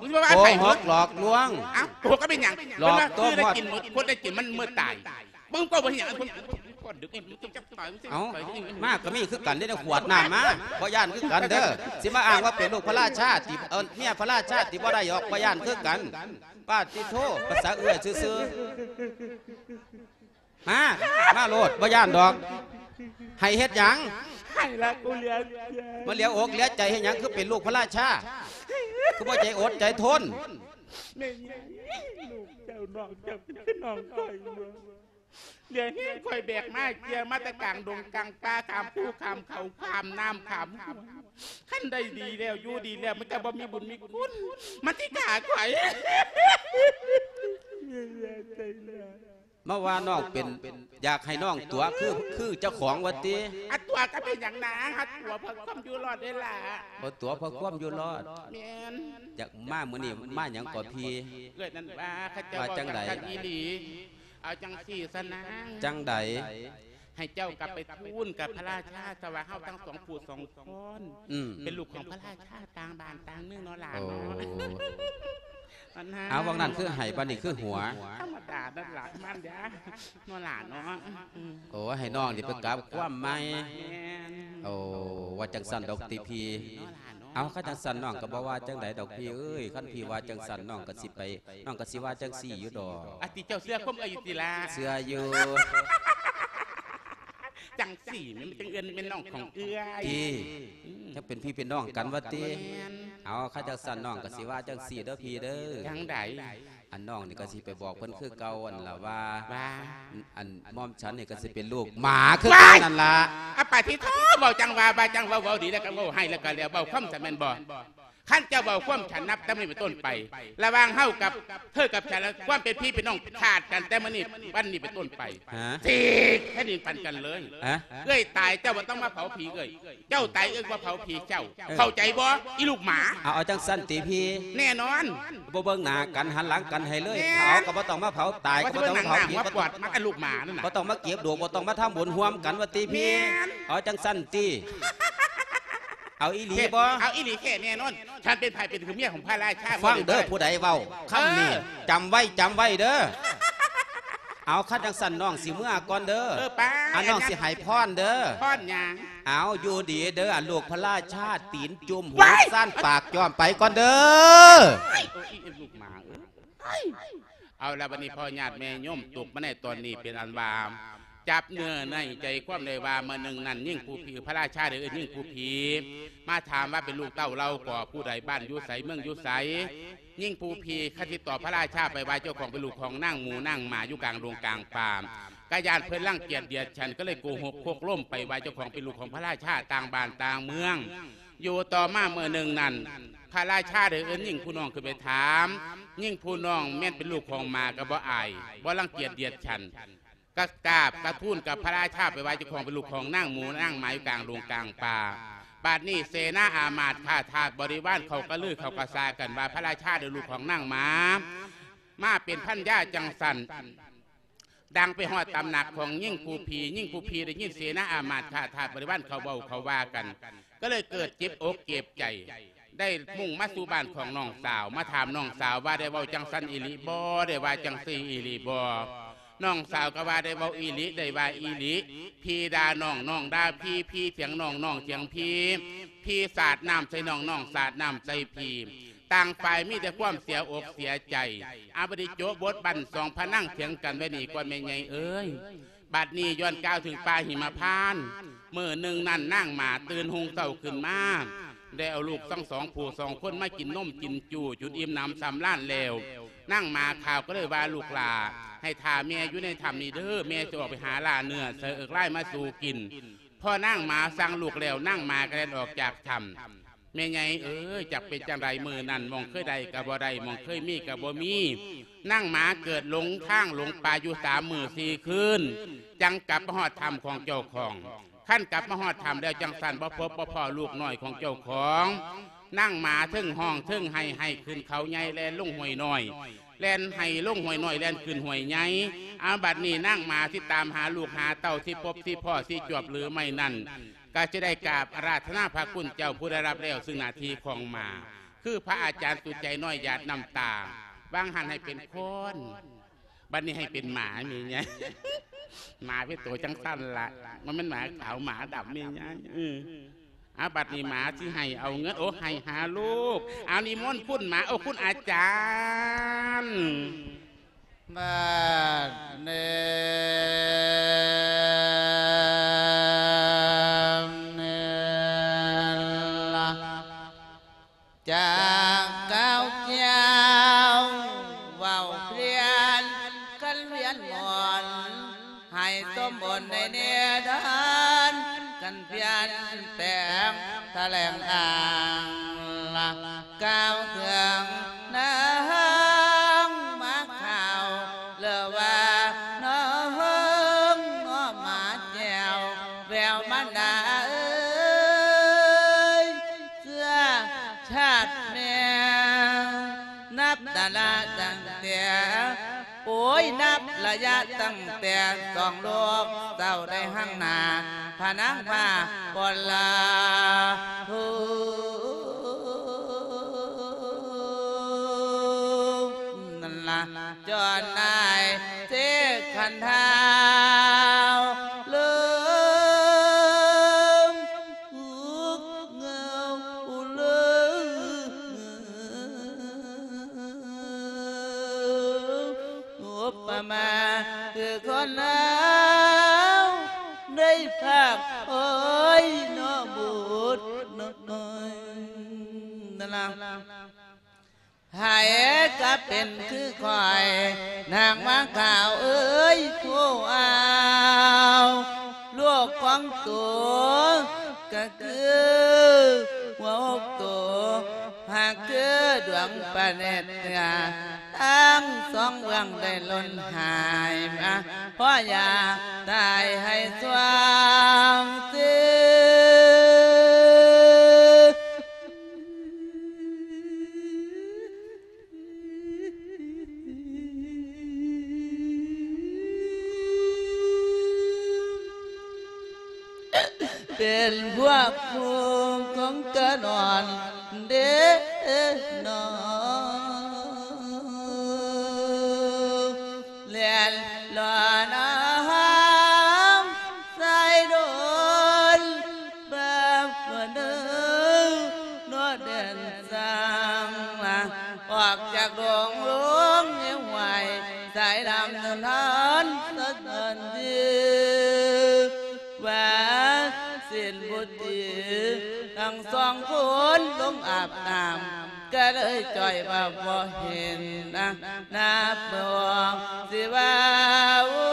ມຶງຊິວ່າ ໂກ ໃຜ ຫົກຫຼອກລວງ ອ້າວ ໂກຫກກໍເປັນຫຍັງ ຫຼອກຕົວະ ເພິ່ນວ່າຄືໄດ້ກິນໝົດ ຄົນໄດ້ກິນມັນເມີດຕາຍ ມຶງກໍບໍ່ເຮັດຫຍັງ ຄົນ ເອົ້າ ມາກໍມີຄືກັນເດ້ ຂວດນ້ຳມາ ບໍ່ຢ້ານຄືກັນເດີ້. ຊິມາອ້າງວ່າເປັນລູກພະລາຊາຕິ ເອີ ເມຍພະລາຊາຕິ ບໍ່ໄດ້ດອກ ບໍ່ຢ້ານຄືກັນ. ປາດຕິໂທ ພາສາເອື້ອຍຊື່ໆ. ມາ ມາໂລດ ບໍ່ຢ້ານດອກ. ໃຫ້ເຮັດຫຍັງ? ໃຫ້ລະ ກູເຫຼືອໃຈ ມາເຫຼືອອົກເຫຼືອໃຈເຮັດຫຍັງ? ຄືເປັນລູກພະລາຊາ ຄືບໍ່ໃຈອົດໃຈທົນ? ແມ່ນຫຍັງ ລູກເຈົ້າ ນ້ອງເຈົ້າ ຄືນ້ອງຂ້ອຍຢູ່. ເຫຼືອແຮງຂ້ອຍແບກມາເກຍມາແຕ່ກາງດົງກາງປ່າ ຂ້າມພູຂ້າມເຂົາ ຂ້າມນ້ຳຂ້າມຫ້ວຍ. ຄັນໄດ້ດີແລ້ວ ຢູ່ດີແລ້ວ ມັນຈະບໍ່ມີບຸນມີຄຸນ ມັນຊິຂ້າຂ້ອຍ. ມາວ່ານ້ອງເປັນ ຢາກໃຫ້ນ້ອງຕົວະຄື ຄືເຈົ້າຂອງວ່າຕິ? ອາ ຕົວະກໍເປັນຫຍັງນາ? ຫາຕົວະເພື່ອຄວາມຢູ່ລອດເດ້ລະ. ບໍ່ຕົວະເພື່ອຄວາມຢູ່ລອດ. ແມ່ນ. ຢາກມາມື້ນີ້ມາຫຍັງກໍພີ່? ເອື້ອຍນັ້ນວ່າ ເຂົາເຈົ້າ ວ່າຈັ່ງໃດ? ເວົ້າກັນອີ່ຫຼີ. ເອົາຈັ່ງຊີ້ຊະນາງ. ຈັ່ງໃດ? ໃຫ້ເຈົ້າກັບໄປທູນກັບພະລາຊາຊະວ່າ ເຮົາທັງສອງຜູ້ສອງຄົນ ອືມ ເປັນລູກຂອງພະລາຊາຕ່າງບ້ານຕ່າງເມືອງເນາະຫຼານເນາະ. ໂອ້ ອັນນັ້ນ ເອົາ ວ່ານັ້ນຄືໃຫ້ ບາດນີ້ຄືຫົວ. ທຳມະດານັ້ນລະ ມັນເດ້ ເນາະຫຼານເນາະ. ອືມ ໂອ້ ໃຫ້ນ້ອງນີ້ໄປກັບຄວາມໃໝ່. ແມ່ນ. ໂອ້ ວ່າຈັ່ງຊັ້ນດອກຕິພີ່. ເນາະຫຼານເນາະ. ເອົາ ຄັນຈັ່ງຊັ້ນນ້ອງກໍບໍ່ວ່າຈັ່ງໃດດອກພີ່ເອີຍ. ຄັນພີ່ວ່າຈັ່ງຊັ້ນ ນ້ອງກໍຊິໄປ ນ້ອງກໍຊິວ່າຈັ່ງຊີ້ຢູ່ດອກ. ອາ ຕິເຈົ້າເຊື່ອຄວາມເອື້ອຍຢູ່ຕິລະ? ເຊື່ອຢູ່. ຈັ່ງຊີ້ແມ່ນ ມັນຈັ່ງເອື້ອຍ ແມ່ນນ້ອງຂອງເອື້ອຍ. ຕິ ອືມ ຈັ່ງເປັນພີ່ເປັນນ້ອງກັນວ່າຕິ? ແມ່ນ. ເອົາ ຄັນຈັ່ງຊັ້ນນ້ອງກໍຊິວ່າຈັ່ງຊີ້ເດີພີ່ເດີ. ຈັ່ງໃດ? ອັນນ້ອງນີ້ກໍຊິໄປບອກເພິ່ນຄືເກົ່າຫັ້ນລະວ່າ ວ່າ ອັນໝ່ອມສັນນີ້ກໍຊິເປັນລູກໝາຄືເກົ່ານັ້ນລະ. ອາ ປາດຕິໂທ ເວົ້າຈັ່ງວ່າ ວ່າຈັ່ງເວົ້າ ເວົ້າດີແລ້ວກໍເວົ້າຮ້າຍແລ້ວກໍແລ້ວ ເວົ້າຄວາມສັນແມ່ນບໍ່? ຄັນເຈົ້າເວົ້າຄວາມສັນ ນັບແຕ່ມື້ນີ້ເປັນຕົ້ນໄປ ລະຫວ່າງເຮົາກັບເທີກັບສັນ ຄວາມເປັນພີ່ເປັນນ້ອງຂາດກັນແຕ່ມື້ນີ້ ວັນນີ້ເປັນຕົ້ນໄປ. ຮະ? ສີກແຜ່ນດິນປັນກັນເລີຍ. ຮະ? ເອື້ອຍຕາຍເຈົ້າບໍ່ຕ້ອງມາເຜົາຜີເອື້ອຍ ເຈົ້າຕາຍເອື້ອຍບໍ່ເຜົາຜີເຈົ້າ. ເອີ ເຂົ້າໃຈບໍ່ ອີລູກໝາ? ເອົາ ເອົາຈັ່ງຊັ້ນຕິພີ່? ແນ່ນອນ. ບໍ່ເບິ່ງໜ້າກັນ ຫັນຫຼັງກັນໃຫ້ເລີຍ. ແມ່ນ. ເຜົາກໍບໍ່ຕ້ອງມາເຜົາ ຕາຍກໍບໍ່ຕ້ອງມາເຜົາ ມາອັນລູກໝານັ້ນນະ ບໍ່ຕ້ອງມາເກັບດວງ ບໍ່ຕ້ອງມາທຳບຸນຮ່ວມກັນວ່າຕິພີ່? ແມ່ນ. ເອົາຈັ່ງຊັ້ນຕິ? ເອົາອີຫຼີບໍ່? ເອົາອີຫຼີແທ້ແນ່ນອນ. ສັນເປັນໃຜ ເປັນຄືເມຍຂອງພະລາຊາ. ຟັງເດີ ຜູ້ໃດເວົ້າຄຳນີ້ ເອີ ຈຳໄວ້ ຈຳໄວ້ເດີ. ເອົາ ຄັນຈັ່ງຊັ້ນນ້ອງຊິເມືອກ່ອນເດີ. ເອີ ໄປ. ອັນນ້ອງຊິໃຫ້ພອນເດີ. ພອນຫຍັງ? ເອົາ ຢູ່ດີເດີ ອັນລູກພະລາຊາ ຕີນຈຸ່ມ ຫູ ວ້າຍ ສັ້ນ ປາກຈ້ອມ ໄປກ່ອນເດີ. ໂອ້ຍ ອີລູກໝາເອີຍ. ເອົາລະ ບັດນີ້ພໍ່ຍາດແມ່ໂຍມ ຕົກມາໃນຕອນນີ້ເປັນອັນວ່າ ຈັບເນື້ອໃນໃຈຄວາມໄດ້ວ່າ ເມື່ອໜຶ່ງນັ້ນ ຍິງຜູ້ຜີ ພະລາຊາໄດ້ເອີ້ນຍິງຜູ້ຜີ ມາຖາມວ່າເປັນລູກເຕົ້າລາວກໍຜູ້ໃດ ບ້ານຢູ່ໃສ ເມືອງຢູ່ໃສ. ຍິງຜູ້ຜີຄັນຊິຕອບພະລາຊາໄປວ່າເຈົ້າຂອງເປັນລູກຂອງນາງໝູນາງໝາ ຢູ່ກາງດົງກາງປ່າ ກະຢ້ານເພິ່ນລັງກຽດດຽດສັນ ກໍເລີຍໂກຫົກຄົກລົມໄປວ່າເຈົ້າຂອງເປັນລູກຂອງພະລາຊາຕ່າງບ້ານຕ່າງເມືອງ. ຢູ່ຕໍ່ມາເມື່ອໜຶ່ງນັ້ນ ພະລາຊາໄດ້ເອີ້ນຍິງຜູ້ນ້ອງຂຶ້ນໄປຖາມ. ຍິງຜູ້ນ້ອງແມ່ນເປັນລູກຂອງໝາກໍບໍ່ອາຍ ບໍ່ລັງກຽດດຽດສັນ ກະກາບກະທູນກັບພະລາຊາໄປວ່າເຈົ້າຂອງເປັນລູກຂອງນາງໝູນາງໝາ ຢູ່ກາງດົງກາງປ່າ. ບາດນີ້ເສນາອາມາດຂ້າທາດບໍລິວານເຂົາກະລືເຂົາກະສາກັນວ່າ ພະລາຊາໄດ້ລູກຂອງນາງໝາ ມາເປັນພັນຢາຈັ່ງຊັ້ນ. ດັງໄປຮອດຕຳໜັກຂອງຍິງຜູ້ຜີ. ຍິງຜູ້ຜີໄດ້ຍິນເສນາອາມາດຂ້າທາດບໍລິວານເຂົາເວົ້າເຂົາວ່າກັນ ກໍເລີຍເກີດເຈັບອົກເຈັບໃຈ ໄດ້ມຸ່ງມາສູ່ບ້ານຂອງນ້ອງສາວ ມາຖາມນ້ອງສາວວ່າໄດ້ເວົ້າຈັ່ງຊັ້ນອີ່ຫຼີບໍ່ ໄດ້ວ່າຈັ່ງຊີ້ອີ່ຫຼີບໍ່. ນ້ອງສາວກໍວ່າໄດ້ເວົ້າອີ່ຫຼີ ໄດ້ວ່າອີ່ຫຼີ. ພີ່ດ່ານ້ອງ ນ້ອງດ່າພີ່ ພີ່ຖຽງນ້ອງ ນ້ອງຖຽງພີ່ ພີ່ສາດນ້ຳໃສ່ນ້ອງ ນ້ອງສາດນ້ຳໃສ່ພີ່. ຕ່າງຝ່າຍມີແຕ່ຄວາມເສຍອົກເສຍໃຈ. ອາ ບັດນີ້ໂຈະບົດບັ້ນສອງພະນາງຖຽງກັນໄວ້ນີ້ກ່ອນແມ່ໃຫຍ່ເອີຍ. ບັດນີ້ຍ້ອນກ່າວເຖິງປ່າຫິມະພານ ມື້ໜຶ່ງນັ້ນນາງໝາຕື່ນຮຸ່ງເຊົ້າຂຶ້ນມາ ໄດ້ເອົາລູກທັງສອງຜູ້ສອງຄົນມາກິນນົມກິນຈູ່ຈົນອີ່ມໜຳສຳລານແລ້ວ. ນາງໝາຂາວກໍເລີຍວ່າ ລູກຫຼ້າ ໃຫ້ຖ້າແມ່ຢູ່ໃນຖ້ຳນີ້ເດີ ແມ່ຊິອອກໄປຫາລ່າເນື້ອໃສ່ເອິກລາຍມາສູ່ກິນ. ພໍນາງໝາສັ່ງລູກແລ້ວ ນາງໝາກໍແລ່ນອອກຈາກຖ້ຳ. ແມ່ໃຫຍ່ເອີຍ ຈັກເປັນຈັ່ງໃດ ມື້ນັ້ນໝ່ອງເຄີຍໄດ້ກໍບໍ່ໄດ້ ໝ່ອງເຄີຍມີກໍບໍ່ມີ. ນາງໝາເກີດຫຼົງທາງຫຼົງປ່າຢູ່ສາມມື້ສີ່ຄືນ ຈັ່ງກັບມາຮອດຖ້ຳຂອງເຈົ້າຂອງ. ຄັນກັບມາຮອດຖ້ຳແລ້ວຈັ່ງຊັ້ນ ບໍ່ພົບບໍ່ພໍ້ລູກນ້ອຍຂອງເຈົ້າຂອງ. ນາງໝາເທິງຮ້ອງເທິງໄຫ້ ໄຫ້ຂຶ້ນເຂົາໃຫຍ່ ແລ່ນລົງຫ້ວຍນ້ອຍ ແລ່ນໄຫ້ລົງຫ້ວຍນ້ອຍ ແລ່ນຂຶ້ນຫ້ວຍໃຫຍ່. ເອົາ ບັດນີ້ນາງໝາຊິຕາມຫາລູກຫາເຕົ້າ ຊິພົບຊິພໍ້ ຊິຈວບຫຼືໄມ່ນັ້ນ ກໍຈະໄດ້ກາບອາລາທະນາພະຄຸນເຈົ້າຜູ້ໄດ້ຮັບແລ້ວ ຊຶ່ງໜ້າທີ່ຂອງໝາ ຄືພະອາຈານສຸດໃຈນ້ອຍຫຍາດນ້ຳຕາ ຫວ່າງຫັ້ນໃຫ້ເປັນຄອນ ບັດນີ້ໃຫ້ເປັນໝາແມ່ໃຫຍ່ ໝາເປັນໂຕຈັ່ງຊັ້ນລະ ມັນແມ່ນໝາຂາວໝາດຳແມ່ໃຫຍ່ ເອີ ອາ ບັດນີ້ໝາຊິໃຫ້ເອົາເງິນ ໂອ ໃຫ້ຫາລູກ ເອົາ ນິມົນຄຸນໝາ ໂອ ຄຸນອາຈານ ບາດນີ້ລະ ຈາກກ່າວກ່ຽວເວົ້າພຽນ ຄັນວຽນໝົນ ໃຫ້ສົມບູນໃນເນດອນ ກັນພຽນແຕ່ງຖະແຫຼງອ້າງລະ ກ່າວເຖິງນາງມາຂ່າວ ຫຼືວ່ານ້ອງເນາະມາແຈວ ແວວມານາເອີຍ ເຊື້ອຊາດແມ່ ນັບແຕ່ລະຕັ້ງແຕ່ ໂອ້ຍ ນັບໄລຍະຕັ້ງແຕ່ສອງລູກເຕົ້າໄດ້ຮັ່ງໜ້າ ພະນາງພາບໍ່ລາ ນັ້ນລະ ຈອນນາຍເສກຂັນທ້າວ ເລີງ ເງົາເລີງ ອຸປະມາຄືຄົນເຮົາ ໄດ້ພາກໂອ້ຍເນາະບຸດນ້ອຍ ນັ້ນລະ ໃຜກະເປັນຄືຂ້ອຍ ນາງມາຂາວເອີຍ ຜູ້ອາວ ລູກຂອງໂຕກະຄືຫົວຫົກໂຕ ຫາກຄືດວງພະເນັດເໜືອ ທັງສອງເບື້ອງໄດ້ຫຼົ່ນຫາຍມາ ພໍຢາກຕາຍໃຫ້ສວ່າງເສ ເປັນພວກຜູ້ຄົງກະນອນເດ້ນອ ແລ່ນລອນອາຫານສາຍດົນ ບາບເດີ ນອດແດນສັງລະ ອອກຈາກດົງລົງເຫວຫວາຍ ສາຍດຳນວນທອນສະເໜີນດີ ວ່າສິ້ນບຸດດີ ທັງສອງຄົນລົງອາບນ້ຳ ກະເລີຍຈ່ອຍວ່າບໍ່ເຫັນນະ ນັບບໍ່ອອກຊິວ່າໂອ້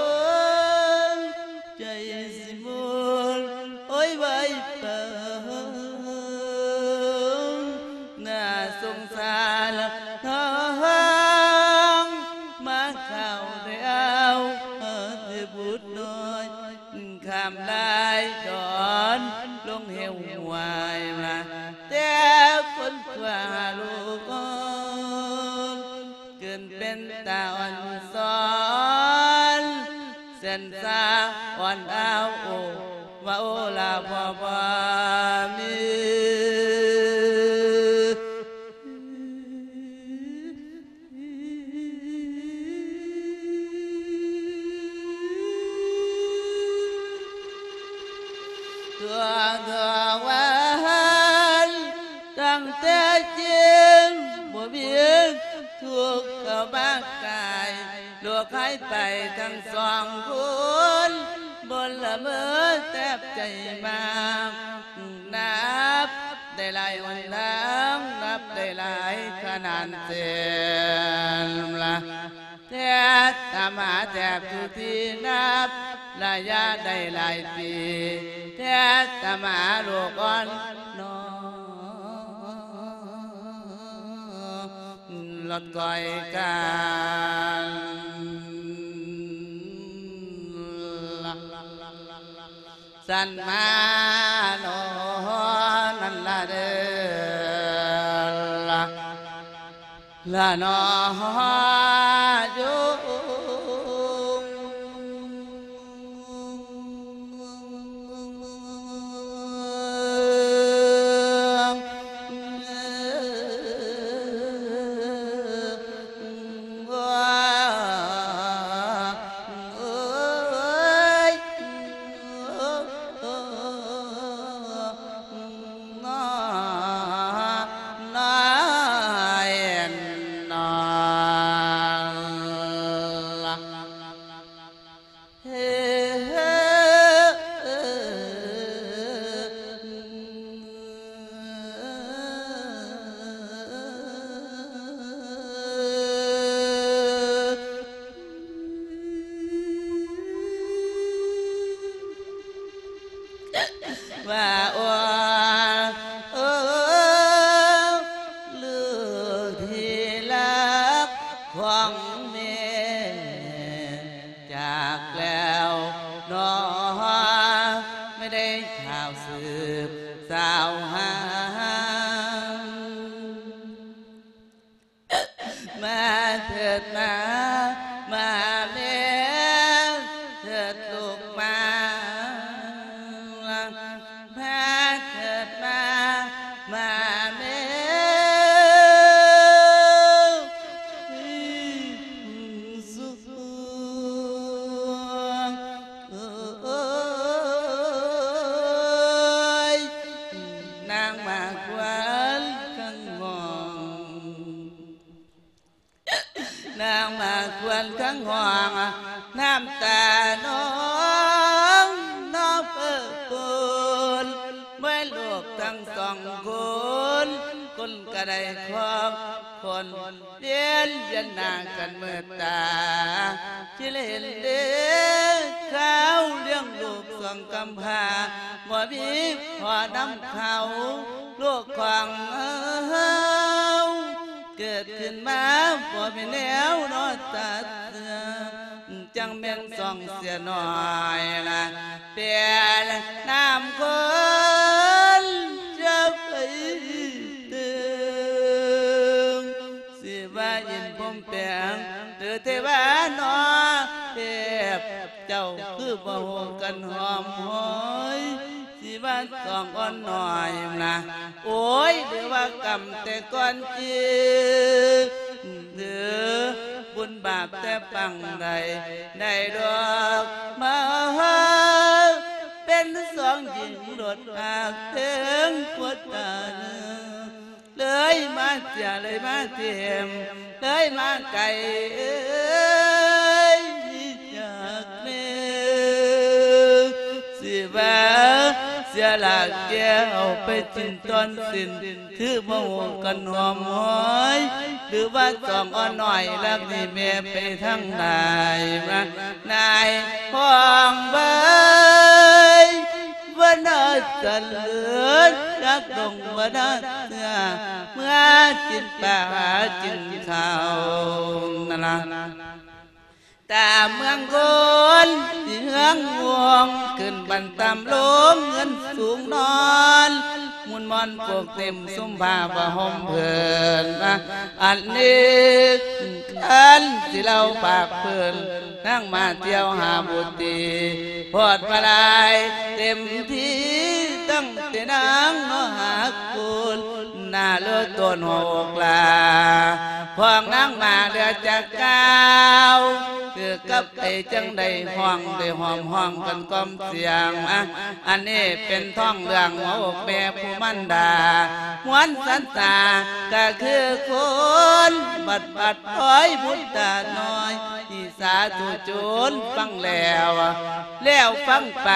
ຍ ໃຈຊິໝູນໂອ້ຍໄວປານ ໜ້າສົງສານນ້ອງ ມາເຂົ້າແລ້ວເອີຍບຸດນ້ອຍ ຂ້າມລາຍດອນລົງເຫວຫວາຍມາ ແຕ່ຄົນຊົ່ວລູກ ເກີນເປັນຕາອ່ອນສອນ ແສນສາອ່ອນອ້າວໂອ ວ່າໂອລາພໍ່ບໍ່ມີ ຕົວເທືອວັນ ຕັ້ງແຕ່ຈິງບໍ່ມີທຸກເຂົ້າມາກາຍ ລູກຫາຍໄປທັງສອງຄົນ ບົນລະເມີແທບໃຈມາກ ນັບໄດ້ຫຼາຍຫົນທາງ ນັບໄດ້ຫຼາຍຂະໜານເສັ້ນລະ ແທບຕາມຫາແທບທຸກທີ່ ນັບໄລຍະໄດ້ຫຼາຍປີ ແທບຕາມຫາລູກອ່ອນນ້ອງ ລອດກ້ອຍກັນ ສັນມາໂນນັ້ນລະເດີ ລະນອຢູ່ ມາເຖີດມາ ມາແມ່ເຖີດລູກມາ ມາເຖີດມາ ມາແມ່ ນາງໝາກຄວັນຄັງຮ້ອງ ນາງໝາກຄວັນຄັງຮ້ອງ ນ້ຳຕານອງນອເພີເປິນ ເມື່ອລູກທັງສອງຄົນ ຄົນກະໄດ້ຄອບຄົນ ວຽນ ວຽນໜ້າກັນເມີດຕາ ທີ່ເຫັນເດ້ ຄາວລ້ຽງລູກສອງກຳພ້າ ບໍ່ມີພໍ່ນຳເຂົາ ລູກຂອງເຮົາ ເກີດຂຶ້ນມາບໍ່ມີແນວນອນຕັດເຊື່ອ ຈັ່ງແມ່ນສອງເສຍໜ້ອຍລະ ແປນນ້ຳຄົນຈະໄປເຖິງ ຊິວ່າອິນພົມແປງ ຫຼືເທວານອເທບ ເຈົ້າຄືບໍ່ຮູ້ກັນຫອມຫອຍ ຊິວ່າສອງອ່ອນນ້ອຍນະ ໂອ້ຍ ຫຼືວ່າກຳແຕ່ກ່ອນຈີ ຫຼືບຸນບາບແຕ່ປາງໃດ ໄດ້ດອກມາເປັນສອງຍິງໂລດ ຫາກເຖິງປົວຕາເນີ ເລີຍມາເສຍ ເລີຍມາຖິ້ມ ເລີຍມາໄກ ເອີຍ ຈາກແມ່ ຊິວ່າເສຍຫຼາກແກ່ເອົາໄປສິ້ນຕອນສິ້ນ ຄືບໍ່ຮູ້ກັນຫອມຫອຍ ຫຼືວ່າສອງອ່ອນນ້ອຍ ລັກໜີແມ່ໄປທາງໃດ ມານາຍພ້ອງເບີຍ ວັນນາສະເຫຼີນ ນັກດົງວັນນາເສືອ ເມື່ອກິນປາຫາກິນເຂົ້ານັ້ນລະ ຕາເມືອງຄົນຊິເຮືອງວົງ ຂຶ້ນບັນຕຳລົງເຮືອນສູງນອນ ໝູນມ່ອນໂປກເຕັມຊຸມຜ້າຜ້າຫົ່ມເພີນມາ ອັນນີ້ ອັນຊິເລົ່າປາກເພິ່ນ ນາງມາທ່ຽວຫາບຸດຕີ ພອດມາຫຼາຍເຕັມທີ່ ຕັ້ງແຕ່ນາງເນາະຫາກຸນ ໜ້າເລີດໂຕນຫົວອົກຫຼ້າ ຂອງນາງມາເຫຼືອຈາກກ່າວ ຄືກັບໄປຈັ່ງໃດ ຮ້ອງໄດ້ຫອມຮ້ອງກັນກ່ອມສຽງ ອາ ອັນນີ້ເປັນທ້ອງເລື່ອງຫົວອົກແມ່ຜູ້ມານດາ ມວນສັນຕາກະຄືຄົນ ບັດບັດອ້ອຍບຸດຕານ້ອຍ ທີ່ສາທຸຊົນຟັງແລ້ວ ແລ້ວຟັງໄປ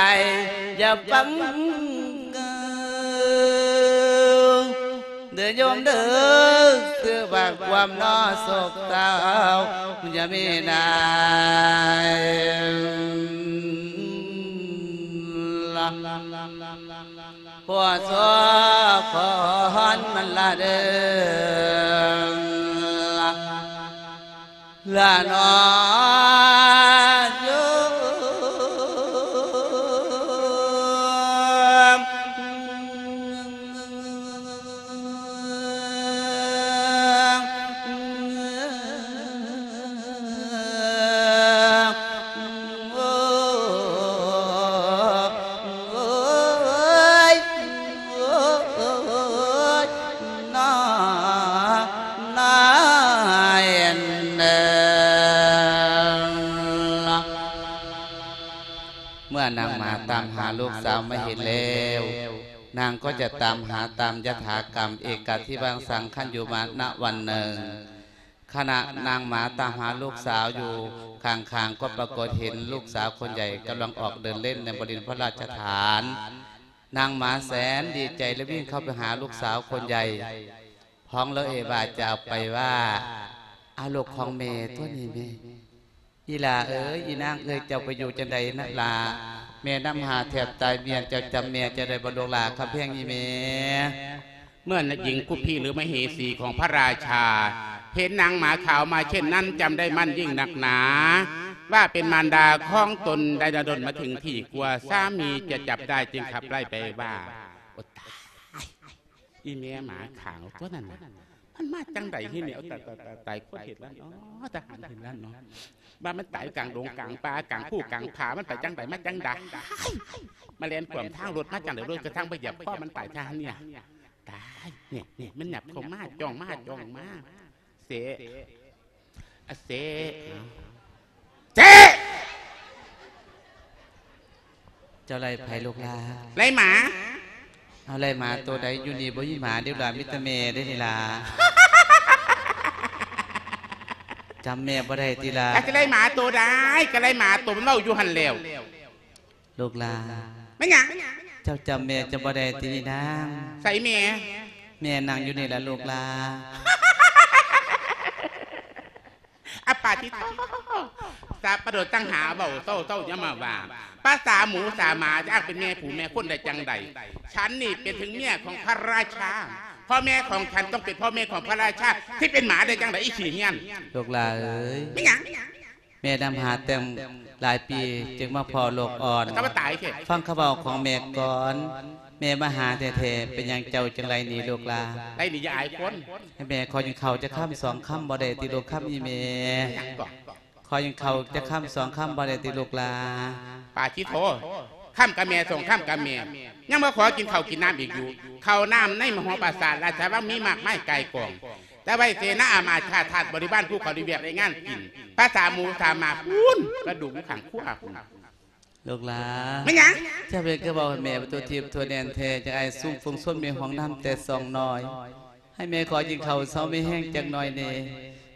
ຢ່າຟັງເກີນ ເດີໂຍມເດີ ຄືວ່າຄວາມໜໍ້ໂສກເສົ້າ ຢ່າມີນາຍ ພໍ່ສອກຂອນມັນລະເດີ ລະນອໂຍມ ໂອ້ຍ ໂອ້ຍ ນ້ອຍເອີຍ ເມື່ອນາງໝາຕາມຫາລູກສາວມາເຫັນແລ້ວ ນາງກໍຈະຕາມຫາຕາມຍະຖາກຳ ເອກາທິວັງສັງ ຄັນຢູ່ມານະວັນໜຶ່ງ ຂະນະນາງໝາຕາມຫາລູກສາວຢູ່ຂ້າງໆ ກໍປາກົດເຫັນລູກສາວຄົນໃຫຍ່ກຳລັງອອກເດີນເລ່ນໃນບໍລິເວນພະລາຊະຖານ. ນາງໝາແສນດີໃຈ ແລະ ວິ່ງເຂົ້າໄປຫາລູກສາວຄົນໃຫຍ່ ຮ້ອງລະເອບາຈາອອກໄປວ່າ ອາ ລູກຂອງແມ່ຕົວນີ້ແມ່. ອີ່ຫຼ້າເອີຍ ອີ່ນາງເອີຍ ເຈົ້າໄປຢູ່ຈັ່ງໃດນະຫຼ້າ? ແມ່ນຳຫາແທບຕາຍ ເມຍເຈົ້າຈຳແມ່ເຈົ້າໄດ້ບໍ່ລູກຫຼ້າ? ຄຳແພງອີ່ແມ່. ເມື່ອນາຍິງຄຸພີ ຫຼື ມະເຫສີຂອງພະລາຊາ ເຫັນນາງໝາຂາວມາເຊັ່ນນັ້ນ ຈຳໄດ້ໝັ້ນຍິ່ງນັກໜາ ວ່າເປັນມານດາຂອງຕົນ ໄດ້ດົນມາເຖິງທີ່ ກົວສາມີຈະຈັບໄດ້ ຈຶ່ງຂັບໄລ່ໄປວ່າ ໂອ້ຕາຍ ອີແມ່ໝາຂາວຕົວນັ້ນນະ ມັນມາຈັ່ງໃດເຮີແມ່? ໂອ້ ຕາຍ ຕາຍ ຕາຍ ຕາຍ ຄົນເຮັດລະເນາະ ທະຫານເຮັດລະເນາະ ວ່າມັນຕາຍກາງດົງກາງປ່າ ກາງພູກາງຜາ ມັນໄປຈັ່ງໃດມາຈັ່ງໃດ? ມາແລ່ນຂວາງທາງລົດມາຈັ່ງໃດ? ລົດກະທັ່ງໄປຢຽບຄໍມັນຕາຍທະຫານນີ້ນະ. ຕາຍ ນີ້ ນີ້ ມັນຫຍັບເຂົ້າມາ ຈ້ອງມາ ຈ້ອງມາ ເສ ອະເສ ເສ ເຈົ້າໄລ່ໃຜລູກຫຼາ? ໄລ່ໝາ. ເອົາ ໄລ່ໝາໂຕໃດ? ຢູ່ນີ້ບໍ່ມີໝາເດ້ຫຼາ ມີແຕ່ແມ່ເດ້ນີ້ຫຼາ. ຈຳແມ່ບໍ່ໄດ້ຕິຫຼາ? ກະຊິໄລ່ໝາໂຕໃດ? ກະໄລ່ໝາໂຕມັນເວົ້າຢູ່ຫັ້ນແລ້ວ. ລູກຫຼາ ແມ່ນຫຍັງ? ເຈົ້າຈຳແມ່ເຈົ້າບໍ່ໄດ້ຕິອີນາງ? ໃສແມ່? ແມ່ນັ່ງຢູ່ນີ້ລະລູກຫຼາ. ອາປາທິໂທ ສາປະໂດດ ຕັ້ງຫາເວົ້າເຊົາໆ ຢ່າມາວ່າ ພາສາໝູສາໝາ ຈະອ້າງເປັນແມ່ຜູ້ແມ່ຄົນໄດ້ຈັ່ງໃດ? ສັນນີ້ເປັນເຖິງເມຍຂອງພະລາຊາ ພໍ່ແມ່ຂອງສັນຕ້ອງເປັນພໍ່ແມ່ຂອງພະລາຊາ ຊິເປັນໝາໄດ້ຈັ່ງໃດ ອີຂີ້ເຫືອນ? ລູກຫຼາເອີຍ ແມ່ນຫຍັງ? ແມ່ນຳຫາແຕ່ງຫຼາຍປີ ຈຶ່ງມາພໍ້ລູກອ່ອນ. ເອົາ ຕາຍເຖະ ຟັງຄຳເວົ້າຂອງແມ່ກ່ອນ. ແມ່ມາຫາແທ້ໆ ເປັນຫຍັງເຈົ້າຈຶ່ງໄລ່ໜີລູກຫຼາ? ໄລ່ໜີຢ່າອາຍຄົນ. ໃຫ້ແມ່ຂໍກິນເຂົ້າຈັກຄຳສອງຄຳບໍ່ໄດ້ຕິລູກຄຳອີແມ່? ຫຍັງເກາະ? ຂໍກິນເຂົ້າຈັກຄຳສອງຄຳບໍ່ໄດ້ຕິລູກຫຼາ? ປາທິໂທ ຄຳກະແມ່ສອງຄຳກະແມ່ ຍັງມາຂໍກິນເຂົ້າກິນນ້ຳອີກຢູ່. ເຂົ້ານ້ຳໃນມະຫາປາສາດລາຊະວັງມີມາກມາຍກ່າຍກອງ ແຕ່ໄວ້ເສນາອາມາດຂ້າທາດບໍລິວານຜູ້ເຂົາໄດ້ວຽກໄດ້ງານກິນ. ພາສາໝູສາໝາພຸ້ນ ກະດູກຢູ່ຂ້າງຄົວພຸ້ນ. ລູກຫຼາ ແມ່ນຫຍັງ? ເຈົ້າເປັນຄືເວົ້າໃຫ້ແມ່ຕົວທິບຕົວແໜ້ນແທ້ ຈັ່ງອ້າຍຊຸມຝູງຊົນມີຫ້ອງນ້ຳແຕ່ຊ່ອງນ້ອຍ. ໃຫ້ແມ່ຂໍກິນເຂົ້າເຊົາມີແຮງຈັກໜ້ອຍແດ່.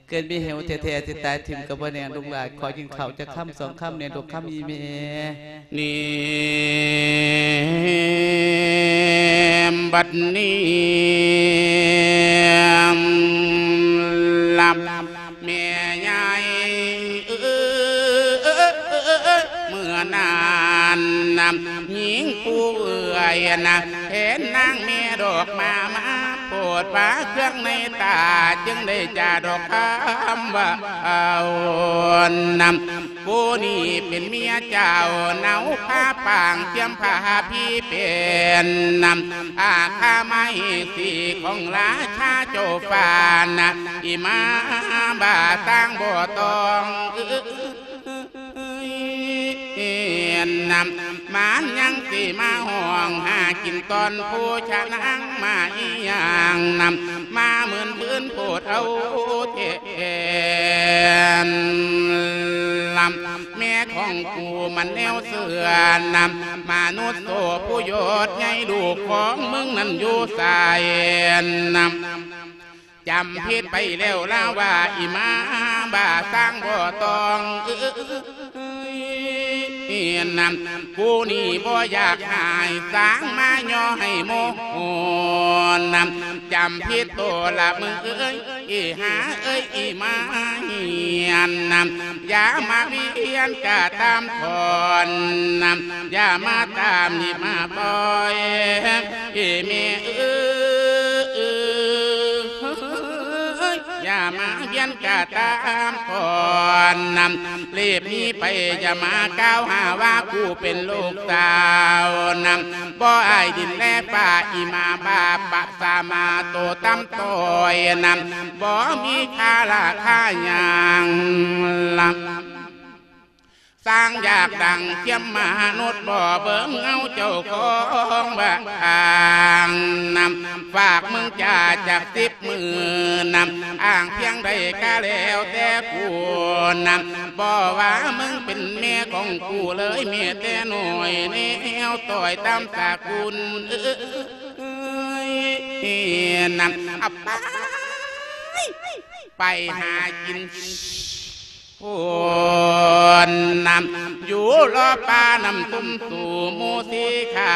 ເກີດມີເຫວແທ້ໆ ຊິຕາຍຖິ້ມກະບໍ່ແນ່ລູກຫຼາ. ຂໍກິນເຂົ້າຈັກຄຳສອງຄຳແດ່ລູກຄຳອີແມ່. ນີ້ ບັດນີ້ລະ ແມ່ໃຫຍ່ເອີຍ ເມື່ອນັ້ນນະ ຍິງຜູ້ເອື້ອຍນະ ເຫັນນາງແມ່ດອກມາ ມາໂພດວ່າເຄື່ອງໃນຕາ ຈຶ່ງໄດ້ຈາດອກຄຳວ່າເອົານຳ ຜູ້ນີ້ເປັນເມຍເຈົ້າ ເນົາພາປາງ ສຽມພາພີເປັນນຳ ອາຄາໄມສີຂອງລາຊາເຈົ້າຟ້ານະ ອີໝາບ້າຕ່າງບໍ່ຕ້ອງເອີຍນຳ ມັນຍັງຊິມາຮ້ອງຫາກິນຕອນຜູ້ຊະນາງມາອີຫຍັງນຳ ມາໝື່ນພື້ນໂພດເອົາແທ້ນຳ ແມ່ຂອງກູມັນແນວເຊື່ອນຳ ມະນຸດໂສຜູ້ຍອດໃຫຍ່ ລູກຂອງມຶງນັ້ນຢູ່ໃສນຳ ຈຳຜິດໄປແລ້ວລາວວ່າ ອີໝາບ້າສ້າງບໍ່ຕ້ອງເອີຍນຳ ກູນີ້ບໍ່ຢາກຫາຍ ສ້າງມາຍໍໃຫ້ໂມໂຫນຳ ຈຳຜິດໂຕລະມຶງເອີຍ ອີຫາເອີຍ ອີໝາເຫຍນນຳ ຢ່າມາວຽນກະຕາມຖອນນຳ ຢ່າມາຕາມນີ້ມາຕ່ອຍ ອີແມ່ເອີຍ ຢ່າມາວຽນກະຕາມຖອນນຳ ລີບໜີໄປ ຢ່າມາກ່າວຫາວ່າກູເປັນລູກສາວນຳ ບໍ່ອາຍດິນແລຟ້າ ອີໝາບ້າປະສາມາໂຕຕ່ຳຕ້ອຍນຳ ບໍ່ມີຄ່າລາຄາຫຍັງລະ ສ້າງຢາກດັງ ສຽມມະນຸດບໍ່ເບິ່ງເອົາເຈົ້າຂອງບ້ານນຳ ຝາກມຶງຈາຈັກສິບມື້ນຳ ອ້າງພຽງໃດກະແລ້ວແຕ່ກູນຳ ບໍ່ວ່າມຶງເປັນແມ່ຂອງກູເລີຍ ແມ້ແຕ່ນ້ອຍແນວຕ້ອຍຕາມສະກຸນເອີຍນຳ ໄປ ໄປຫາກິນ ໂພນນຳ ຢູ່ລໍປ່ານຳ ຕຸ້ມຕູໝູສີຂາ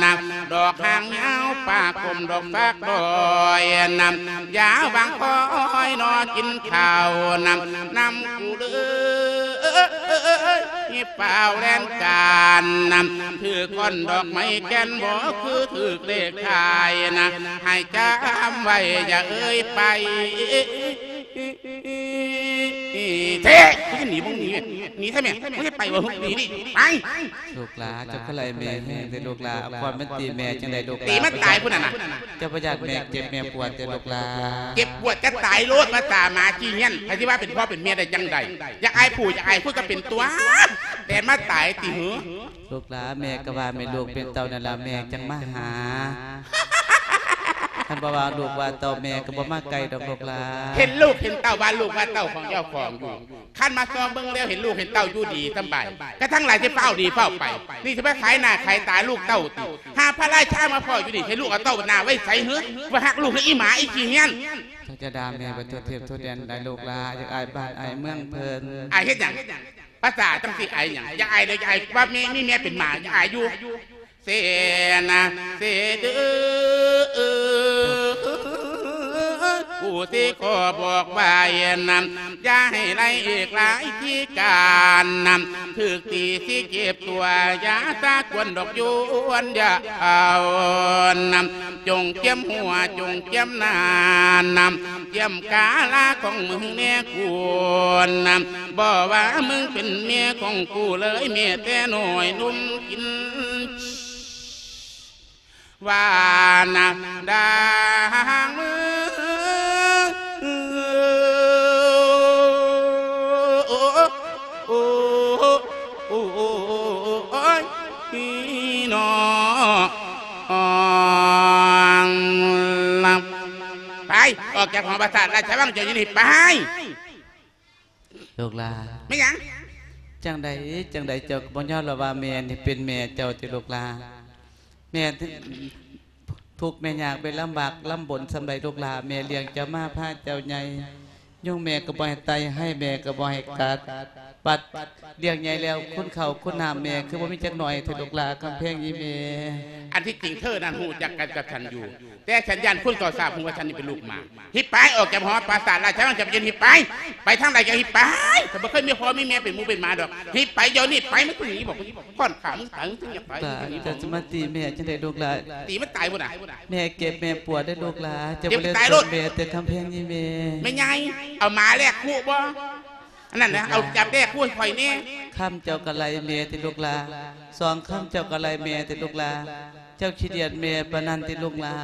ນຳ ດອກຫາງຍາວປາກົມ ດອກຟາກດອຍນຳ ຢ່າຫວັງຄອຍໜໍກິນເຂົ້ານຳ ນຳກູເລີຍ ຮີບຟ້າວແລ່ນການນຳ ຖືກກ້ອນດອກໄມ້ແກ່ນບໍ່ ຄືຖືກເລກທ້າຍນະ ໃຫ້ຈຳໄວ້ ຢ່າເອີຍໄປ ເທະ ມຶງໜີ ມຶງໜີ ໜີແທ້ແມ່ ມຶງຈະໄປບໍ່ ໜີນີ້ ໄປ. ລູກຫຼາ ເຈົ້າຄືໄລ່ແມ່ແຮງແທ້ລູກຫຼາ ເອົາຄ້ອນມັນຕີແມ່ຈັ່ງໃດລູກຫຼາ ຕີມັນຕາຍພຸ້ນນະ ເຈົ້າບໍ່ຢ້ານແມ່ເຈັບແມ່ປວດແທ້ລູກຫຼາ ເຈັບປວດກະຕາຍໂລດ ພາສາໝາຂີ້ເຫຍື້ອນ ໃຜຊິວ່າເປັນພໍ່ເປັນແມ່ໄດ້ຈັ່ງໃດ ຢາກອາຍຜູ້ຢາກອາຍຄົນກະເປັນຕົວະ ແຕ່ມາຕາຍຕິຫື. ລູກຫຼາ ແມ່ກະວ່າແມ່ລູກເປັນເຕົ້ານັ້ນລະ ແມ່ຈັ່ງມາຫາ ຄັນບໍ່ວ່າລູກວ່າເຕົ້າ ແມ່ກະບໍ່ມາໃກ້ດອກລູກຫຼາ ເຫັນລູກເຫັນເຕົ້າ ວ່າລູກວ່າເຕົ້າຂອງເຈົ້າຂອງຢູ່ ຄັນມາຊອກເບິ່ງແລ້ວ ເຫັນລູກເຫັນເຕົ້າຢູ່ດີສຳບາຍ ກະທັງຫຼາຍຊິຟ້າວໜີຟ້າວໄປ ນີ້ຊິໄປຂາຍໜ້າຂາຍຕາລູກເຕົ້າຕິ ຫາພະລາຊາມາພໍ້ຢູ່ນີ້ ໃຫ້ລູກເອົາເຕົ້າໜ້າໄວ້ໃສຫື ວ່າຮັກລູກຄືອີໝາອີຂີ້ເຫຍື້ອນ. ເຈົ້າຈະດ່າແມ່ໄປທົ່ວເທບທົ່ວແດນໄດ໋ລູກຫຼາ ຢາກອາຍບ້ານອາຍເມືອງເພິ່ນ ອາຍເຮັດຫຍັງ? ພາສາຈັ່ງຊິອາຍຫຍັງ? ຢາກອາຍເລີຍ ຢາກອາຍວ່າແມ່ ມີແມ່ເປັນໝາ ຢາກອາຍຢູ່ ເສນະ ເສເດີ ກູຊິຂໍບອກວ່າ ນຳ ຢ່າໃຫ້ໄລ່ອີກຫຼາຍທີ່ການ ນຳ ຖືກຕີຊິເຈັບຕົວ ຢ່າສາກວນດອກຢວນ ຢ່າເອົາ ນຳ ຈົ່ງກຽມຫົວ ຈົ່ງກຽມໜ້າ ນຳ ກຽມກາລາຂອງມຶງແນ່ກູນ ນຳ ບໍ່ວ່າມຶງເປັນເມຍຂອງກູເລີຍ ເມຍແຕ່ນ້ອຍໜຸ່ມກິນ ວ່ານະດາງ ໂອ້ຍ ພີ່ນ້ອງ ໄປ ອອກຈາກຫໍປາສາດລາຊະວັງເຈົ້າຢູ່ນີ້ໄປ. ລູກຫຼາ ແມ່ນຫຍັງ? ຈັ່ງໃດ ຈັ່ງໃດເຈົ້າກະບໍ່ຍອມລະວ່າແມ່ນີ້ເປັນແມ່ເຈົ້າຕິລູກຫຼາ ແມ່ທຸກແມ່ຍາກແມ່ລຳບາກລຳບົນສ່ຳໃດລູກຫຼາ ແມ່ລ້ຽງເຈົ້າມາພາເຈົ້າໃຫຍ່ ຍຸງແມ່ກະບໍ່ໃຫ້ໄຕ່ ໄຮແມ່ກະບໍ່ໃຫ້ກັດ ບັດລ້ຽງໃຫຍ່ແລ້ວ ຄຸນເຂົ້າຄຸນນ້ຳແມ່ຄືບໍ່ມີຈັກໜ້ອຍແທ້ລູກຫຼາ ຄຳແພງອີ່ແມ່. ອັນທີ່ຈິງເທີນັ້ນຮູ້ຈັກກັນກັບສັນຢູ່ ແຕ່ສັນຢ້ານຄົນເຂົາຊາບຮູ້ວ່າສັນນີ້ເປັນລູກໝາ ຫິບໄປ ອອກຈາກຫໍປາສາດລາຊະວັງຈຳເຢັນ ຫິບໄປ ໄປທາງໃດກະຫິບໄປ ຂ້ອຍບໍ່ເຄີຍມີພໍ່ມີແມ່ເປັນໝູເປັນໝາດອກ ຫິບໄປດຽວນີ້ໄປ ມຶງໜີ ບອກ ຂ້ອນຂາມຶງຕາຍ ມຶງຈຶ່ງຢາກໄປ ເຈົ້າຊິມາຕີແມ່ຈັ່ງໃດລູກຫຼາ ຕີມັນຕາຍພຸ້ນນະ ແມ່ເຈັບແມ່ປວດເດີລູກຫຼາ ເຈົ້າບໍ່ໄດ້ຕົວະແມ່ເດີ ຄຳແພງອີ່ແມ່. ແມ່ໃຫຍ່ ເອົາໝາແລກຄຸບໍ່? ອັນນັ້ນນະ ເອົາຈັບແລກຄຸໃຫ້ຂ້ອຍແນ່ ຄຳເຈົ້າກະໄລ່ແມ່ຕິລູກຫຼາ ສອງຄຳເຈົ້າກະໄລ່ແມ່ຕິລູກຫຼາ ເຈົ້າຂີ້ດຽດແມ່ປານນັ້ນຕິລູກຫຼາ.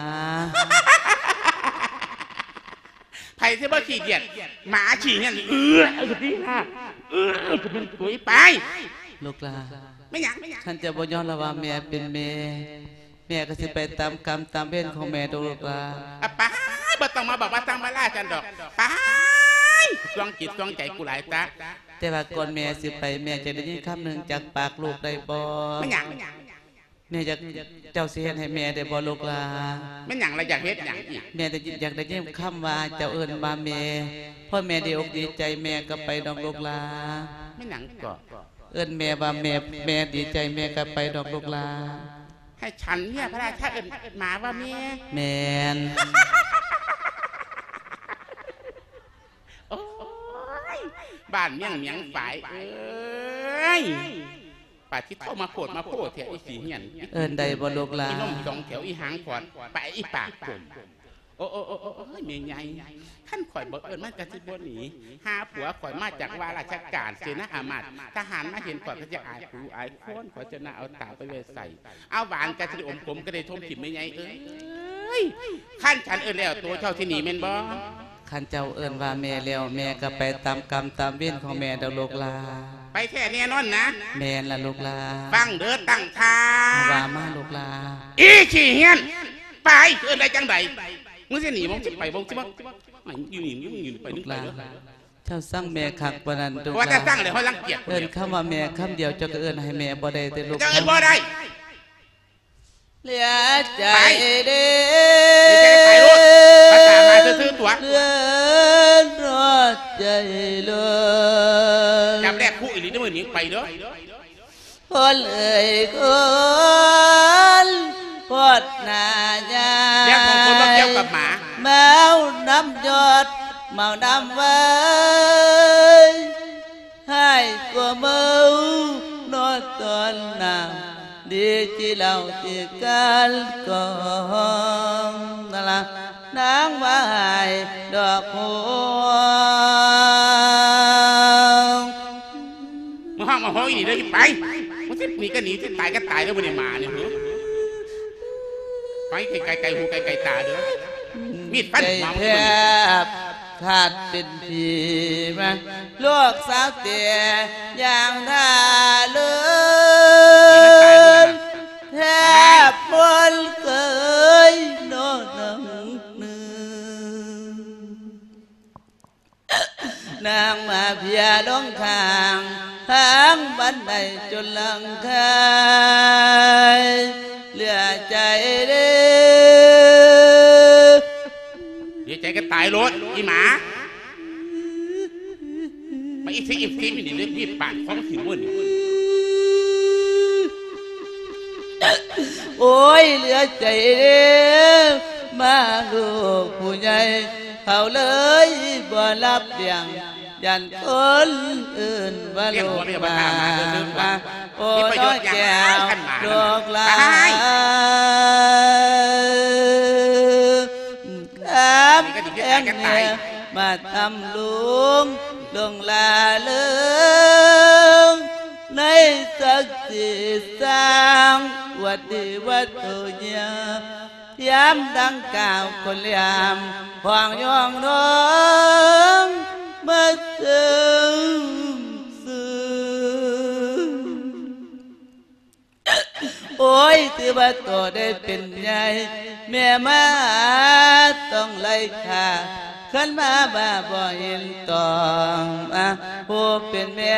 ໃຜຊິບໍ່ຂີ້ດຽດ ໝາຂີ້ຫຍັງ ເອື້ອ ເອື້ອ ເອື້ອ ໄປ ລູກຫຼາ ແມ່ນຫຍັງ? ຄັນເຈົ້າບໍ່ຍອມລະວ່າແມ່ເປັນແມ່ ແມ່ກະຊິໄປຕາມກຳຕາມເວນຂອງແມ່ດອກລູກຫຼາ. ອະ ໄປ ບໍ່ຕ້ອງມາບອກມາສັ່ງມາລາສັນດອກ ໄປ ຊ່ວງຈິດຊ່ວງໃຈກູຫຼາຍຕາ. ແຕ່ວ່າກ່ອນແມ່ຊິໄປ ແມ່ຢາກໄດ້ຍິນຄຳໜຶ່ງຈາກປາກລູກໄດ້ບໍ່? ແມ່ນຫຍັງ? ແມ່ຢາກ ເຈົ້າຊິເຮັດໃຫ້ແມ່ໄດ້ບໍ່ລູກຫຼາ? ແມ່ນຫຍັງລະ ຢາກເຮັດຫຍັງອີກ? ແມ່ຢາກໄດ້ຍິນຄຳວ່າເຈົ້າເອີ້ນວ່າແມ່ ພໍແມ່ດີອົກດີໃຈ ແມ່ກະໄປດອກລູກຫຼາ. ແມ່ນຫຍັງເກາະ? ເອີ້ນແມ່ວ່າແມ່ ແມ່ດີໃຈ ແມ່ກະໄປດອກລູກຫຼາ. ໃຫ້ສັນເມຍພະລາຊາເອີ້ນໝາວ່າແມ່? ແມ່ນ. ໂອ້ຍ ບ້ານເມືອງໝຽງຝາຍເອີຍ ປາທິໂທ ມາໂພດມາໂພແທ້ ອີຂີ້ເຫື່ອນ ເອີ້ນໄດ້ບໍ່ລູກຫຼາ? ອີນົມສອງແຖວ ອີຫາງຂອດ ໄປ ອີປາກປົມ. ໂອ້ ໂອ້ ໂອ້ ໂອ້ຍ ແມ່ໃຫຍ່ ຄັນຂ້ອຍບໍ່ເອີ້ນມັນກະຊິບໍ່ໜີ ຫາຜົວຂ້ອຍມາຈາກວ່າລາຊະການເສນາອາມາດ ທະຫານມາເຫັນຂ້ອຍກະຊິອາຍຜູ້ອາຍຄົນ ຂ້ອຍຈະໜ້າເອົາຕາໄປໄວ້ໃສ ເອົາຫວານກະຊິໄດ້ອົມ ຂົມກະໄດ້ຖົມຖິ້ມ ແມ່ໃຫຍ່ເອີຍ. ຄັນສັນເອີ້ນແລ້ວ ໂຕເຈົ້າຊິໜີແມ່ນບໍ່? ຄັນເຈົ້າເອີ້ນວ່າແມ່ແລ້ວ ແມ່ກະໄປຕາມກຳຕາມເວນຂອງແມ່ດອກລູກຫຼາ. ໄປແທ້ແນ່ນອນນະ? ແມ່ນລະລູກຫຼາ. ຟັງເດີ ຕັ້ງທ່າ. ວ່າມາລູກຫຼາ. ອີຂີ້ເຫື່ອນ ໄປ ເອີ້ນໄດ້ຈັ່ງໃດ? ມຶງຊິໜີບໍ່? ຊິໄປບໍ່? ຊິມາຢູ່ນີ້ ມຶງຢູ່ໄປ ມຶງໄປເດີ. ເຈົ້າຊັງແມ່ຄັກປານນັ້ນລູກຫຼາ. ວ່າແຕ່ຊັງແລ້ວ ເຮົາລັງກຽດ ເອີ້ນຄຳວ່າແມ່ຄຳດຽວ ເຈົ້າກະເອີ້ນໃຫ້ແມ່ບໍ່ໄດ້ຕິລູກ. ເຈົ້າເອີ້ນບໍ່ໄດ້. ເຫຼືອໃຈເດ້ ໄປໂລດ ພາສາມາຊື່ໆຕົວະ ເຫຼືອໃຈໂລດ ຈັບແລກຄູ່ອີ່ຫຼີເດີ ມື້ນີ້ໄປເດີ. ຄົນເອີຍຄົນ ໂພດໜ້າຍາຍ ແລກຂອງຄົນມາກ່ຽວກັບໝາ ເມົານຳຢອດ ເມົານຳໄວ ຮ້າຍກວ່າເມົາເນາະຕອນໜ້າ ດີຈີເຫຼົ້າຕີກັນກອງ ນັ້ນລະນາງວ່າຮ້າຍດອກຫົວ. ໜີເດີ ໄປ ມັນຊິໜີກໍໜີ ຊິຕາຍກໍຕາຍເດີ ບໍ່ໄດ້ມານີ້ ຫື ໄປໄກໆ ໄກຫູໄກໆຕາເດີ ມີດຟັນຫົວ ໃຈແທບຂາດເປັນຜີມາ ລູກສາວແຕ່ຢ່າງທ່າເລີນ ແທບບໍ່ເຄີຍນອນໜຶ່ງ ນາງມາເພຍລົງຂ້າງທາງບັນໄດຈົນຫຼັງຄາຍ ເຫຼືອໃຈເດ້ ເຫຼືອໃຈກໍຕາຍໂລດ ອີ່ໝາ ມາອີກຊິ ອີກຊິ ນີ້ເລີຍ ມີດປາດຄໍຊິເບິ່ງ ໂອ້ຍ ເຫຼືອໃຈເດ້ ມາລູກຜູ້ໃຫຍ່ ເຂົາເລີຍບໍ່ຮັບລ້ຽງ ຢ້ານຄົນອື່ນວ່າລູກໝາ ໂອ້ຍ ແກ້ວລູກຫຼານ ຄຳແພງແຮງ ມາທຳລຸງ ຫຼົງຫຼາເລີງ ໃນສັກສີສ້າງວັດດີວັດໂຕຍາ ຍາມດັ່ງກ່າວຄົນລຽມ ຫ້ອງຍອງນອງ ມາເຊິ່ງຊື່ ໂອ້ຍ ຖືວ່າໂຕໄດ້ເປັນໃຫຍ່ ແມ່ມາຕ້ອງໄລ່ຂ້າ ຄັນມາວ່າບໍ່ເຫັນຕ້ອງ ອາ ຜູ້ເປັນແມ່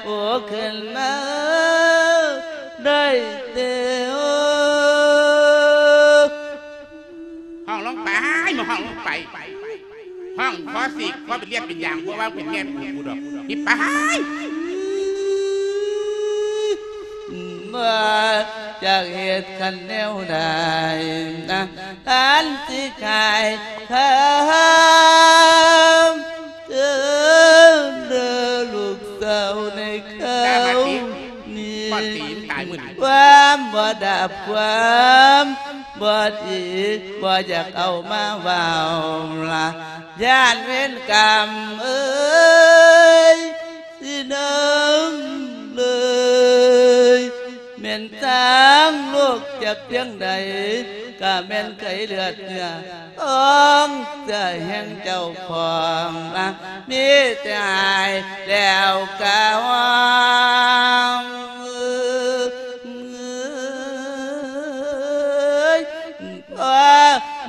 ໂອ້ ຂຶ້ນມາໄດ້ແຕ່ ໂອ້ ຮ້ອງລົງໄປ ມາຮ້ອງລົງໄປ ຮ້ອງຂໍສີກ ຂໍເປັນລຽບເປັນຢາງ ບໍ່ວ່າເປັນແມ່ເປັນຜູ້ດອກ ນີ້ໄປ ວ່າຈະເຮັດຄັນແນວໃດນະ ອັນຊິຂາຍຄຳເດີ ເດີລູກສາວໃນຄາວນີ້ ຄວາມບໍ່ດັບຄວາມບໍ່ດີ ບໍ່ຢາກເອົາມາເວົ້າລະ ຢ້ານເວນກຳເອີຍ ຊິນຳເລີຍ ແມ່ນທາງໂລກຈັກພຽງໃດ ກະແມ່ນໄຂເລືອດເນື້ອ ຂອງໃຈແຫ່ງເຈົ້າຂອງ ມີແຕ່ຫາຍແລ້ວກະຮ້ອງ ເອີຍ ພໍ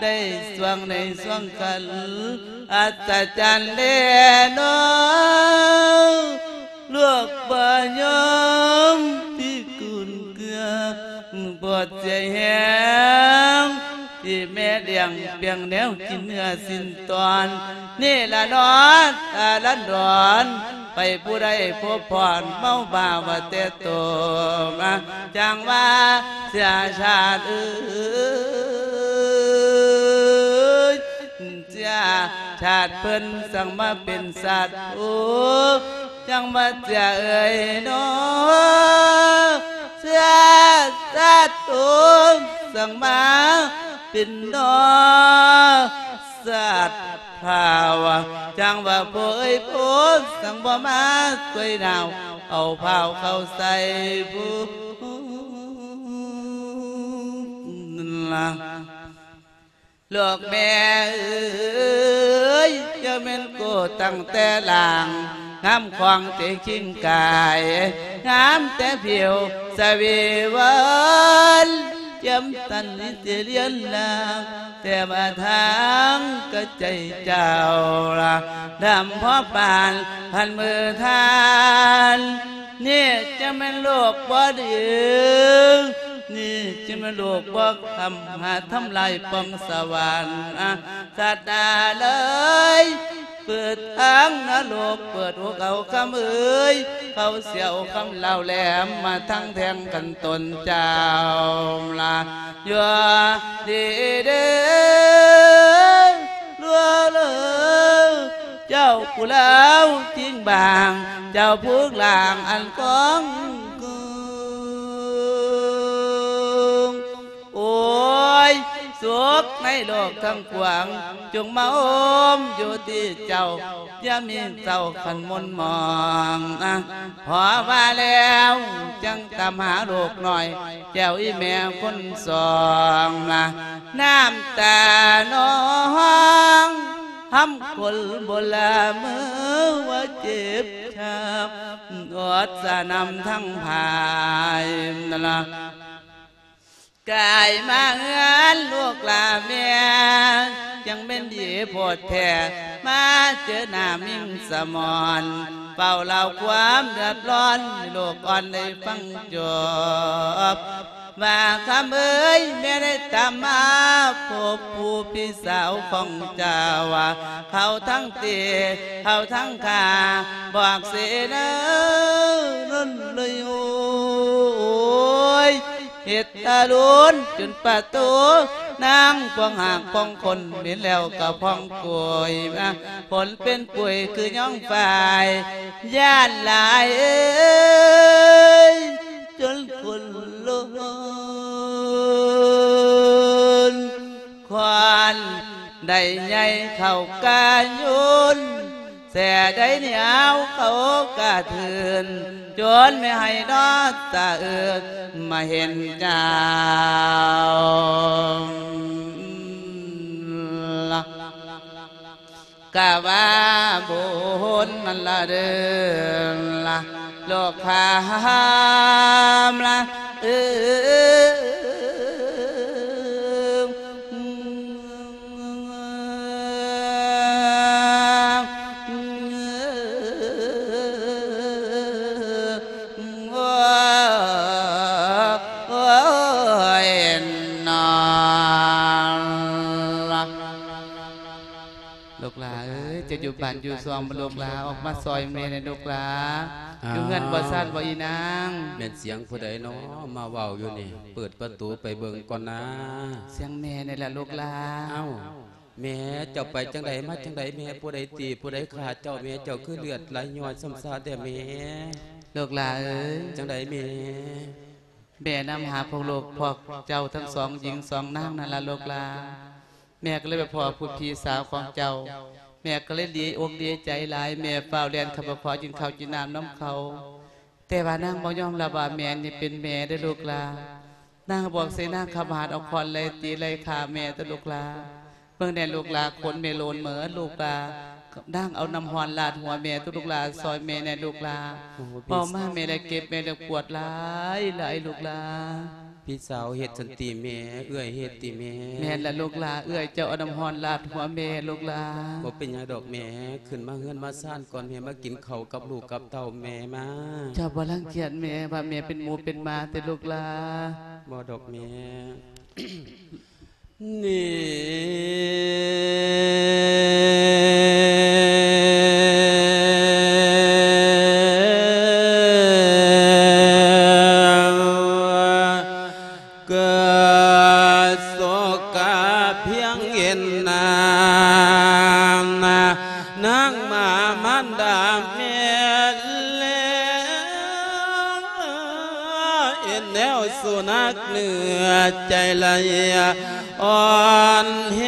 ໄດ້ຊ່ວງໃນຊ່ວງຄັນ ອັດສະຈັນແລເນາະ ລູກບໍ່ຍອມທີ່ກຸນເກືອ ບໍ່ເສຍແຮງ ທີ່ແມ່ລ້ຽງປ່ຽງແນວກິນເນື້ອຊີ້ນຕອນ ນີ້ລະເນາະ ອາລັນດອນ ໄປຜູ້ໃດພົບພອນ ເມົາບ້າວ່າແຕ່ໂຕມາ ຈັ່ງວ່າເສຍຊາດເອີຍ ເສຍຊາດເພິ່ນ ສັງມາເປັນສັດ ໂອ ຈັ່ງວ່າເສຍເອີຍເນາະ ເສຍຊາດ ໂອ ສັງມາເປັນເນາະ ສັດພາວ ຈັ່ງວ່າໂພເອີຍໂພ ສັງບໍ່ມາຊ່ວຍໜາວ ເອົາພ້າວເຂົ້າໃສ່ຜູ້ລະ ລູກແມ່ເອີຍ ເຈົ້າແມ່ນໂກຕັ້ງແຕ່ລ່າງ ງາມຂອງເຕະຄິງກາຍ ງາມແຕ່ຜິວສະເວວັນ ຈຽມຕັນນິເຕລຽນລາ ແຕ່ວ່າທາງກະໃຈເຈົ້າລະ ດຳພໍປານພັນມືທ່ານ ນີ້ຈະແມ່ນໂລກບໍ່ດີ ນີ້ຈະແມ່ນໂລກບໍ່ຄຳ ຫາທຳລາຍປ່ອງສະຫວັນ ອາ ສັດໜ້າເລີຍ ເປີດທາງນະລົກ ເປີດຫົວເຂົາຄຳເອີຍ ເຂົາສຽວຄຳລາວແຫຼມ ມາທັງແທງກັນຕົນເຈົ້າລະ ຢູ່ດີເດີ ລັວເລີ ເຈົ້າຜູ້ລາວຈິງບາງ ເຈົ້າຜູ້ລາງອັນກອງກຸງ ໂອຍ ໂສ ກໃນໂລກທັງປວງ ຈົ່ງມາໂຮມຢູ່ທີ່ເຈົ້າ ຢ່າມີເຈົ້າຄັນໝົນໝອງນະ. ພໍວ່າແລ້ວຈັ່ງຕາມຫາລູກນ້ອຍ ແກ້ວອີ່ແມ່ຄົນສອງນະ. ນ້ຳຕານອງ ຫຳຄົນບໍ່ລະເມີວ່າເຈັບຊ້ຳ ອດສະໜຳທັງພາຍນັ້ນລະ. ກາຍມາເຮືອນລູກຫຼາແມ່ ຈັ່ງແມ່ນດີໂພດແທ້ ມາເຈີໜ້າມິງສະໝອນ ເຝົ້າເລົ່າຄວາມເດືອດຮ້ອນໃຫ້ລູກອ່ອນໄດ້ຟັງຈົບ. ວ່າຄຳເອີຍ ແມ່ໄດ້ຕາມມາພົບຜູ້ພີ່ສາວຂອງເຈົ້າ ເຂົາທັງຕີ ເຂົາທັງຂ້າ ບອກເສນານັ້ນເລີຍໂອຍ ເຮັດທາລຸນຈົນປະຕູ ນາງພອງຫາກພອງຄົນ ເຫັນແລ້ວກໍພອງໂກຍມາ ຜົນເປັນປຸຍຄືຍອງຝ້າຍ ຢ້ານຫຼາຍເອີຍ ຈົນຄົນລຸນ ຄວັນໄດ້ໃຫຍ່ເຂົ້າກາຍຸນ ແສໄດ້ໜຽວເຂົ້າກະເທີນ ຈົນແມ່ໃຫ້ນອນສະເອີນ ມາເຫັນເຈົ້າ ກະວ່າບຸນນັ້ນລະເດີລະ ໂລກຄາມລະເອີ. ລູກຫຼ້າເອີຍ ເຈົ້າຢູ່ບ້ານຢູ່ຊ່ອງບໍ່ລູກຫຼ້າ ອອກມາຊ່ອຍແມ່ແດ່ລູກຫຼ້າ. ອ້າວ ຢູ່ເຮືອນບໍ່ຊານບໍ່ອີນາງ. ແມ່ນສຽງຜູ້ໃດນໍ ມາເວົ້າຢູ່ນີ້? ເປີດປະຕູໄປເບິ່ງກ່ອນນາ. ສຽງແມ່ນີ້ແຫຼະລູກຫຼ້າ. ອ້າວ ແມ່ ເຈົ້າໄປຈັ່ງໃດມາຈັ່ງໃດແມ່? ຜູ້ໃດຕີຜູ້ໃດຂ້າເຈົ້າແມ່? ເຈົ້າຄືເລືອດໄຫຼຍ້ອຍຊ້ຳຊາແທ້ແມ່? ລູກຫຼ້າເອີຍ ຈັ່ງໃດແມ່? ແມ່ນຳຫາພວກລູກພວກເຈົ້າທັງສອງຍິງສອງນາງນັ້ນລະລູກຫຼ້າ. ແມ່ກໍເລີຍໄປພໍ້ຜູ້ພີ່ສາວຂອງເຈົ້າ ແມ່ກໍເລີຍດີອົກດີໃຈຫຼາຍ ແມ່ຟ້າວແລ່ນເຂົ້າໄປຂໍກິນເຂົ້າກິນນ້ຳນຳເຂົາ ແຕ່ວ່ານາງບໍ່ຍອມຮັບວ່າແມ່ນີ້ເປັນແມ່ເດີ້ລູກຫຼ້າ. ນາງບອກໃສ່ນາງຄຳຫາດເອົາຄ້ອນໄລ່ຕີໄລ່ຂ້າແມ່ເດີ້ລູກຫຼ້າ. ເບິ່ງແດ່ລູກຫຼ້າ ຂົນແມ່ໂລນເໝິດລູກຫຼ້າ. ນາງເອົານ້ຳຮ້ອນລາດຫົວແມ່ເດີ້ລູກຫຼ້າ ຊ່ອຍແມ່ແດ່ລູກຫຼ້າ. ໂອ້ ເວົ້າມາແມ່ລະເຈັບ ແມ່ລະປວດຫຼາຍໆ ລູກຫຼ້າ. ພີ່ສາວເຮັດຊັ້ນຕິແມ່? ເອື້ອຍເຮັດຕິແມ່? ແມ່ນລະລູກຫຼ້າ ເອື້ອຍເຈົ້າເອົານ້ຳຮ້ອນລາດຫົວແມ່ລູກຫຼ້າ. ບໍ່ເປັນຫຍັງດອກແມ່ ຂຶ້ນມາເຮືອນມາຊານກ່ອນ ແມ່ມາກິນເຂົ້າກັບລູກກັບເຕົ້າແມ່ມາ. ເຈົ້າບໍ່ລັງກຽດແມ່ວ່າແມ່ເປັນໝູເປັນໝາຕິລູກຫຼ້າ? ບໍ່ດອກແມ່. ນີ້ ເກີດໂສກາພຽງເຫັນໜ້າ ນາງມາມານດາແມ່ແລ້ວ ເຫັນແນວສຸນັກເນື້ອໃຈໄຫຼ ອ່ອນແຮ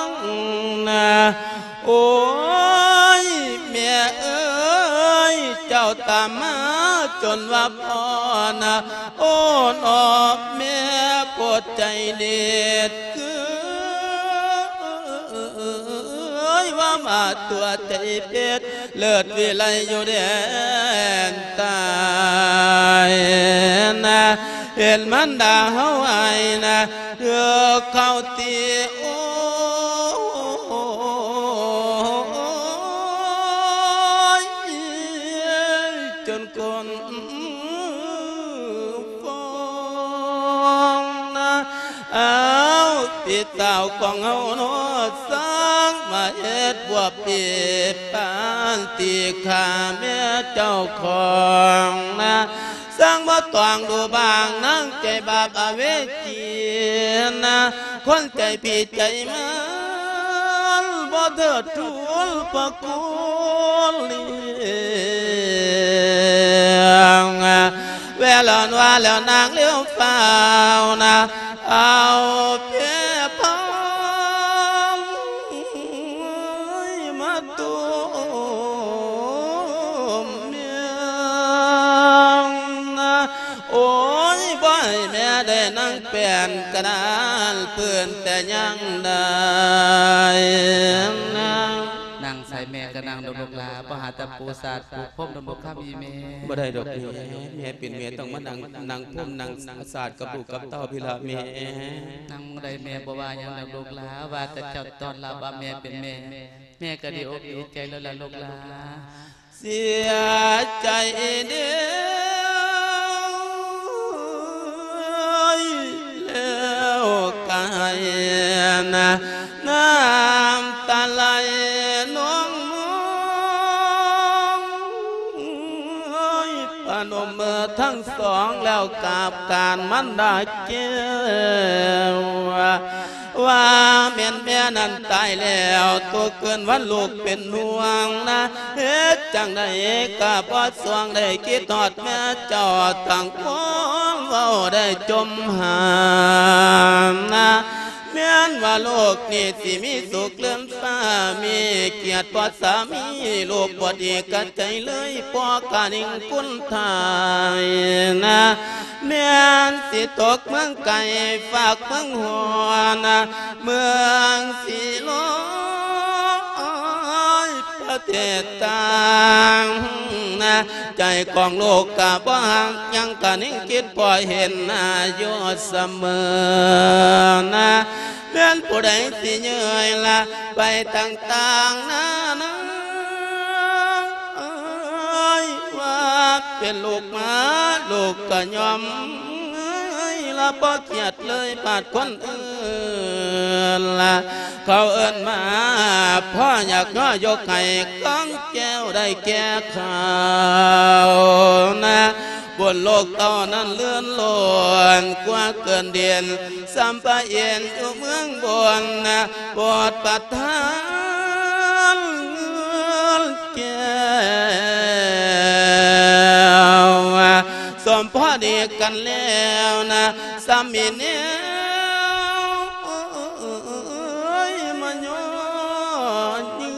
ງນະ. ໂອ້ຍ ແມ່ເອີຍ ເຈົ້າຕາມມາຈົນວ່າພໍນະ. ໂອ້ ນອ ແມ່ ໂພດໃຈເດັດ ຄື ເອີຍ ວ່າມາຕົວໃຈເປັດ ເລີດວິໄລຢູ່ແດນໃຕ້ນະ. ເຫັນມານດາເຮົາອ້າຍນະ ຖືກເຂົາຕີ ໂອ້ຍ ຈົນກົ້ນຟອງນະ. ອ້າວ ພີ່ສາວຂອງເຮົາເນາະ ຊ່າງມາເຮັດບົວເປັນປານຕີຂ້າແມ່ເຈົ້າຂອງນະ. ຊ່າງບໍ່ຕ້ອງດູບາງນາງໃຈບາບອະເວຈີນະ ຄົນໃຈຜີໃຈມານ ບໍ່ເທີດທູນພະຄຸນລ້ຽງ. ແລ້ວນວ່າແລ້ວນາງເລັວຟ້າວນະ ເອົາເປພອງມາຕຸ້ມເມຍນະ ໂອ້ຍ ບໍ່ໃຫ້ແມ່ໄດ້ນັ່ງແປ້ນກະດານພື້ນແຕ່ຢ່າງໃດນະ. ນັ່ງໃສແມ່ກະນັ່ງດອກລູກຫຼາ ບໍ່ຫາແຕ່ປູສາດປູພົມດອກລູກຄຳອີ່ແມ່. ບໍ່ໄດ້ດອກແມ່ ແມ່ເປັນແມ່ຕ້ອງມານັ່ງ ນັ່ງພົມນັ່ງສາດກັບລູກກັບເຕົ້າພີ້ລະແມ່. ນັ່ງບໍ່ໄດ້ແມ່ບໍ່ວ່າຫຍັງດອກລູກຫຼາ ວ່າແຕ່ເຈົ້າຕ້ອນຮັບວ່າແມ່ເປັນແມ່ ແມ່ກະດີອົກດີໃຈແລ້ວລະລູກຫຼາ. ເສຍໃຈເດີ ແລ້ວກະໄຫ້ນະ ນ້ຳຕາໄຫຼນອງມອງ ປະນົມມືທັງສອງແລ້ວກາບການມັນດາແກ້ວ ວ່າແມ່ນແມ່ນັ້ນຕາຍແລ້ວ ຕົກຄືນວັນລູກເປັນຫ່ວງນະ ເຮັດຈັ່ງໃດກະບໍ່ສວງໄດ້ຄິດຮອດແມ່ເຈົ້າ ຕັ້ງຄວາມເວົ້າໄດ້ຈົມຫານະ ແມ່ນວ່າໂລກນີ້ຊິມີສຸກເລື່ອນຟ້າ ມີກຽດບໍ່ສາມີ ລູກບໍ່ດີກະໃຈເລີຍ ພໍ່ກະນິ່ງຄຸນທ່ານນະ ແມ່ນຊິຕົກເມືອງໄກ ຝາກເມືອງຮອນນະ ເມືອງສີລອຍ ປະເທດຕ່າງນະ ໃຈຂອງລູກກະບໍ່ຫ່າງ ຍັງກະນິ່ງຄິດພໍເຫັນນະ ຢູ່ສະເໝີນະ ແມ່ນຜູ້ໃດຊິເຍີ້ຍລະ ໄປຕ່າງໆນານາ ວ່າເປັນລູກມາ ລູກກະຍອມລະ ບໍ່ກຽດເລີຍບາດຄົນອື່ນລະ ເຂົາເອີ້ນມາ ພໍ່ຢາກຍໍຍົກໃຫ້ກອງແກ້ວໄດ້ແກ່ເຂົານະ ບຸນລູກເຕົ້ານັ້ນເລື່ອນລ້ນກວ່າເກີນເດນ ສ່ຳພະເອນຢູ່ເມືອງບົນນະ ໂປດປະທານແກ້ວ ສົມພໍດີກັນແລ້ວນະ ສາມີແນວມາຍໍເຍື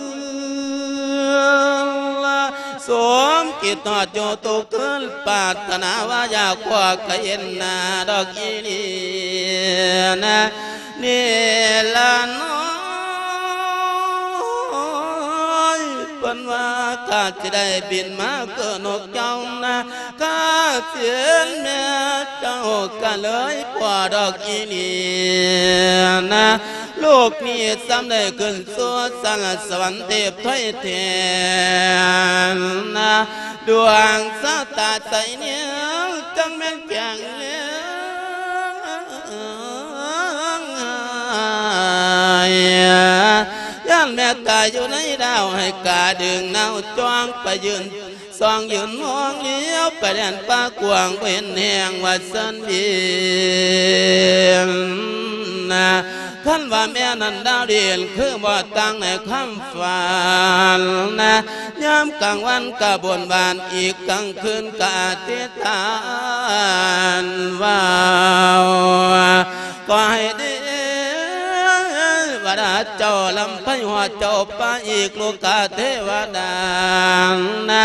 ອລະ ສົມຄິດຮອດຢູ່ທຸກຄືນ ປາດຖະໜາວ່າຢາກພໍ້ກະເຫັນໜ້າດອກອີ່ຫຼີນະ ນີ້ລະນ້ອຍ ເພິ່ນວ່າຂ້າຊິໄດ້ບິນມາຄືນົກເຈົ້ານະ ກະເສນແມ່ເຈົ້າກະເລີຍພໍ້ດອກອີ່ຫຼີນະ ລູກນີ້ສ່ຳໄດ້ຂຶ້ນສູ່ສານສະຫວັນເທບຖອຍແທນນະ ດວງຊະຕາໃສແນວຈັ່ງແມ່ນແກງແລງ ຢ້ານແມ່ຕາຍຢູ່ໃນດາວ ໃຫ້ກາດຶງນາວຈ້ອງໄປຢືນ ສ່ອງຢືນມອງຫຼຽວໄປແດນປ່າກວ້າງ ບໍ່ເຫັນແຮງວ່າເຊີນບິນນະ ຄັນວ່າແມ່ນັ້ນດາວດິນ ຄືບໍ່ຕັ້ງໃນຄຳຝັນນະ ຍາມກາງວັນກະບົນບານ ອີກກາງຄືນກະອະທິຖານເວົ້າ ຂໍໃຫ້ເທວະດາເຈົ້າລຳໄພຮອດເຈົ້າໄປອີກ ໂລກະເທວະດານະ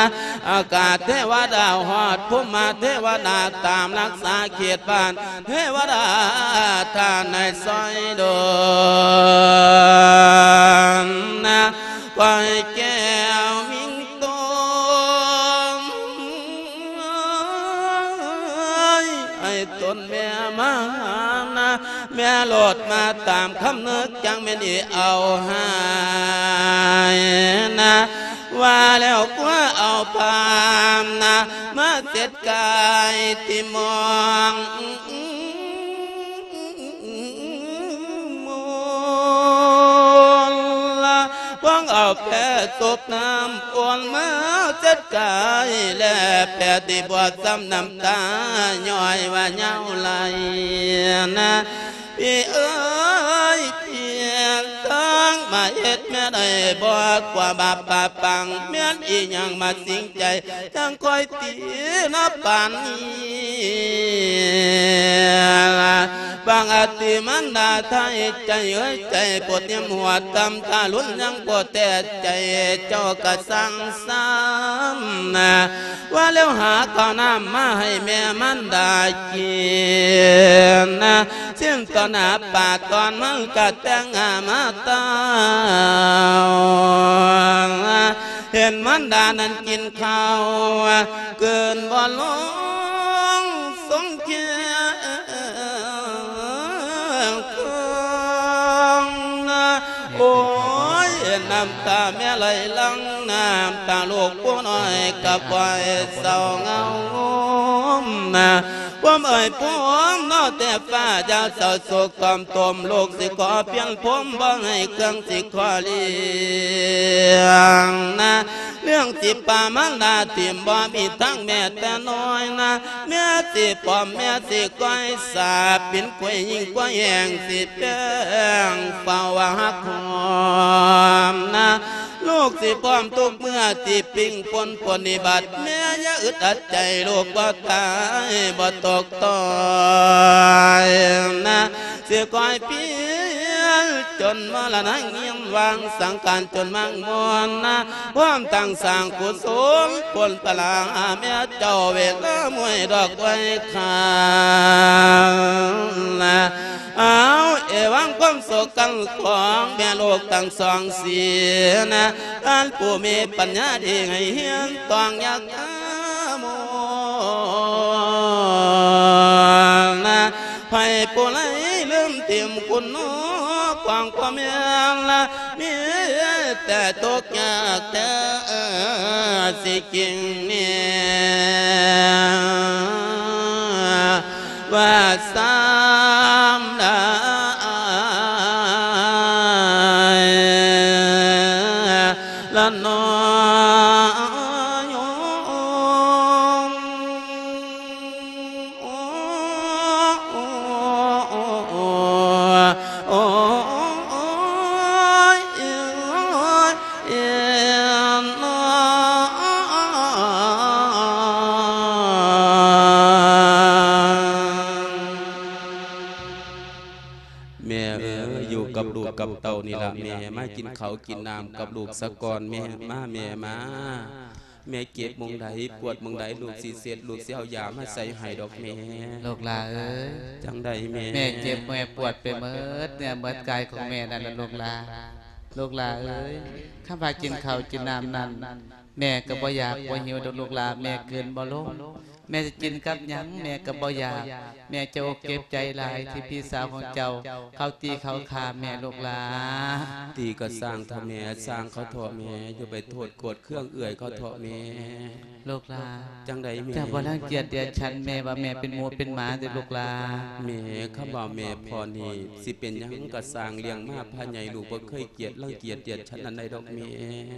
ອາກາດເທວະດາຮອດພູມມະເທວະດາ ຕາມລັກສາເຂດບ້ານເທວະດາທ່ານໃຫ້ຊ່ອຍດົນນະ ຂໍໃຫ້ແກ້ວມິງໂຕ ໃຫ້ຕົນແມ່ມາຫານະ ແມ່ໂລດມາຕາມຄຳນຶກ ຈັ່ງແມ່ນອີເອົາໃຫ້ນະ ວ່າແລ້ວກວ່າເອົາຜ້ານະ ມາເຊັດກາຍທີ່ມອງ ມອນລະ ຫວັງເອົາແປສົບນ້ຳອ່ອນມາເຈັດກາຍ ແລແປຕິບວດຊ້ຳນ້ຳຕາຍ້ອຍວ່າຍາວໄຫຼນະ ພີ່ເອີຍ ພີ່ທາງມາເຮັດແມ່ ໄດ້ບໍ່ ກວ່າບາບປາປັງ ແມ່ນອີຫຍັງມາສິງໃຈ ຈັ່ງຄ່ອຍຕີນະປານນີ້. ບາງອາຕິມານດາໄທ ໃຈເອີຍໃຈ ໂປດຍຳຫົວຕຳທາລຸນ ຍັງບໍ່ແຕ່ໃຈ ເຈົ້າກະສັ່ງຊ້ຳນະ ວ່າແລ້ວຫາເຂົ້ານ້ຳມາໃຫ້ແມ່ມານດາກິນນະ ຊິນຕໍ່ໜ້າປາຕອນມັນກະແຕ່ງຫາມາຕາວນະ ເຫັນມານດານັ້ນກິນເຂົ້າ ກືນບໍ່ລົງ ສົງຄຽງເຄືອງນະ ໂອ້ຍ ນ້ຳຕາແມ່ໄຫຼຫຼັ່ງ ນ້ຳຕາລູກຜູ້ນ້ອຍກະບໍ່ໃຫ້ເສົ້າເຫງົານະ ພວມເອີຍພວມເນາະແຕ່ຟ້າ ຢ່າເສົ້າໂສກກອມຕົມ ລູກຊິຂໍພຽງພວມ ບໍ່ໃຫ້ເຄື່ອງຊິຂໍລ້ຽງນະ ເລື່ອງຊິປາມາລາຖິ້ມ ບໍ່ມີທາງແມ່ແຕ່ນ້ອຍນະ ແມ່ຊິປອມ ແມ່ຊິກ້ອຍສາ ປິ່ນກ້ວຍຍິງກ້ວຍແຮງ ຊິແປ້ງເຝົ້າວ່າຮັກຫອມນະ ລູກຊິພ້ອມທຸກເມື່ອ ຊິປິ່ງປົນປົນນິບັດ ແມ່ຢ່າອຶດອັດໃຈ ລູກບໍ່ຕາຍບໍ່ຕົກຕ່ອຍນະ ຊິຄອຍພຽນຈົນມໍລະນະ ງຽມວາງສັງຂານຈົນມັງມວນນະ ພ້ອມຕັ້ງສ້າງກຸສົນຜົນພະລາ ແມ່ເຈົ້າເວລາມວຍດອກໄວຄານະ ເອົາ ເອວັງຄວາມໂສກັງຂອງແມ່ລູກທັງສອງສີນະ ທ່ານຜູ້ມີປັນຍາດີໃຫ້ຮຽນຕ້ອງຢ່າກາໂມນະ ໃຜຜູ້ໃດລືມຖິ້ມຄຸນນະຂອງພໍ່ແມ່ລະ ມີແຕ່ທຸກຍາກແທ້ ຊິກິງເນຍ ວ່າຊ້ຳໄດ້ລະເນາະ. ແມ່ເອີຍ ຢູ່ກັບລູກກັບເຕົ້ານີ້ລະແມ່ ມາກິນເຂົ້າກິນນ້ຳກັບລູກສາກ່ອນແມ່ ມາແມ່ມາ ແມ່ເຈັບໝ່ອງໃດ ປວດໝ່ອງໃດ ລູກຊິເຊັດ ລູກຊິເອົາຢາມາໃສ່ໃຫ້ດອກແມ່. ລູກຫຼ້າເອີຍ ຈັ່ງໃດແມ່? ແມ່ເຈັບແມ່ປວດໄປໝົດເນື້ອໝົດກາຍຂອງແມ່ນັ້ນລະລູກຫຼ້າ. ລູກຫຼ້າເອີຍ ຄຳວ່າກິນເຂົ້າກິນນ້ຳນັ້ນ ແມ່ກໍບໍ່ຢາກບໍ່ຫິວດອກລູກຫຼ້າ ແມ່ກືນບໍ່ລົງ. ແມ່ຈະກິນກັບຫຍັງແມ່ກໍບໍ່ຢາກ ແມ່ເຈັບອົກເຈັບໃຈຫຼາຍທີ່ພີ່ສາວຂອງເຈົ້າເຂົາຕີເຂົາຂ້າແມ່ລູກຫຼ້າ. ຕີກໍຊ່າງເຖາະແມ່ ຊ່າງເຂົາເຖາະແມ່ ຢ່າໄປໂທດໂກດເຄືອງເອື້ອຍເຂົາເຖາະແມ່. ລູກຫຼ້າ ຈັ່ງໃດແມ່? ເຈົ້າບໍ່ລັງກຽດດຽດສັນແມ່ວ່າແມ່ເປັນໝູເປັນໝາຕິລູກຫຼ້າ? ແມ່ ຄຳວ່າແມ່ພໍ່ນີ້ ຊິເປັນຫຍັງກໍຊ່າງ ລ້ຽງມາພາໃຫຍ່ ລູກບໍ່ເຄີຍກຽດລັງກຽດດຽດສັນອັນໃດດອກແມ່.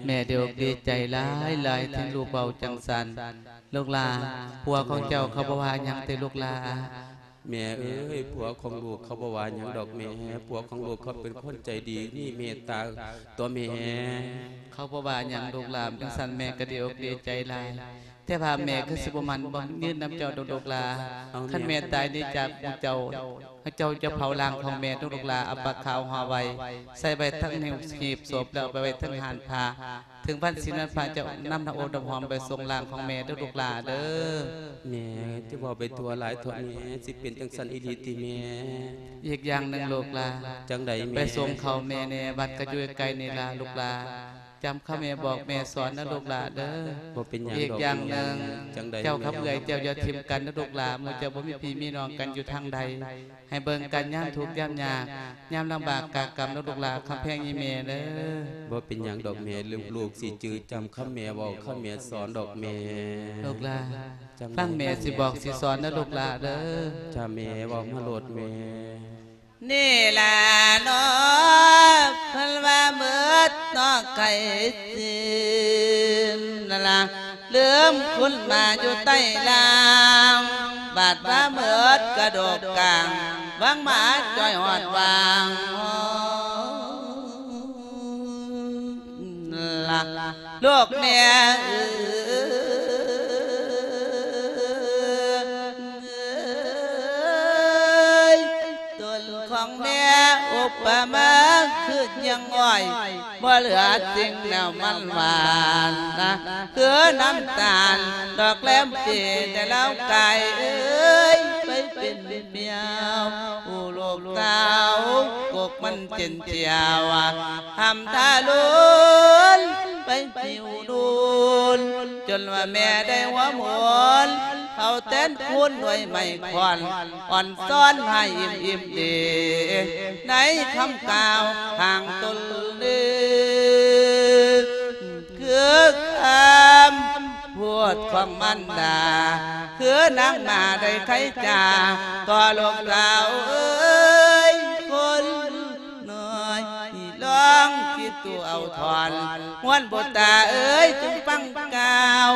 ແມ່ດີອົກດີໃຈຫຼາຍໆ ທີ່ລູກເວົ້າຈັ່ງຊັ້ນ. ລູກຫຼ້າ ຜົວຂອງເຈົ້າເຂົາບໍ່ວ່າຫຍັງຕິລູກຫຼ້າ? ແມ່ເອີຍ ຜົວຂອງລູກເຂົາບໍ່ວ່າຫຍັງດອກແມ່ ຜົວຂອງລູກເຂົາເປັນຄົນໃຈດີ ມີເມດຕາຕົວະແມ່. ເຂົາບໍ່ວ່າຫຍັງລູກຫຼ້າ ຈັ່ງຊັ້ນແມ່ກໍດີອົກດີໃຈຫຼາຍ ແຕ່ວ່າແມ່ຄືຊິບໍ່ໝັ້ນບໍ່ຍືນນຳເຈົ້າດອກລູກຫຼ້າ. ເອົາ ຄັນແມ່ຕາຍນີ້ຈາກໝູ່ເຈົ້າ ເຈົ້າຈະເຜົາຮ່າງຂອງແມ່ດອກລູກຫຼ້າ ເອົາຜ້າຂາວຫໍ່ໄວ້ ໃສ່ໄວ້ທັງຫີບສົບ ແລ້ວເອົາໄປໄວ້ທັງຮ້ານຜ້າ ເຖິງວັນສິນວັນພະເຈົ້ານຳນ້ຳອົບນ້ຳຫອມໄປສົ່ງຮ່າງຂອງແມ່ເດີລູກຫຼ້າເດີ. ແມ່ ຈະເວົ້າໄປທົ່ວຫຼາຍເຖາະແມ່ ຊິເປັນຈັ່ງຊັ້ນອີ່ຫຼີຕິແມ່? ອີກຢ່າງໜຶ່ງລູກຫຼ້າ. ຈັ່ງໃດແມ່? ໄປສົ່ງເຂົ້າແມ່ແດ່ ວັດກໍຢູ່ໃກ້ໆນີ້ລະລູກຫຼ້າ. ຈຳຄຳແມ່ບອກແມ່ສອນນະລູກຫຼ້າເດີ. ບໍ່ເປັນຫຍັງດອກແມ່. ອີກຢ່າງໜຶ່ງ ຈັ່ງໃດແມ່? ເຈົ້າກັບເອື້ອຍເຈົ້າຢ່າຖິ້ມກັນນະລູກຫຼ້າ ໝູ່ເຈົ້າບໍ່ມີພີ່ມີນ້ອງກັນຢູ່ທາງໃດ ໃຫ້ເບິ່ງກັນຍາມທຸກຍາມຍາກ ຍາມລຳບາກກາກຳເດີລູກຫຼ້າ ຄຳແພງອີ່ແມ່ເດີ. ບໍ່ເປັນຫຍັງດອກແມ່ ລູກ ລູກຊິຈື່ຈຳຄຳແມ່ເວົ້າ ຄຳແມ່ສອນດອກແມ່. ລູກຫຼ້າ ຈັ່ງໃດ ຟັງແມ່ຊິບອກຊິສອນເດີລູກຫຼ້າເດີ. ຈ້າແມ່ ເວົ້າມາໂລດແມ່. ນີ້ລະເນາະ ເພິ່ນວ່າໝົດເນາະໄກ່ຊີ້ນລະ ລືມຄຸນມາຢູ່ໃຕ້ລ່າງ ບາດວ່າໝົດກະດູກກາງ ຫວັງມາຈ່ອຍຮອດຫວ່າງ. ລູກແມ່ເອີຍ ຕົນຂອງແມ່ອຸປະມາຄືຍາງອ້ອຍ ບໍ່ເຫຼືອສິ່ງແນວມັນຫວານນະ ຄືນ້ຳຕານດອກແຫຼມເຈ ແຕ່ລາວກາຍເອີຍ ໄປເປັນແມວ ໂອ້ ລູກສາວ ກົກມັນເຈັນຈຽວ ຫ້ຳທາລຸນໄປຫິວດຸນ ຈົນວ່າແມ່ໄດ້ຫົວໝູນ ເອົາແຕນຄູນໜ່ວຍໄມ້ຄ້ອນ ອ່ອນຊ້ອນໃຫ້ອີ່ມໆເດ ໃນຄຳກ່າວທາງຕົນເດ ຄືຄຳພູດຂອງມານດາ ຄືນາງມາໄດ້ໄຂຈາ ຕໍ່ລູກສາວເອີຍ ຄົນ ນ້ອຍ ລອງຄິດດູເອົາທ່ອນ ຮວນບຸດຕາເອີຍ ຈົ່ງຟັງກ່າວ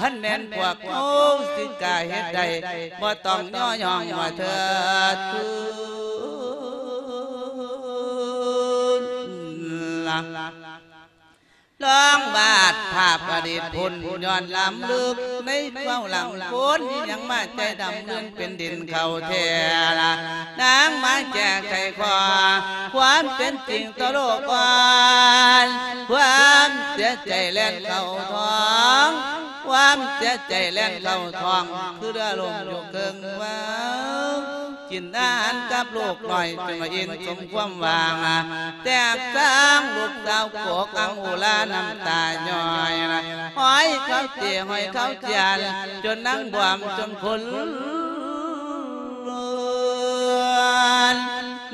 ຄັນແມ່ນພວກເຮົາຊິກ້າເຮັດໄດ້ ບໍ່ຕ້ອງຍໍຍ້ອງວ່າເທີດ ລະ ລອງວາດພາບອະດີດພຸ້ນ ຍ້ອນລ້ຳເລິກໃນເຂົ້າຫຼັງຄົນ ມີຫຍັງມາໃຈດຳເລື່ອນເປັນດິນເຂົ້າແທ້ລະ ນາງມາແກ້ໄຂຂໍ້ ຄວາມເປັນຈິງຕໍ່ໂລກກ່ອນ ຄວາມເສຍໃຈແລ່ນເຂົ້າທ້ອງ ຄວາມເສຍໃຈແລ່ນເຂົ້າທ້ອງ ຄືເຮືອລົ້ມຢູ່ເຄິ່ງວັງ ກິນອາຫານກັບລູກນ້ອຍ ຈົນວ່າອີ່ມສົມຄວາມຫວັງ ແຕກຊ້າງລູກສາວໂກກອັງອຸລາ ນ້ຳຕາຍ້ອຍ ຫ້ອຍເຂົາເຈ ຫ້ອຍເຂົາຈຽນ ຈົນນາງບວມຈົນຄົນ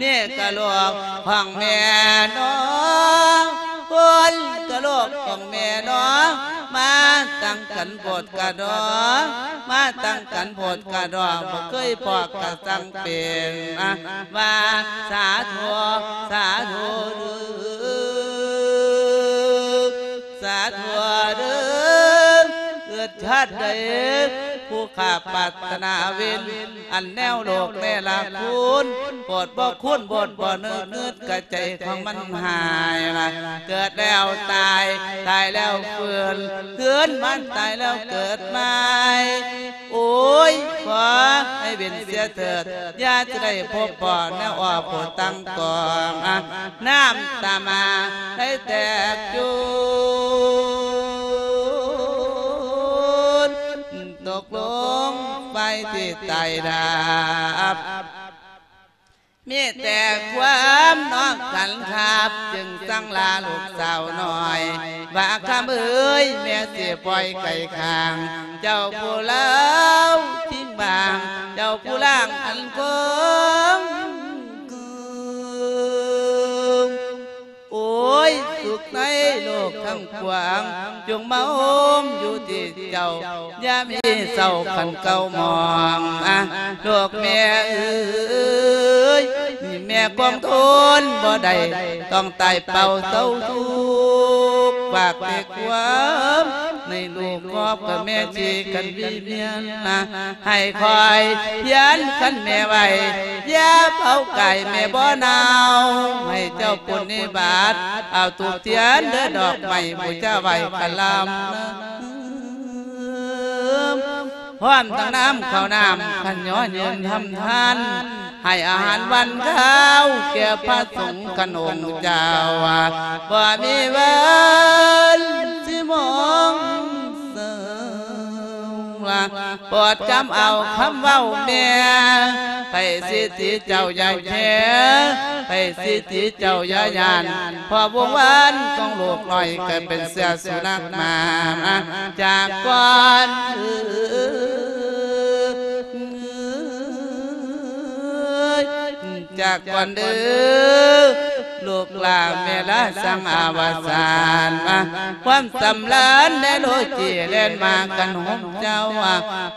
ນີ້ກະລູກຂອງແມ່ເນາະ ຄົນກະລູກຂອງແມ່ເນາະ ມາຕັ້ງກັນໂພດກະດໍ ມາຕັ້ງກັນໂພດກະດໍ ບໍ່ເຄີຍພໍ້ກະສັງເປັນ ມາ ວ່າສາທຸ ສາທຸເດີ ສາທຸເດີ ເກີດຊາດໃດ ຜູ້ຂ້າປາດຖະໜາເວັນ ອັນແນວໂລກແນລະຄຸນ ໂພດບໍ່ຄູນ ໂພດບໍ່ນຶກ ງຶດກະໃຈຂອງມັນຫາຍລະ ເກີດແລ້ວຕາຍ ຕາຍແລ້ວຟື້ນ ຄືນມາຕາຍແລ້ວເກີດໃໝ່ ໂອ້ຍ ຂໍໃຫ້ເວັ້ນເສຍເຖີດ ຢ່າຈະໄດ້ພົບພໍ້ແນວອອບໂພດຕັງກອງ ນ້ຳຕາມາໄດ້ແຕກຈູນ ຕົກລົງໄຟທີ່ໃຕ້ດາບ ມີແຕ່ຄວາມນອກກັນຄັບ ຈຶ່ງສັ່ງລາລູກສາວນ້ອຍ ວ່າຄຳເອີຍ ແມ່ຊິປ່ອຍໄກ່ຂ້າງ ເຈົ້າຜູ້ລາວຖິ້ມບາງ ເຈົ້າຜູ້ລ່າງອັນຄົງ ໂອ້ຍ ສຸກໃນໂລກທັງປວງ ຈົ່ງມາໂຮມຢູ່ທີ່ເຈົ້າ ຢ່າມີເສົ້າຄັນເກົ່າໝອງ ອາ ລູກແມ່ເອີຍ ແມ່ຄວງທົນບໍ່ໄດ້ ຕ້ອງຕາຍເປົ່າເສົ້າທຸກ ຝາກແຕ່ຄວາມໃນລູກຄອບກັບແມ່ຈີກັນວິມຽນນະ ໃຫ້ຄອຍພຽນຄັນແມ່ໄວ້ ຢ່າເຜົາກາຍແມ່ບໍ່ເນົ່າ ໃຫ້ເຈົ້າປຸນນິບາດ ເອົາທູບທຽນເດີດອກໄມ້ບູຊາໄຫວ້ກະລຳ ພ້ອມທັງນ້ຳເຂົ້ານ້ຳ ຂັນຍໍຍືນທຳທານ ໃຫ້ອາຫານຫວານຄາວແກ່ພະສົງຄັນອົງເຈົ້າ ບໍ່ມີວັນຊິມອງເສົ້າ ໂປດຈຳເອົາຄຳເວົ້າແມ່ ໃຜສິດທີ່ເຈົ້າຢ່າແຄ ໃຜສິດທີ່ເຈົ້າຢ່າຢ້ານ ເພາະວົງວານຂອງລູກນ້ອຍ ກາຍເປັນເສືອສຸນັກໝາ ຈາກກ່ອນ ຈາກກ່ອນເດີ ລູກຫຼ້າແມ່ລາສັງອາວະສານມາ ຄວາມສຳລານແລະໂລຈີແລ່ນມາກັນໂຮມເຈົ້າ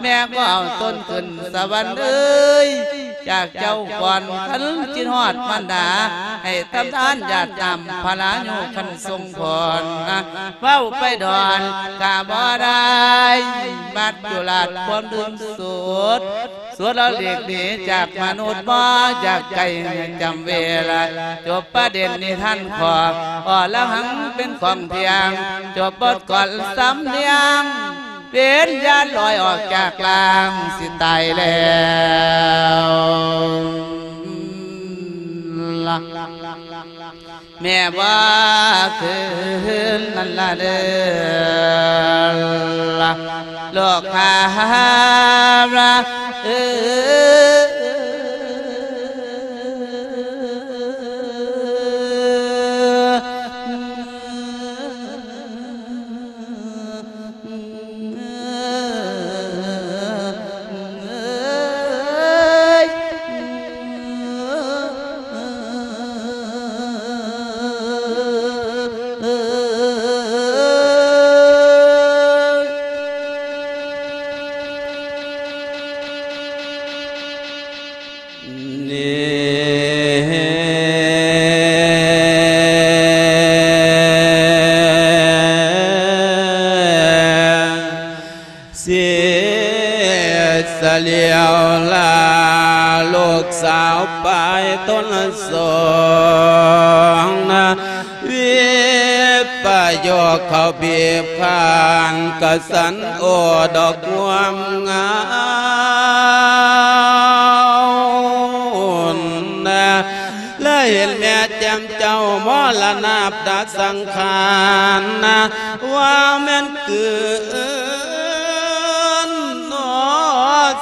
ແມ່ກໍເອົາຕົນຂຶ້ນສະຫວັນເອີຍ ຈາກເຈົ້າກ່ອນຄັນຄິດຮອດມານດາ ໃຫ້ທຳທານຢາດນ້ຳພະລາຍຸຄັນຊົງພອນ ເວົ້າໄປດອນກະບໍ່ໄດ້ ບັດຈຸລາດຄວາມດຶງສອດ ສ່ວນລະຫຼີກໜີຈາກມະນຸດ ບໍ່ຢາກໃກ້ໃຫ້ຈຳເວລາ ຈົບປະເດັນນິທານຂອງອໍລະຫັງເປັນຂອງທ່ຽງ ຈົບບົດກ່ອນສຳນຽງ ວິນຍານລອຍອອກຈາກຮ່າງ ຊິຕາຍແລ້ວລະ ແມ່ວ່າຄືນນັ້ນລະເດີລະ ໂລກຄາລະເອີ. ນີ້ຊິສະຫຼຽວລາ ລູກສາວປາຍຕົນສອງນະ ວິປະໂຍກເຂົ້າບີບຂ້າງ ກະສັນໂອດອກງວມງາມນະ ລະເຫັນແມ່ແຈ່ມເຈົ້າມໍລະນາບຕາສັງຂານນະ ວ່າແມ່ນກືນໜໍ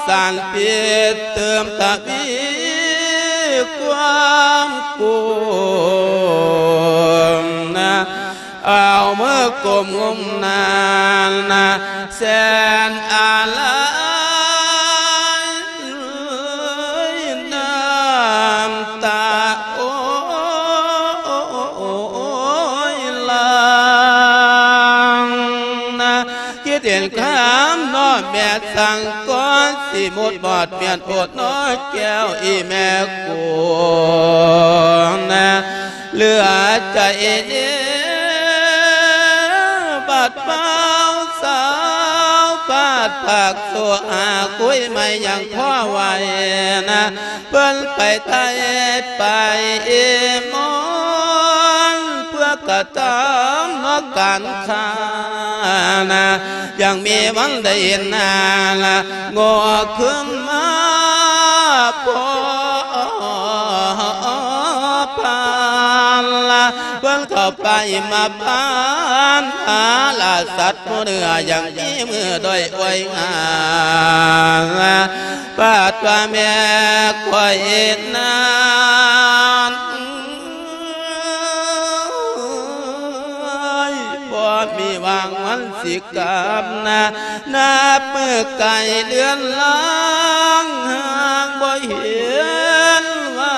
ສານພິດ ເຕີມທະວີຄວາມກຸມນະ ເອົາມືກຸມງຸມນານະ ແສນອາໄລ ນ້ຳຕາໂອຍຫຼັ່ງນະ ຄິດເຫັນຄຳນ້ອຍແມ່ສັງກອນ ຊິໝົດບອດປ່ຽນໂອດນ້ອຍແກ້ວອີແມ່ກຸນນະ ເຫຼືອໃຈເນ ບາດບ່າວສາວ ບາດພາກໂຊຫາ ຄຸຍໃໝ່ຍັງພໍໄຫວນະ ເພິ່ນໄປໄທໄປເອມອນ ເພື່ອກະທຳນອກການຄ້ານະ ຍັງມີວັນໄດ້ເຫັນໜ້າລະ ໂງ່ຂຶ້ນມາພໍຜ່ານລະ ເພິ່ນເຂົ້າໄປມາຜ່ານຫາລາສັດຜູ້ເໜືອ ຍັງມີມືດ້ອຍອວຍງາມ ບາດວ່າແມ່ຂ້ອຍນັ້ນ ບໍ່ມີຫວັງວັນຊິກັບນະ ນັບມື້ໄກເດືອນລາງ ຫາກບໍ່ເຫັນວັ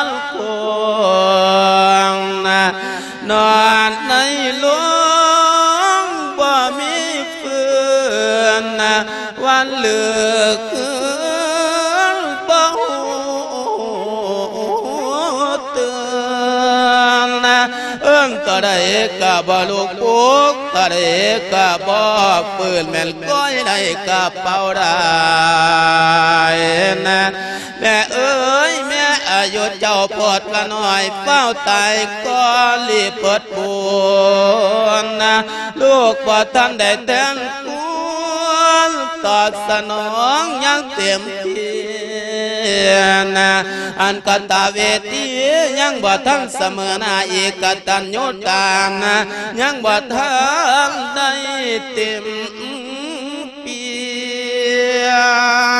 ນຄົງນະ ນອນໃນໂລງບໍ່ມີຟື້ນນະ ວັນເລີກຄືນບໍ່ຮູ້ຕື່ນນະ ເອີ້ນເທົ່າໃດກະບໍ່ລຸກປຸກ ເທົ່າໃດກະບໍ່ຟື້ນ ແມ່ນກ້ອຍໃນກະເປົາໄດ້ນະ ແມ່ເອີຍ ແມ່ອາຍຸເຈົ້າໂພດກະນ້ອຍ ຟ້າວຕາຍກ່ອນລີບເພິດບຸນນະ ລູກບໍ່ທັນໄດ້ແທນ ຄວນຕອບສະໜອງຢ່າງເຕັມທີ່ນະ ອັນກະຕະເວທີຍັງບໍ່ທັນສະເໝີໜ້າ ອີກະຕັນຍູຕານະ ຍັງບໍ່ທັນໄດ້ເຕັມປ່ຽ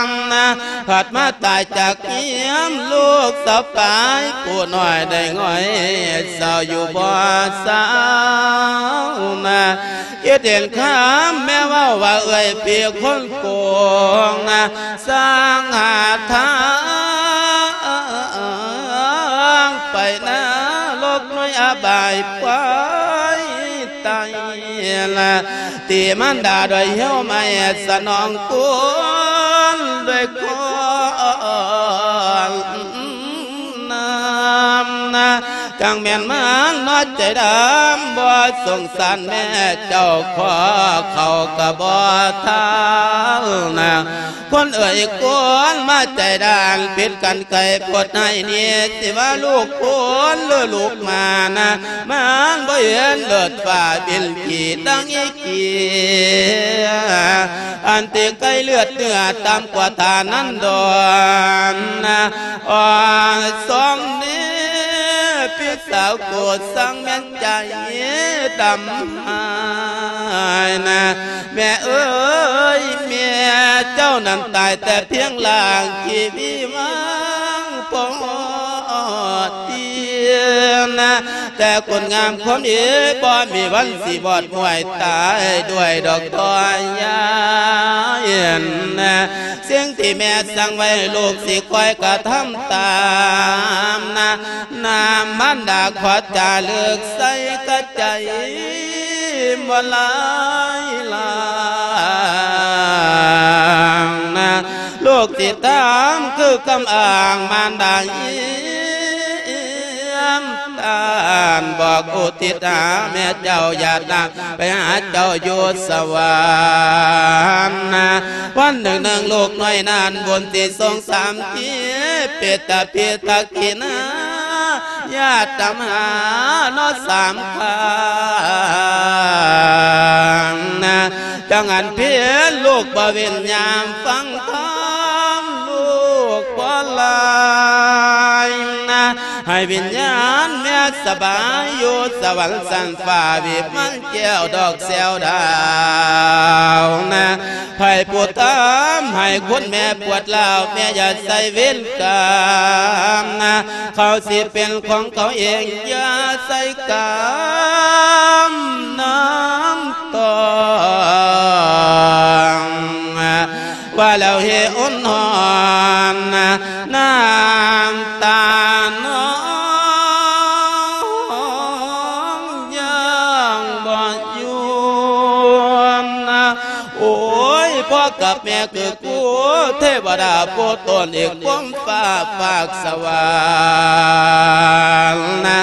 ນນະ ພັດມາຕາຍຈາກຮຽມ ລູກສາວປາຍຜູ້ນ້ອຍໄດ້ຫງອຍ ເສົ້າຢູ່ບໍ່ເຊົານະ ຄິດເຫັນຄຳແມ່ເວົ້າວ່າ ເອື້ອຍພີ່ຄົນໂກງນະ ສ້າງຫາທາງໄປນະລົກນ້ອຍອະບາຍໄປໄຕລະ ຕີມານດາດ້ວຍເຫວໄມ້ ສະໜອງຄຸນດ້ວຍຄວາມນາມນະ ຈັ່ງແມ່ນມັນເນາະໃຈດຳ ບໍ່ສົງສານແມ່ເຈົ້າ ຂໍເຂົ້າກໍບໍ່ທັນນະ. ຄົນເອີຍຄົນມາໃຈດ້ານ ຜິດກັນໄກໂພດໃຫ້ນີ້ ຊິວ່າລູກຄົນຫຼືລູກໝານະ ມັນບໍ່ເຫັນເລີດຟ້າບິນຂີ່ຕັ້ງອີກ ອັນທີ່ໄກ່ເລືອດເນື້ອຕ່ຳກວ່າທ່ານນັ້ນດອນນະ ອ່ອນສອມນີ້ ພີ່ສາວໂກດສັງແມ່ນໃຈດຳຫາຍນະ ແມ່ເອີຍ ແມ່ເຈົ້ານັ້ນຕາຍແຕ່ພຽງລ່າງ ທີ່ມີວັງປອດຕຽນນະ ແຕ່ຄຸນງາມຄວາມດີ ບໍ່ມີວັນຊິວອດມ້ວຍຕາຍດ້ວຍດອກ ພໍ່ຍາຍນະ. ສິ່ງທີ່ແມ່ສັ່ງໄວ້ ລູກຊິຄອຍກະທຳຕາມນະ ນ້ຳມັນດາຂໍຈາລຶກໃສ່ກະໃຈ ບໍ່ລາຍລາງນະ ລູກຊິຕາມຄືຄຳອ້າງມານດາ ຢ້ຽມຕານ ບອກອຸທິດຫາແມ່ເຈົ້າ ຢາດນາງໄປຫາເຈົ້າຢູ່ສະຫວັນນະ. ວັນໜຶ່ງໜຶ່ງລູກນ້ອຍນັ້ນ ບຸນຊິສົ່ງສາມທີ ເປດຕະພິທັກກິນາ ຍາດຕາມຫາເນາະສາມຄັ້ງນະ ຈັ່ງອັນເພັນລູກບໍ່ເວັ້ນຍາມຟັງທຳ ລູກບໍ່ລາຍນະ ໃຫ້ວິນຍານແມ່ສະບາຍຢູ່ສະຫວັນຊັ້ນຟ້າ ວິມານແກ້ວດອກແຊວດາວນະ. ໃຜຜູ້ທຳໃຫ້ຄຸນແມ່ປວດຮ້າວ ແມ່ຢ່າໃສ່ເວນກຳນະ ເຂົາຊິເປັນຂອງເຂົາເອງ ຢ່າໃສ່ກຳນຳຕ້ອງ ວ່າແລ້ວເຮອຸ່ນຮ້ອນ ນ້ຳຕານ້ອງຍັງບໍ່ຢຸດ. ໂອ້ຍ ພໍ່ກັບແມ່ຄືຄູ່ ເທວະດາຜູ້ຕົນເອກ ພົມຟ້າຟາກສະຫວັນນະ.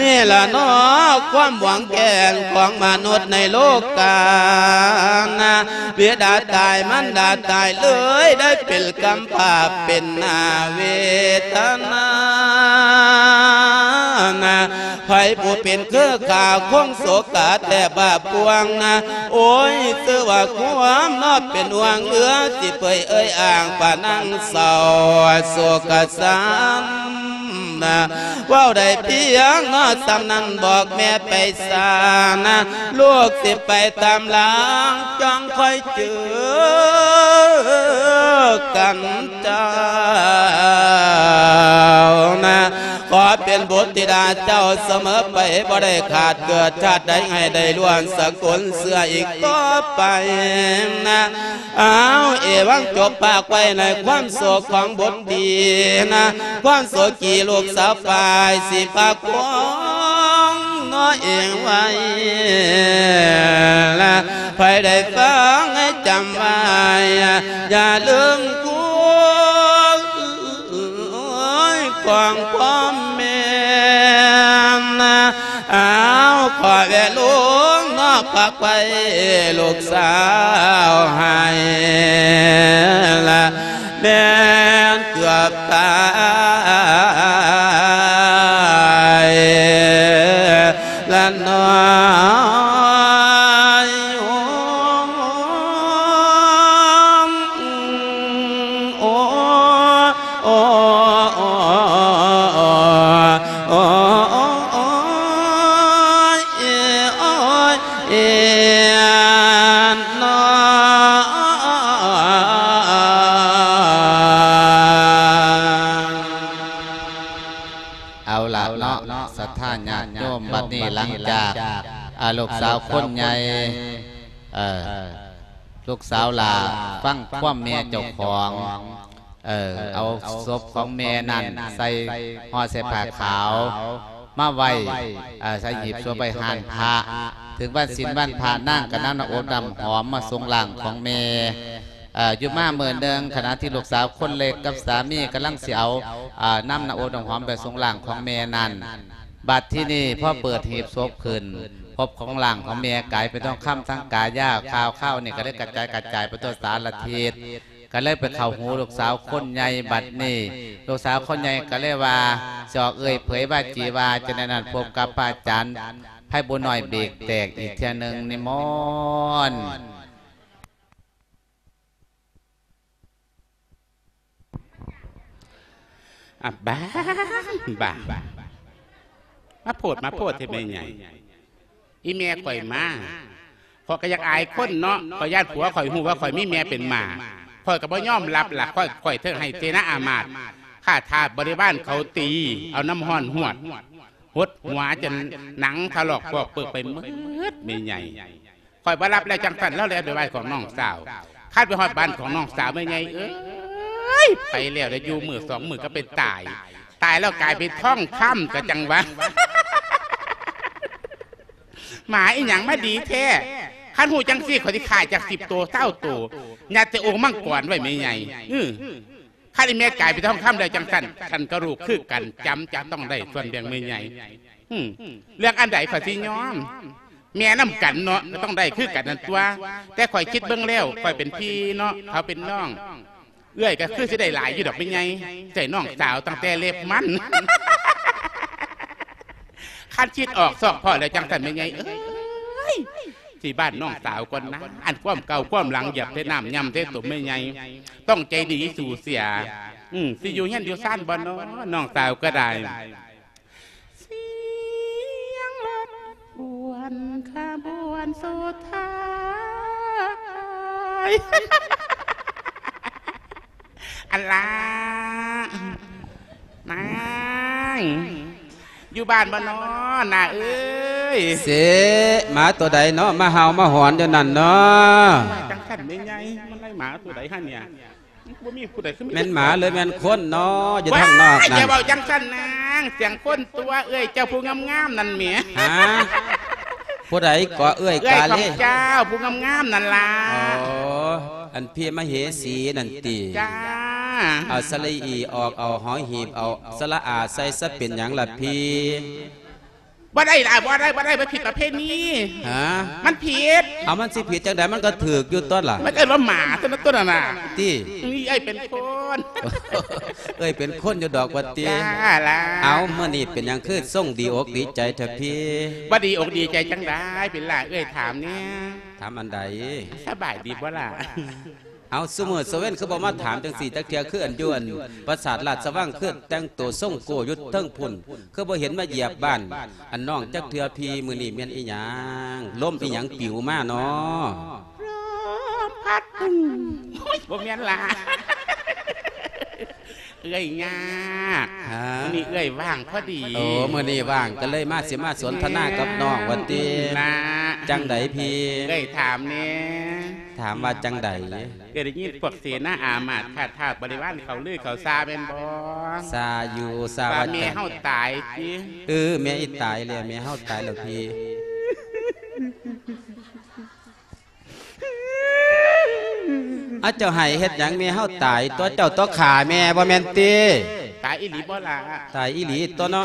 ນີ້ລະເນາະ ຄວາມຫວັງແກ່ນຂອງມະນຸດໃນໂລການະ ບິດາຕາຍ ມານດາຕາຍ ເລີຍໄດ້ເປັນກຳພ້າເປັນໜ້າເວທະນານະ. ໃຜຜູ້ເປັນຄືຂ້າຄົງໂສກາແທບບາບພວງນະ ໂອ້ຍ ຊື່ວ່າຄວາມເນາະເປັນຫ່ວງເຫຼືອ ຊິເປີຍເອີຍອ້າງປານັງເສົ້າໂສກະສັນນະ. ເວົ້າໄດ້ພຽງເນາະສ່ຳນັ້ນ ບອກແມ່ໄປຊານະ ລູກຊິໄປຕາມຫຼັງ ຈັ່ງຄ່ອຍເຈີກັນເຈົ້ານະ. ຂໍເປັນບຸດທິດາເຈົ້າສະເໝີໄປ ບໍ່ໄດ້ຂາດເກີດຊາດໃດ ໃຫ້ໄດ້ລ້ວງສະກຸນເຊື້ອອີກຕໍ່ໄປນະ. ອ້າວ ເອວັງ ຈົບພາກໄວ້ໃນຄວາມໂສກຂອງບຸດດີນະ ຄວາມໂສກີລູກສາວຝ່າຍສີພາຄວງເນາະເອງໄວ້ລະ ໃຜໄດ້ຟັງໃຫ້ຈຳໄວ້ ຢ່າລືມຄຸນຂອງຄວາມແມ່ນນະ. ອ້າວ ຂໍແວ່ລຸງເນາະ ພາໄປລູກສາວໃຫ້ລະ ແມ່ນເກືອບຕາຍລະນ້ອຍ ໂອ້ ໂອ້ ໂອ້ ໂອ້ ໂອ້ຍ ໂອ້ຍ ເອີນເນາະ. ເອົາລະເນາະ ສັດທາຍາດໂຍມ ບັດນີ້ຫຼັງຈາກ ອ່າ ລູກສາວຄົນໃຫຍ່ ເອີ ລູກສາວຫຼ້າຟັງຄວາມແມ່ເຈົ້າຂອງ ເອີ ເອົາສົບຂອງແມ່ນັ້ນໃສ່ ຫໍ່ໃສ່ຜ້າຂາວມາໄວ້ ເອີ ໃສ່ຫີບສົບໄວ້ຮ້ານພະ. ເຖິງວັນສິນວັນພະ ນາງກໍນຳນ້ຳອົບນ້ຳຫອມມາສົ່ງຮ່າງຂອງແມ່. ເອີ ຢູ່ມາມື້ໜຶ່ງ ຂະນະທີ່ລູກສາວຄົນເລັກກັບສາມີກຳລັງຊິເອົາ ເອີ ນຳນ້ຳອົບນ້ຳຫອມໄປສົ່ງຮ່າງຂອງແມ່ນັ້ນ ບັດທີນີ້ພໍເປີດຫີບສົບຂຶ້ນ ພົບຂອງຮ່າງຂອງແມ່ກາຍເປັນທອງຄຳທັງກາຍາ ຂ່າວຄາວນີ້ກໍເລີຍກະຈາຍກະຈາຍໄປທົ່ວສາລະທິດ ກໍເລີຍໄປເຂົ້າຫູລູກສາວຄົນໃຫຍ່. ບັດນີ້ລູກສາວຄົນໃຫຍ່ກໍເລີຍວ່າ ຊິອອກເອື້ອຍເຜີຍວ່າຈີວ່າ ຈະໃນນັ້ນພົບກັບພະອາຈານໄພບຸນນ້ອຍເບກແຕກອີກເທື່ອໜຶ່ງ. ນິມົນ. ອະ ບ້າ ບ້າ ມາໂພດມາໂພດແທ້ແມ່ໃຫຍ່. ອີແມ່ຂ້ອຍມາ ຂ້ອຍກໍຢາກອາຍຄົນເນາະ ຂ້ອຍຢ້ານຜົວຂ້ອຍຮູ້ວ່າຂ້ອຍມີແມ່ເປັນໝາ ຂ້ອຍກໍບໍ່ຍອມຮັບລະ ຂ້ອຍ ຂ້ອຍເຖິງໃຫ້ເສນາອາມາດ ຂ້າທາດບໍລິວານເຂົາຕີ ເອົານ້ຳຮ້ອນຫວດ ຫົດຫົວຈົນໜັງຖະຫຼອກປອກເປິກໄປໝົດແມ່ໃຫຍ່. ຂ້ອຍບໍ່ຮັບແລ້ວຈັ່ງຊັ້ນ ລາວແລ່ນໄປໄຫວ້ຂອງນ້ອງສາວ ຄັນໄປຮອດບ້ານຂອງນ້ອງສາວແມ່ໃຫຍ່ເອີຍ ໄປແລ້ວໄດ້ຢູ່ມື້ສອງມື້ກໍໄປຕາຍ ຕາຍແລ້ວກາຍເປັນທອງຄຳກໍຈັ່ງວ່າ ໝາອີຫຍັງມາດີແທ້ ຄັນຮູ້ຈັ່ງຊີ້ ຂ້ອຍຊິຂ້າຈັກສິບໂຕຊາວໂຕ ຍັດໃສ່ໂອ່ງມັງກອນໄວ້ແມ່ໃຫຍ່. ອື ຄັນອີແມ່ກາຍເປັນທອງຄຳແລ້ວຈັ່ງຊັ້ນ ຄັນກະລູກຄືກັນ ຈຳຈະຕ້ອງໄດ້ສ່ວນແບ່ງແມ່ໃຫຍ່. ອື ເລື່ອງອັນໃດຂ້ອຍຊິຍອມ ແມ່ນຳກັນເນາະ ກໍຕ້ອງໄດ້ຄືກັນນັ້ນຕົວະ ແຕ່ຂ້ອຍຄິດເບິ່ງແລ້ວ ຂ້ອຍເປັນພີ່ເນາະ ເຂົາເປັນນ້ອງ ເອື້ອຍກໍຄືຊິໄດ້ຫຼາຍຢູ່ດອກແມ່ໃຫຍ່ ໃສ່ນ້ອງສາວຕັ້ງແຕ່ເລັບມັນ ຄັນຄິດອອກຊອກພໍ້ແລ້ວຈັ່ງຊັ້ນແມ່ໃຫຍ່ເອີຍ ຊິບ້ານນ້ອງສາວກ່ອນນາ ອັນຄວາມເກົ່າຄວາມຫຼັງ ຢາກແຕ່ນ້ຳຍຳແຕ່ຕົມແມ່ໃຫຍ່ ຕ້ອງໃຈດີສູ້ເສຍ. ອື ຊິຢູ່ເຮືອນຢູ່ຊານບໍ່ນໍ ນ້ອງສາວກໍໄດ້. ສຽງລົດຂະບວນສຸດທ້າຍ ອັນລາ ນາງ ຢູ່ບ້ານບໍ່ນໍ ນ້າເອີຍ? ເສະ ໝາຕົວໃດເນາະ ມາເຫົ່າມາຫອນຢູ່ນັ້ນເນາະ? ຈັ່ງຊັ້ນແມ່ໃຫຍ່ ມັນໄລ່ໝາຕົວໃດຫັ້ນເນຍ? ບໍ່ມີຜູ້ໃດຄືມີ ແມ່ນໝາຫຼືແມ່ນຄົນເນາະ ຢູ່ທາງນອກນັ້ນ? ຢ່າເວົ້າຈັ່ງຊັ້ນນາງ ສຽງຄົນຕົວະ ເອື້ອຍເຈົ້າຜູ້ງາມໆນັ້ນແໝ. ຫາ? ຜູ້ໃດເກາະເອື້ອຍ ເອື້ອຍຂອງເຈົ້າ ຜູ້ງາມໆນັ້ນລະ. ອໍ ອັນພີມະເຫສີນັ້ນຕິ? ຈ້າ. ເອົາສະຫຼະອີອອກ ເອົາຫໍຫີບ ເອົາສະຫຼະອາໃສ່ຊະ ເປັນຫຍັງລະພີ? ບໍ່ໄດ້ລະ ບໍ່ໄດ້ ບໍ່ໄດ້ ມັນຜິດປະເພນີ. ຫາ? ມັນຜິດ. ເອົາ ມັນຊິຜິດຈັ່ງໃດ? ມັນກໍຖືກຢູ່ຕົວະລະ. ມັນເອີ້ນວ່າໝາຕົວນັ້ນ ຕົວນັ້ນນະ. ຕິ? ນີ້ເອື້ອຍເປັນຄົນ. ເອື້ອຍເປັນຄົນຢູ່ດອກວ່າຕິ? ຈ້າລະ. ເອົາ ມື້ນີ້ເປັນຫຍັງຄືຊົງດີອົກດີໃຈແທ້ພີ? ບໍ່ດີອົກດີໃຈຈັ່ງໃດ ເປັນລະ ເອື້ອຍຖາມແດ່. ຖາມອັນໃດ? ສະບາຍດີບໍ່ລະ? ເອົາ ຊຸມື້ຊຸເວັນຄືບໍ່ມາຖາມຈັ່ງຊີ້ຈັກເທື່ອ? ຄືອັນຢູ່ອັນປາສາດລາຊະວັງ ຄືແຕ່ງໂຕຊົງໂກ້ຢູ່ເທິງພຸ້ນ ຄືບໍ່ເຫັນມາຢຽບບ້ານອັນນ້ອງຈັກເທື່ອພີ? ມື້ນີ້ແມ່ນອີຫຍັງ ລົມອີຫຍັງປິວມານໍ? ລົມພັດ ໂອ້ຍ ບໍ່ແມ່ນລະ ເອື້ອຍຍາກ. ຫາ? ມື້ນີ້ເອື້ອຍວ່າງພໍດີ. ໂອ້ ມື້ນີ້ວ່າງກໍເລີຍມາ ຊິມາສົນທະນາກັບນ້ອງວ່າຕິ? ນະ. ຈັ່ງໃດພີ? ເອື້ອຍຖາມແດ່. ຖາມວ່າຈັ່ງໃດ? ເອື້ອຍໄດ້ຍິນພວກເສນາອາມາດຂ້າທາດບໍລິວານເຂົາລືເຂົາຊາແມ່ນບໍ່? ຊາຢູ່. ຊາວ່າ ວ່າແມ່ເຮົາຕາຍຕິ? ເອີ ແມ່ອີຕາຍແລ້ວ ແມ່ເຮົາຕາຍແລ້ວພີ. ອາ ເຈົ້າໄຫ້ເຮັດຫຍັງ? ແມ່ເຮົາຕາຍຕົວະ ເຈົ້າຕົວະຂ້າແມ່ບໍ່ແມ່ນຕິ? ຕາຍອີ່ຫຼີບໍ່ລະ? ຕາຍອີ່ຫຼີຕົວະເນາະ.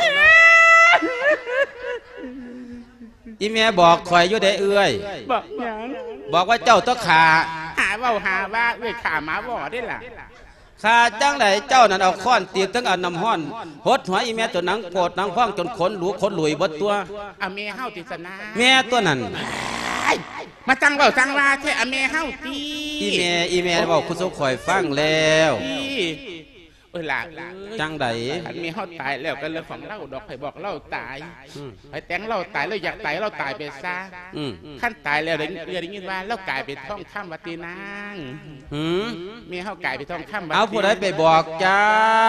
ອີ່ແມ່ບອກຂ້ອຍຢູ່ເດ້ເອື້ອຍ. ບອກຫຍັງ? ບອກວ່າເຈົ້າຕົວະຂ້າ. ຫາເວົ້າຫາວ່າ ເອື້ອຍຂ້າໝາວໍເດ້ລະ. ຂ້າຈັ່ງໃດ? ເຈົ້ານັ້ນເອົາຄ້ອນຕີບ ເຖິງເອົານ້ຳຮ້ອນຫົດຫົວອີ່ແມ່ຈົນໜັງໂພດໜັງພອງ ຈົນຂົນຫຼູຂົນຫຼຸຍເບິດຕົວະ. ອາ ແມ່ເຮົາຕິສະນາ? ແມ່ຕົວະນັ້ນ. ມາຈັ່ງເວົ້າຈັ່ງວ່າແທ້ ອາ ແມ່ເຮົາຕິ? ອີ່ແມ່ ອີ່ແມ່ເວົ້າສູ່ຂ້ອຍຟັງແລ້ວ. ເອີ ຫຼ້າເອີຍ ຈັ່ງໃດ? ຄັນແມ່ເຮົາຕາຍແລ້ວກໍເລື່ອງຂອງລາວດອກ ໃຜບອກລາວຕາຍ. ອືມ ໃຜແຕ່ງລາວຕາຍ ລາວຢາກຕາຍ ລາວຕາຍໄປຊະ. ອືມ ຄັນຕາຍແລ້ວໄດ້ ເອື້ອຍໄດ້ຍິນວ່າລາວກາຍເປັນທອງຄຳວ່າຕິນາງ. ຫື? ແມ່ເຮົາກາຍເປັນທອງຄຳວ່າຕິ. ເອົາ ຜູ້ໃດໄປບອກເຈົ້າ?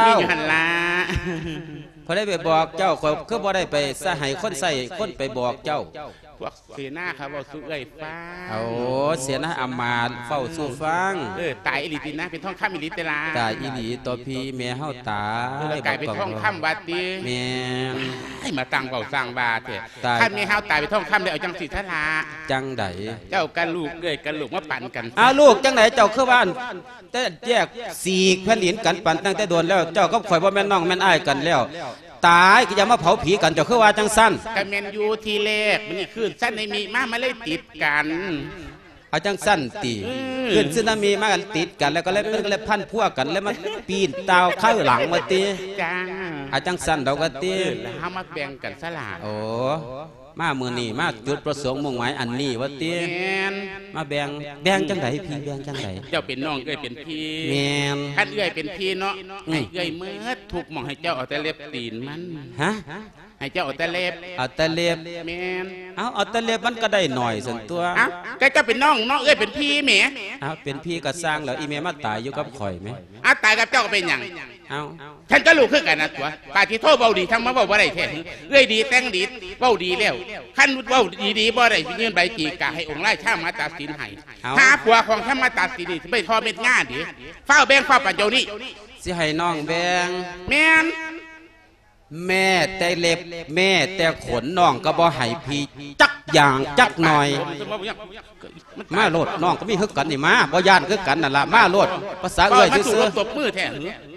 ມີຢູ່ຫັ້ນລະ. ຜູ້ໃດໄປບອກເຈົ້າ? ຂ້ອຍຄືບໍ່ໄດ້ໄປສະໃຫ້ຄົນໃຊ້ຄົນໄປບອກເຈົ້າ. ພວກເສນາເຂົາເວົ້າສູ່ເອື້ອຍຟັງ. ໂອ້ ເສນາອາມາດເວົ້າສູ່ຟັງ. ເອີ ຕາຍອີ່ຫຼີຕິນາງ ເປັນທອງຄຳອີ່ຫຼີຕິລະ? ຕາຍອີ່ຫຼີຕົວະພີ່ ແມ່ເຮົາຕາຍ. ເອີ ລາວກາຍເປັນທອງຄຳວ່າຕິ? ແມ່ນ. ໃຫ້ມາຕັ້ງເວົ້າສ້າງວ່າແທ້. ຕາຍ. ຄັນແມ່ເຮົາຕາຍເປັນທອງຄຳແລ້ວ ເອົາຈັ່ງຊີ້ຊະລະ. ຈັ່ງໃດ? ເຈົ້າກັບລູກ ເອື້ອຍກັບລູກມາປັນກັນ. ອ້າວ ລູກຈັ່ງໃດ? ເຈົ້າຄືວ່າ ແຕ່ແຍກສີກແຜ່ນດິນກັນ ປັນຕັ້ງແຕ່ດົນແລ້ວ. ເຈົ້າກັບຂ້ອຍບໍ່ແມ່ນນ້ອງແມ່ນອ້າຍກັນແລ້ວ. ຕາຍ ກໍຢ່າມາເຜົາຜີກັນ ເຈົ້າຄືວ່າຈັ່ງຊັ້ນ? ກະແມ່ນຢູ່ ທີແລກມັນນີ້ຄື້ນຊະນາມິມາ ມັນເລີຍຕິດກັນ. ເອົາຈັ່ງຊັ້ນຕິ? ອືມ ຄື້ນຊະນາມິມາກັນຕິດກັນ ແລ້ວກໍເລີຍ ມັນກໍເລີຍພັນພົວກັນ ແລ້ວມາປີນຕ່າວໄຂ່ຫຼັງວ່າຕິ? ຈ້າ ເອົາຈັ່ງຊັ້ນດອກວ່າຕິ? ເອີ ແລ້ວເຮົາມາແບ່ງກັນຊະລະ. ໂອ້ ມາມື້ນີ້ມາຈຸດປະສົງມຸ່ງໝາຍອັນນີ້ວ່າຕິ? ແມ່ນ. ມາແບ່ງ ແບ່ງຈັ່ງໃດພີ່ ແບ່ງຈັ່ງໃດ? ເຈົ້າເປັນນ້ອງ ເອື້ອຍເປັນພີ່. ແມ່ນ. ຄັນເອື້ອຍເປັນພີ່ເນາະ ອືມ ໃຫ້ເອື້ອຍໝົດທຸກໝ່ອງ ໃຫ້ເຈົ້າເອົາແຕ່ເລັບຕີນມັນ. ຮະ? ໃຫ້ເຈົ້າເອົາແຕ່ເລັບ. ເອົາແຕ່ເລັບ? ແມ່ນ. ເອົາ ເອົາແຕ່ເລັບມັນກໍໄດ້ໜ້ອຍຊັ້ນຕົວະ. ເອົ້າ ກໍເຈົ້າເປັນນ້ອງເນາະ ເອື້ອຍເປັນພີ່ແໝ. ເອົາ ເປັນພີ່ກໍຊ່າງແລ້ວ ອີແມ່ມາຕາຍຢູ່ກັບຂ້ອຍແໝ. ເອົາ ຕາຍກັບເຈົ້າກໍເປັນຫຍັງ? ເອົ້າ ເອົາ ຄັນກໍລູກຄືກັນນະຕົວະ. ປາທິໂທ ເວົ້າດີທັງມາເວົ້າບໍ່ໄດ້ແທ້. ເອື້ອຍດີແຕ່ງດີ ເວົ້າດີແລ້ວ ຄັນເວົ້າດີໆບໍ່ໄດ້ ຊິຍື່ນໃບຕີກາໃຫ້ອົງລາຊາມາຕັດສິນໃຫ້. ເອົ້າ ຫາຜົວຂອງທ່ານມາຕັດສິນນີ້ ຊິໄປທໍ່ເມັດງາເດ. ຟ້າວແບ່ງ ຟ້າວປັນດຽວນີ້. ຊິໃຫ້ນ້ອງແບ່ງ? ແມ່ນ. ແມ້ແຕ່ເລັບ ແມ້ແຕ່ຂົນ ນ້ອງກໍບໍ່ໃຫ້ພີ່ຈັກຢ່າງຈັກໜ້ອຍ. ມາໂລດ ນ້ອງກໍມີຄືກັນນີ້ ມາ ບໍ່ຢ້ານຄືກັນນັ້ນລະ ມາໂລດ. ພາສາເອື້ອຍຊື່ໆ ຕົບມືແທ້.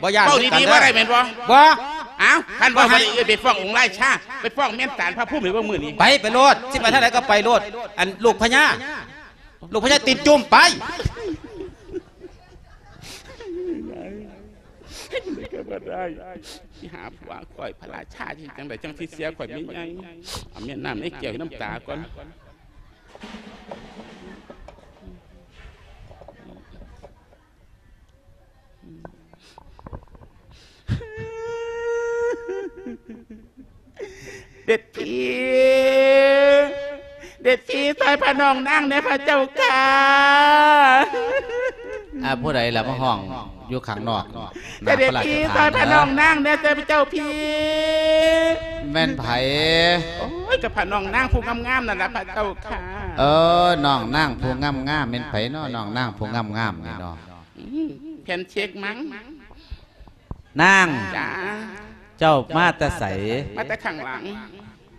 ບໍ່ຢ້ານຄືກັນເດີ. ບໍ່ໄດ້ແມ່ນບໍ່? ບໍ່. ອ້າວ ຄັນບໍ່ໄດ້ ໄປຟ້ອງອົງລາຊາ ໄປຟ້ອງແມ່ນສານພະພູມໃຫ້ເບິ່ງມື້ນີ້. ໄປ ໄປໂລດ ຊິໄປທາງໃດກໍໄປໂລດ. ອັນລູກພະຍາ ລູກພະຍາຕີນຈຸ້ມ ໄປ. ກໍບໍ່ໄດ້ ຊິຫາຜົວຂ້ອຍ ພະລາຊາຊິຈັ່ງໃດ ຈັ່ງຊິເສຍຂ້ອຍແມ່ໃຫຍ່. ເອົາແມ່ນ້ຳໃນແກ້ວໃຫ້ນ້ຳຕາກ່ອນ. ເດັດຜີ ເດັດຜີຊ່ອຍພະນ້ອງນາງແດ່ພະເຈົ້າຂ້າ. ອາ ຜູ້ໃດລະມາຮ້ອງຢູ່ຂ້າງນອກ? ເດັດຜີຊ່ອຍພະນ້ອງນາງແດ່ເຈົ້າພີ່. ແມ່ນໃຜ? ໂອ້ຍ ກໍພະນ້ອງນາງຜູ້ງາມໆນັ້ນລະພະເຈົ້າຂ້າ. ເອີ ນ້ອງນາງຜູ້ງາມໆ ແມ່ນໃຜເນາະ ນ້ອງນາງຜູ້ງາມໆນີ້ເນາະ? ອືມ ແຜ່ນເຊັກມັງ. ນາງ ຈ້າ ເຈົ້າມາແຕ່ໃສ? ມາແຕ່ຂ້າງຫຼັງ.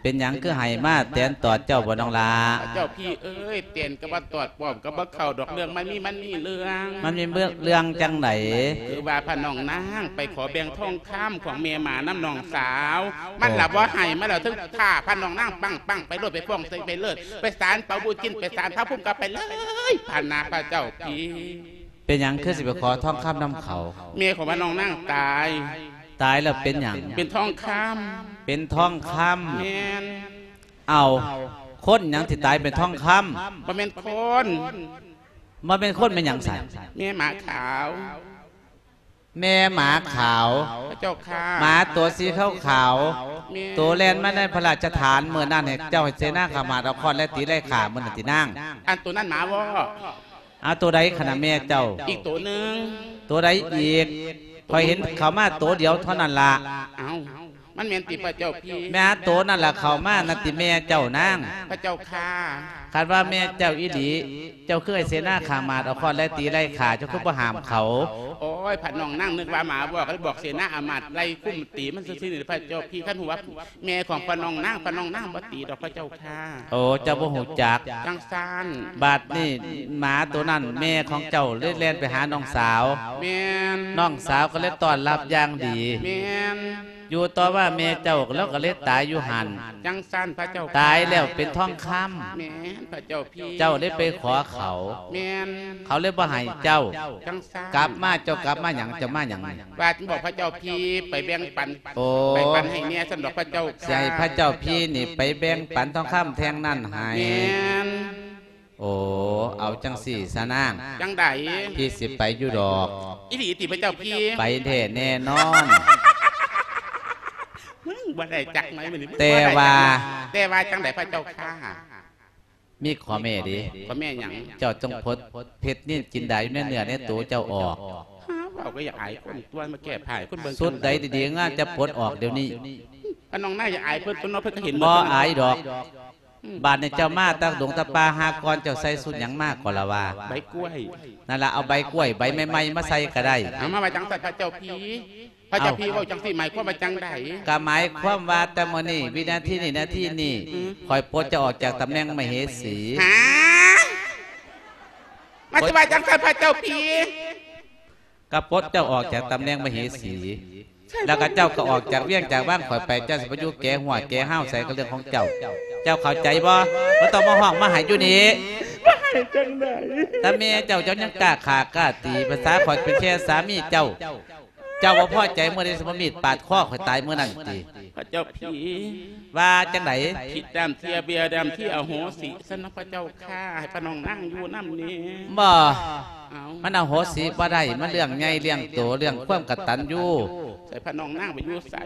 ເປັນຫຍັງຄືໃຫ້ມາແຕນຕອດເຈົ້າບໍ່ນ້ອງຫຼ້າ? ເຈົ້າພີ່ເອີຍ ແຕນກໍບໍ່ຕອດ ປ້ອມກໍບໍ່ເຂົ້າດອກ ເລື່ອງມັນມີ ມັນມີເລື່ອງ. ມັນມີເລື່ອງ ເລື່ອງຈັ່ງໃດ? ຄືວ່າພະນ້ອງນາງໄປຂໍແບ່ງທອງຄຳຂອງແມ່ໝານຳນ້ອງສາວ ມັນລະບໍ່ໃຫ້ ມັນລະເຖິງຂ້າພະນ້ອງນາງປັ້ງໆ ໄປໂລດ ໄປຟ້ອງໃສ່ໄປເລີດ ໄປສານເປົາບູຈິນ ໄປສານພະພູມກໍໄປເລີຍ ພະນາພະເຈົ້າພີ່. ເປັນຫຍັງຄືຊິໄປຂໍທອງຄຳນຳເຂົາ? ແມ່ຂອງພະນ້ອງນາງຕາຍ. ຕາຍແລ້ວເປັນຫຍັງ? ເປັນທອງຄຳ. ເປັນທອງຄຳ? ແມ່ນ. ເອົ້າ ຄົນຫຍັງຊິຕາຍເປັນທອງຄຳ? ບໍ່ແມ່ນຄົນ. ບໍ່ແມ່ນຄົນແມ່ນຫຍັງຊັ້ນ? ແມ່ໝາຂາວ. ແມ່ໝາຂາວ. ພະເຈົ້າຂ້າ. ໝາຕົວສີຂາວໆ ແມ່ນ. ໂຕແລ່ນມາໃນພະລາຊະຖານມື້ນັ້ນ ໃຫ້ເຈົ້າໃຫ້ເສນາຂ້າມາດເອົາຄ້ອນແລະຕີໄລ່ຂ້າມື້ນັ້ນຕິນາງ? ອັນໂຕນັ້ນໝາວໍ. ອາ ໂຕໃດຂະນະແມ່ເຈົ້າ? ອີກໂຕໜຶ່ງ. ໂຕໃດອີກ? ຂ້ອຍເຫັນເຂົ້າມາໂຕດຽວເທົ່ານັ້ນລະ. ເອົ້າ ມັນແມ່ນຕິພະເຈົ້າພີ່? ແມ່ໂຕນັ້ນລະເຂົ້າມານັ້ນຕິແມ່ເຈົ້ານາງ? ພະເຈົ້າຂ້າ. ຄັນວ່າແມ່ເຈົ້າອີ່ຫຼີ ເຈົ້າຄືໃຫ້ເສນາຂ້າມາດເອົາຄ້ອນໄລ່ຕີໄລ່ຂ້າ ເຈົ້າຄືບໍ່ຫ້າມເຂົາ? ໂອ້ຍ ພະນ້ອງນາງນຶກວ່າໝາວໍ ກໍເລີຍບອກເສນາອາມາດໄລ່ຄຸ້ມຕີມັນຊື່ໆນີ້ພະເຈົ້າພີ່. ຄັນຮູ້ວ່າ ແມ່ຂອງພະນ້ອງນາງ ພະນ້ອງນາງບໍ່ຕີດອກພະເຈົ້າຂ້າ. ໂອ້ ເຈົ້າບໍ່ຮູ້ຈັກ. ຈັ່ງຊັ້ນ. ບາດນີ້ໝາໂຕນັ້ນ ແມ່ຂອງເຈົ້າເລີຍແລ່ນໄປຫານ້ອງສາວ. ແມ່ນ. ນ້ອງສາວກໍເລີຍຕ້ອນຮັບຢ່າງດີ. ແມ່ນ. ຢູ່ຕໍ່ມາແມ່ເຈົ້າລາວກໍເລີຍຕາຍຢູ່ຫັ້ນ. ຈັ່ງຊັ້ນພະເຈົ້າ. ຕາຍແລ້ວເປັນທອງຄຳ. ແມ່ນພະເຈົ້າ. ເຈົ້າໄດ້ໄປຂໍເຂົາ. ແມ່ນ. ເຂົາເລີຍບໍ່ໃຫ້ເຈົ້າ. ຈັງຊັ້ນ. ກັບມາ ເຈົ້າກັບມາຫຍັງ? ເຈົ້າມາຫຍັງນີ້? ວ່າຈະບອກພະເຈົ້າພີ່ໄປແບ່ງປັນ. ໂອ້ ໄປປັນໃຫ້ແດ່ຊັ້ນດອກພະເຈົ້າ. ຊິໃຫ້ພະເຈົ້າພີ່ນີ້ໄປແບ່ງປັນທອງຄຳແທ່ງນັ້ນໃຫ້. ແມ່ນ. ໂອ້ ເອົາຈັ່ງຊີ້ຊະນາງ. ຈັ່ງໃດ? ພີ່ຊິໄປຢູ່ດອກ. ອີ່ຫຼີຕິພະເຈົ້າພີ່? ໄປແທ້ແນ່ນອນ. ມຶງບໍ່ໄດ້ຈັກໜ້ອຍມື້ນີ້. ແຕ່ວ່າ ແຕ່ວ່າຈັ່ງໃດພະເຈົ້າຂ້າ? ມີຂໍ້ແມ້ເດ້. ຂໍ້ແມ້ຫຍັງ? ເຈົ້າຈົ່ງປົດເພັດນິນຈິນດາຢູ່ໃນເນື້ອໃນໂຕເຈົ້າອອກ. ຫາ ເວົ້າກໍຢາກອາຍຄົນຕົວະ ມາແກ້ຜ້າໃຫ້ຄົນເບິ່ງ. ຊຸດໃດດີໆງາມຈະປົດອອກດຽວນີ້. ອາ ນ້ອງນາຍ ຢ່າອາຍເພິ່ນຕົວະເນາະ ເພິ່ນກໍເຫັນໝົດ. ບໍ່ອາຍດອກ. ອືມ ບາດນີ້ເຈົ້າມາຕາກດົງຕາປ່າ ຫາກ່ອນເຈົ້າໃສ່ຊຸດຫຍັງມາກໍລະວ່າ? ໃບກ້ວຍ. ນັ້ນລະ ເອົາໃບກ້ວຍໃບໃໝ່ໆມາໃສ່ກໍໄດ້. ເອົາ ມາວ່າຈັ່ງຊັ້ນພະເຈົ້າພີ່. ພະເຈົ້າ ເອົ້າ ພີ່ເວົ້າຈັ່ງຊີ້ໝາຍຄວາມວ່າຈັ່ງໃດ? ກໍໝາຍຄວາມວ່າແຕ່ມື້ນີ້ ວິນາທີນີ້ ນາທີນີ້ ອືມ ຂ້ອຍປົດເຈົ້າອອກຈາກຕຳແໜ່ງມະເຫສີ. ຫາ ມາຊິວ່າຈັ່ງຊັ້ນພະເຈົ້າພີ່? ກໍປົດເຈົ້າອອກຈາກຕຳແໜ່ງມະເຫສີ. ແລ້ວກໍເຈົ້າກໍອອກຈາກວຽງຈາກວັງຂ້ອຍໄປ ເຈົ້າຊິໄປຢູ່ແກຫົວແກຮາວໃສກໍເລື່ອງຂອງເຈົ້າ. ເຈົ້າເຂົ້າໃຈບໍ່? ບໍ່ຕ້ອງມາຮ້ອງມາໄຫ້ຢູ່ນີ້. ມາໄຫ້ຈັ່ງໃດ? ຕາແມ່ເຈົ້າ ເຈົ້າຍັງກ້າຂ້າກ້າຕີ ພາສາຂ້ອຍເປັນແຄ່ສາມີເຈົ້າ. ເຈົ້າບໍ່ພໍໃຈມື້ໃດຊິມາມີດປາດຄໍຂ້ອຍຕາຍມື້ນັ້ນຕິ. ພະເຈົ້າຜີ. ວ່າຈັ່ງໃດ? ຜິດດຳເທຍ ເບຍດຳທີ່ອະໂຫສິຊັ້ນນະພະເຈົ້າຂ້າ ໃຫ້ພະນ້ອງນາງຢູ່ນຳແດ່. ບໍ່. ເອົ້າ ມັນອະໂຫສິບໍ່ໄດ້ ມັນເລື່ອງໃຫຍ່ ເລື່ອງໂຕ ເລື່ອງຄວາມກະຕັນຍູ. ໃສ່ພະນ້ອງນາງໄປຢູ່ໃສ?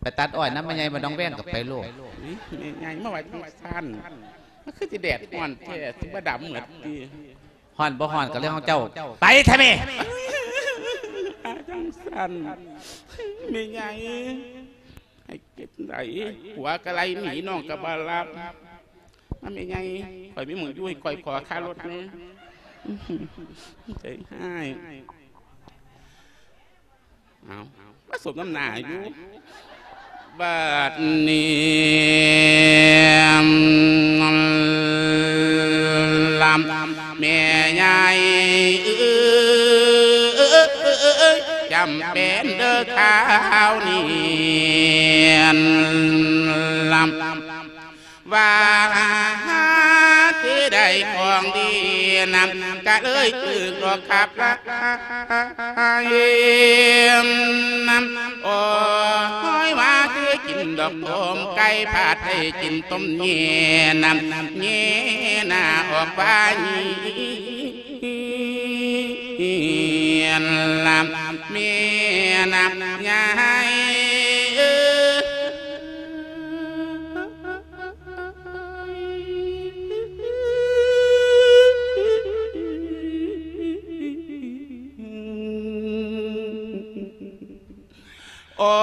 ໄປຕັດອ້ອຍນຳແມ່ໃຫຍ່ບ້ານໜອງແວງກໍໄປໂລດ. ອຸຍ ແມ່ໃຫຍ່ມາວ່າຈັ່ງຊັ້ນ ມັນຄືຊິແດດຮ້ອນແທ້ ຊິບໍ່ດຳໝົດຕິ. ຮ້ອນບໍ່ຮ້ອນກໍເລື່ອງຂອງເຈົ້າ ໄປແທ້ແມ່. ຈັ່ງຊັ້ນ ແມ່ໃຫຍ່ ໃຫ້ເກັບໄດ້ ຜົວກະໄລ່ໜີ ນ້ອງກະບໍ່ຮັບ. ມາແມ່ໃຫຍ່ ຂ້ອຍມີໝ່ອງຢູ່ ໃຫ້ຂ້ອຍຂໍຄ່າລົດແດ່. ໃຈຮ້າຍ. ເອົາ ມາສົມນ້ຳໜ້າຢູ່. ບາດນີ້ ລຳ ແມ່ໃຫຍ່ເອີຍ ຈຳເປັນເດີ້ຄາວນີ້ ລຳ ວ່າຊິໄດ້ຂອງດີນຳ ກະເລີຍຖືກດອກຂັບລາຍນຳ. ໂອ້ຍ ວ່າຊິກິນດອກຕົ້ມໄກ່ ພັດໄດ້ກິນຕົ້ມແຍ່ນຳ ແຍ່ໜ້າອອກວ່າ ລຳ ແມ່ນາຍເອີຍ. ໂອ້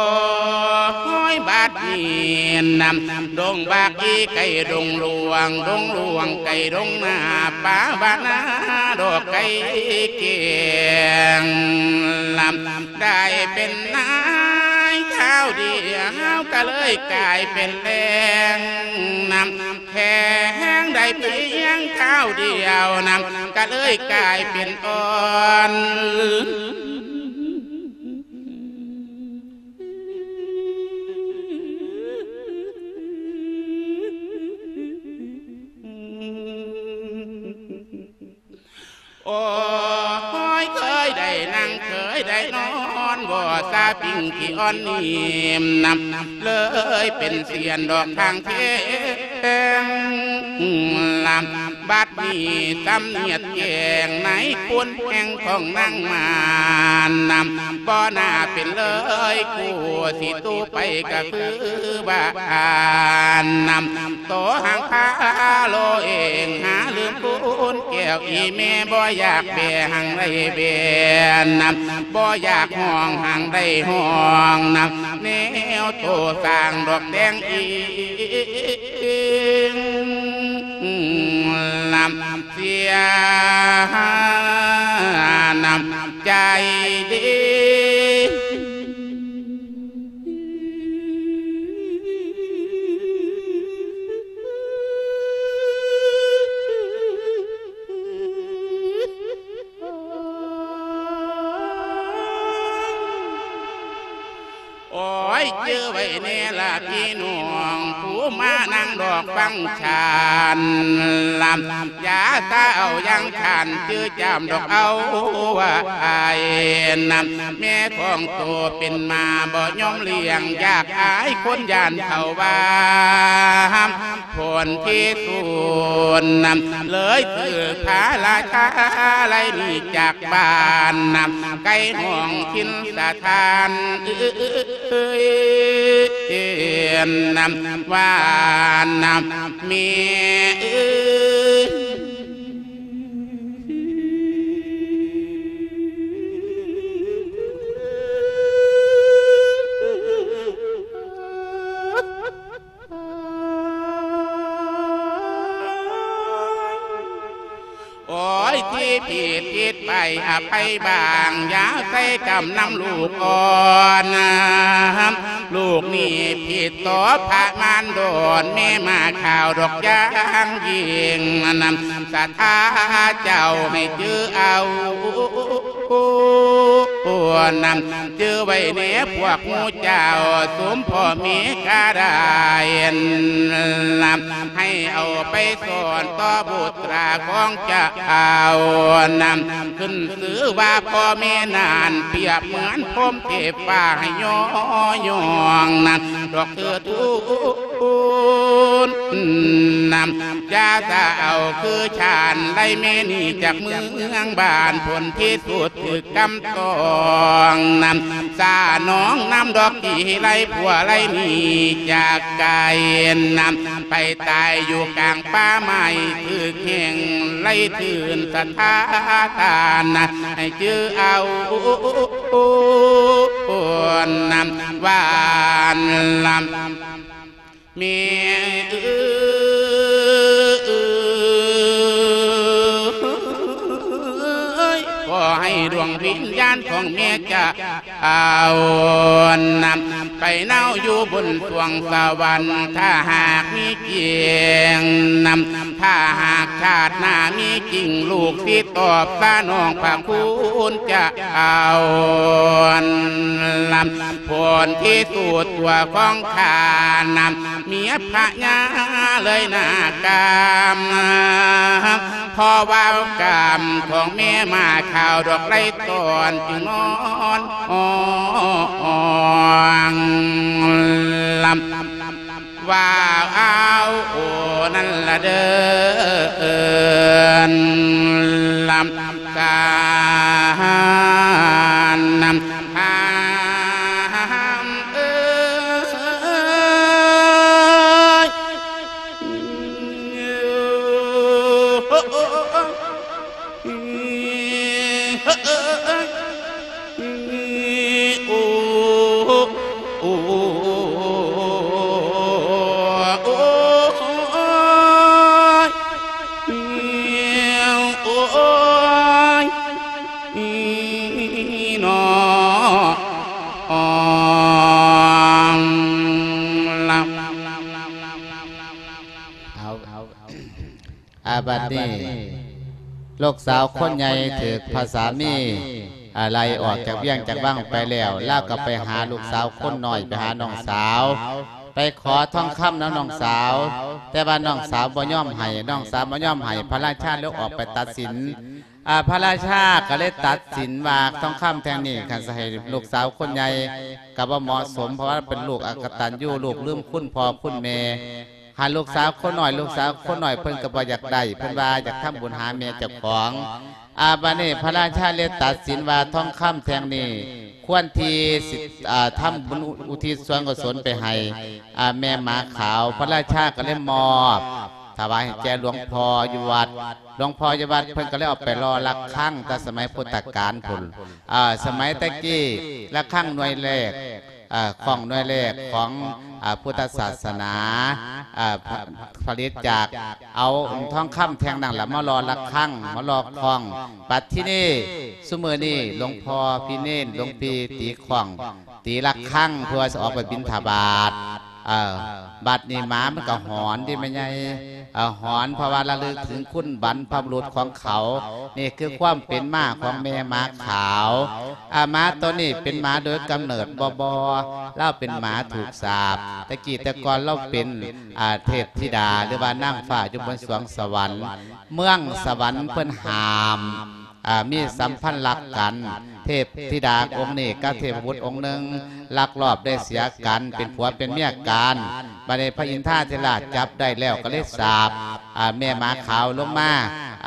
ຍ ບາດນີ້ນຳ ດົງບາກອີໄກ່ດົງຫຼວງ ດົງຫຼວງໄກ່ດົງໜ້າ ປ່າບ້ານນາດອກໄກ່ແກ້ງ ລຳ ໄດ້ເປັນນາຍຄາວດຽວ ກະເລີຍກາຍເປັນແລງນຳ ແຂງໄດ້ພຽງຄາວດຽວນຳ ກະເລີຍກາຍເປັນອ່ອນ. ໂອ້ຍ ເຄີຍໄດ້ນັ່ງ ເຄີຍໄດ້ນອນ ບໍ່ສາປິງທີ່ອ່ອນນີ້ນຳ ເລີຍເປັນສຽນດອກທາງແທງ ລຳ ບັດນີ້ສຳນຽດແຈ້ງໃນຄຸນແຫ່ງຂອງນາງມານນຳ ບໍ່ໜ້າເປັນເລີຍ ຄູ່ຊິຕູ້ໄປກະຄືບ້ານນຳ ໂຕຫາງພາໂລເອງ ຫາລືມຄູນແກ້ວອີ່ແມ່ ບໍ່ຢາກແບຫາງໄດ້ແບນຳ ບໍ່ຢາກຮ້ອງຫາງໄດ້ຮ້ອງນຳ ແນວໂຕສ້າງດອກແດງອີງ ນຳ ເສຍນ້ຳໃຈເດ. ໂອ້ຍ ຈື່ໄວ້ແດ່ລະພີ່ນ້ອງ ຜູ້ມານັ່ງດອກຟັງຊານ ລຳ ຢ່າຊາເອົາຢ່າງຂ້ານ ຈື່ຈາມດອກເອົາວ່າອ້າຍນຳ ແມ່ຂອງໂຕເປັນໝາບໍ່ຍອມລ້ຽງ ຢາກອາຍຄົນຢ້ານເຂົາວ່າ ຜົນທີ່ສູນນຳ ເລີຍຖືກພະລາຊາໄລ່ໜີຈາກບ້ານນຳ ໄກຫ້ອງຖິ່ນສະຖານ ເອີຍ ນຳ ວ່ານຳ ແມ່ເອີຍ. ໂອ້ຍ ທີ່ຜິດຜິດໄປອະໄພບາງ ຢ່າໃສ່ກຳນຳລູກອ່ອນນະ ລູກນີ້ຜິດຕໍ່ພະມານດອນ ແມ່ມາຂ່າວດອກຢ່າງຍິ່ງນຳ ສະຖາເຈົ້າໃຫ້ຈື່ເອົາ ນນຳ ຈື່ໄວ້ແດ່ພວກໝູ່ເຈົ້າ ສົມພໍ່ແມ່ກະໄດ້ນຳ ໃຫ້ເອົາໄປສອນຕໍ່ບຸດຕາຂອງເຈົ້ານຳ ຂຶ້ນຊື່ວ່າພໍ່ແມ່ນັ້ນ ປຽບເໝືອນພົມເທບຟ້າໃຫ້ຍໍຍ້ອງນຳ ດອກເທື່ອທູນນຳ ຢ່າສະເອົາຄືຊານໄລແມ່ໜີຈາກເມືອງບ້ານ ຜົນທີ່ສຸດຖືກກຳຕ້ອງນຳ ສານ້ອງນຳດອກທີ່ໄລຜົວໄລໜີຈາກໄກນຳ ໄປຕາຍຢູ່ກາງປ່າໄມ້ ຖືກແຫ່ງໄລຖືນສັດທາທານນະ ໃຫ້ຈື່ເອົານຳ ວ່ານລຳ ແມ່ເອີຍ ຂໍໃຫ້ດວງວິນຍານຂອງແມ່ຈະເອົານຳ ໄປເນົາຢູ່ບົນສວງສະຫວັນ ຖ້າຫາກມີຈິງນຳ ຖ້າຫາກຊາດໜ້າມີຈິງ ລູກຊິຕອບສະໜອງພະຄຸນຈະເອົານຳ ຜົນທີ່ສຸດຕົວຂອງຂ້ານຳ ເມຍພະຍາເລີຍນາກຳ ເພາະວ່າກຳຂອງແມ່ໝາຂາວດອກໄລຕອນ ຈຶ່ງນອນອອງລຳ ວ່າເອົາ ໂອ ນັ້ນລະເດີ ນຳ ການນຳ ຫາມເອີຍ ໂອ ໂອ ໂອ ໂອ ໂອ ໂອ ໂອ ຍ ອີ ນອ ອອງ ລະ ເອົາ ເອົາ ອາ ບັດນີ້ ລູກສາວຄົນໃຫຍ່ຖືກພະສາມີ ອາ ໄລ່ອອກຈາກວຽງຈາກວັງໄປແລ້ວ ລາວກໍໄປຫາລູກສາວຄົນນ້ອຍ ໄປຫານ້ອງສາວ ໄປຂໍທອງຄຳນຳນ້ອງສາວ ແຕ່ວ່ານ້ອງສາວບໍ່ຍອມໃຫ້ ນ້ອງສາວບໍ່ຍອມໃຫ້ ພະລາຊາເລີຍອອກໄປຕັດສິນ ອາ ພະລາຊາກໍເລີຍຕັດສິນວ່າ ທອງຄຳແທ່ງນີ້ ຄັນຊິໃຫ້ລູກສາວຄົນໃຫຍ່ກໍບໍ່ເໝາະສົມ ເພາະວ່າເປັນລູກອະກະຕັນຍູ ລູກລືມຄຸນພໍ່ຄຸນແມ່ ຫາລູກສາວຄົນນ້ອຍ ລູກສາວຄົນນ້ອຍເພິ່ນກໍບໍ່ຢາກໄດ້ ເພິ່ນວ່າຢາກທຳບຸນຫາແມ່ເຈົ້າຂອງ ອາ ບາດນີ້ພະລາຊາເລີຍຕັດສິນວ່າ ທອງຄຳແທ່ງນີ້ຄວນທີ່ຊິ ອາ ທຳບຸນອຸທິດສ່ວນກຸສົນໄປໃຫ້ ອາ ແມ່ໝາຂາວ ພະລາຊາກໍເລີຍມອບຖວາຍໃຫ້ແກ່ຫຼວງພໍ່ຢູ່ວັດ ຫຼວງພໍ່ຢູ່ວັດເພິ່ນກໍເລີຍເອົາໄປຫຼໍ່ລະຄັງ ແຕ່ສະໄໝພຸດທະການພຸ້ນ ອາ ສະໄໝແຕ່ກີ້ ລະຄັງໜ່ວຍແລກ ເອີ ຂອງໜ່ວຍແລກຂອງ ອາ ພຸດທະສາສະໜາ ອາ ຜະ ຜະລິດຈາກເອົາທອງຄຳແທ່ງນັ້ນລະມາຫຼໍ່ລະຄັງ ມາຫຼໍ່ຂ້ອງ ບັດທີນີ້ ຊຸມື້ນີ້ ຫຼວງພໍ່ພີ່ເນນ ຫຼວງພີ່ຕີຂ້ອງ ຕີລະຄັງ ເພື່ອຊິອອກໄປບິນທະບາດ ເອີ ບັດນີ້ໝາມັນກໍຫອນເດ້ແມ່ໃຫຍ່ ເອີ ຫອນ ເພາະວ່າລະລຶກເຖິງຄຸນບັນພະບຸລຸດຂອງເຂົາ ນີ້ຄືຄວາມເປັນມາຂອງແມ່ໝາຂາວ ອາ ໝາໂຕນີ້ເປັນໝາໂດຍກຳເນີດບໍ່ ບໍ່ ລາວເປັນໝາຖືກສາບ ແຕ່ກີ້ແຕ່ກ່ອນລາວເປັນ ອາ ເທບທິດາ ຫຼືວ່ານາງຟ້າຢູ່ບົນສວງສະຫວັນ ເມືອງສະຫວັນເພິ່ນຫ້າມ ອາ ມີສຳພັນລັກກັນ ເທບທິດາອົງນີ້ກັບເທບບຸດອົງໜຶ່ງ ລັກລອບໄດ້ເສຍກັນ ເປັນຜົວເປັນເມຍກັນ ບັດນີ້ພະອິນທາທິລາດຈັບໄດ້ແລ້ວກໍເລີຍສາບ ອາ ແມ່ໝາຂາວລົງມາ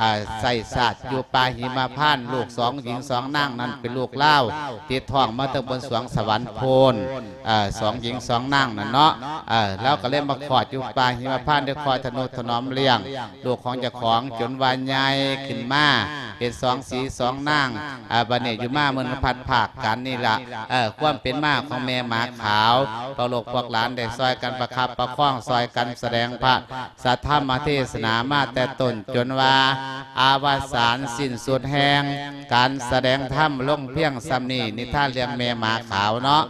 ອາ ໃຊ້ຊາດຢູ່ປ່າຫິມະພານ ລູກສອງຍິງສອງນາງນັ້ນເປັນລູກລາວ ຕິດທ້ອງມາແຕ່ບົນສວງສະຫວັນໂພນ ເອີ ສອງຍິງສອງນາງນັ້ນເນາະ ເອີ ລາວກໍເລີຍມາຄອດຢູ່ປ່າຫິມະພານ ໄດ້ຄອຍທະນຸຖະໜອມລ້ຽງ ລູກຂອງເຈົ້າຂອງຈົນວ່າໃຫຍ່ຂຶ້ນມາ ເປັນສອງສີສອງນາງ ອາ ບັດນີ້ຢູ່ມາເມື່ອພັດພາກກັນນີ້ລະ ເອີ ຄວາມເປັນມາຂອງແມ່ໝາຂາວ ພວກລູກພວກຫຼານໄດ້ຊ່ອຍກັນປະຄັບປະຄອງ ຊ່ອຍກັນສະແດງພະສັດທຳມະເທດສະໜາມາແຕ່ຕົ້ນຈົນວ່າອະວະສານສິ້ນສຸດແຮງ ການສະແດງທຳລົງພຽງສ່ຳນີ້ ນິທານເລື່ອງແມ່ໝາຂາວເນາະ.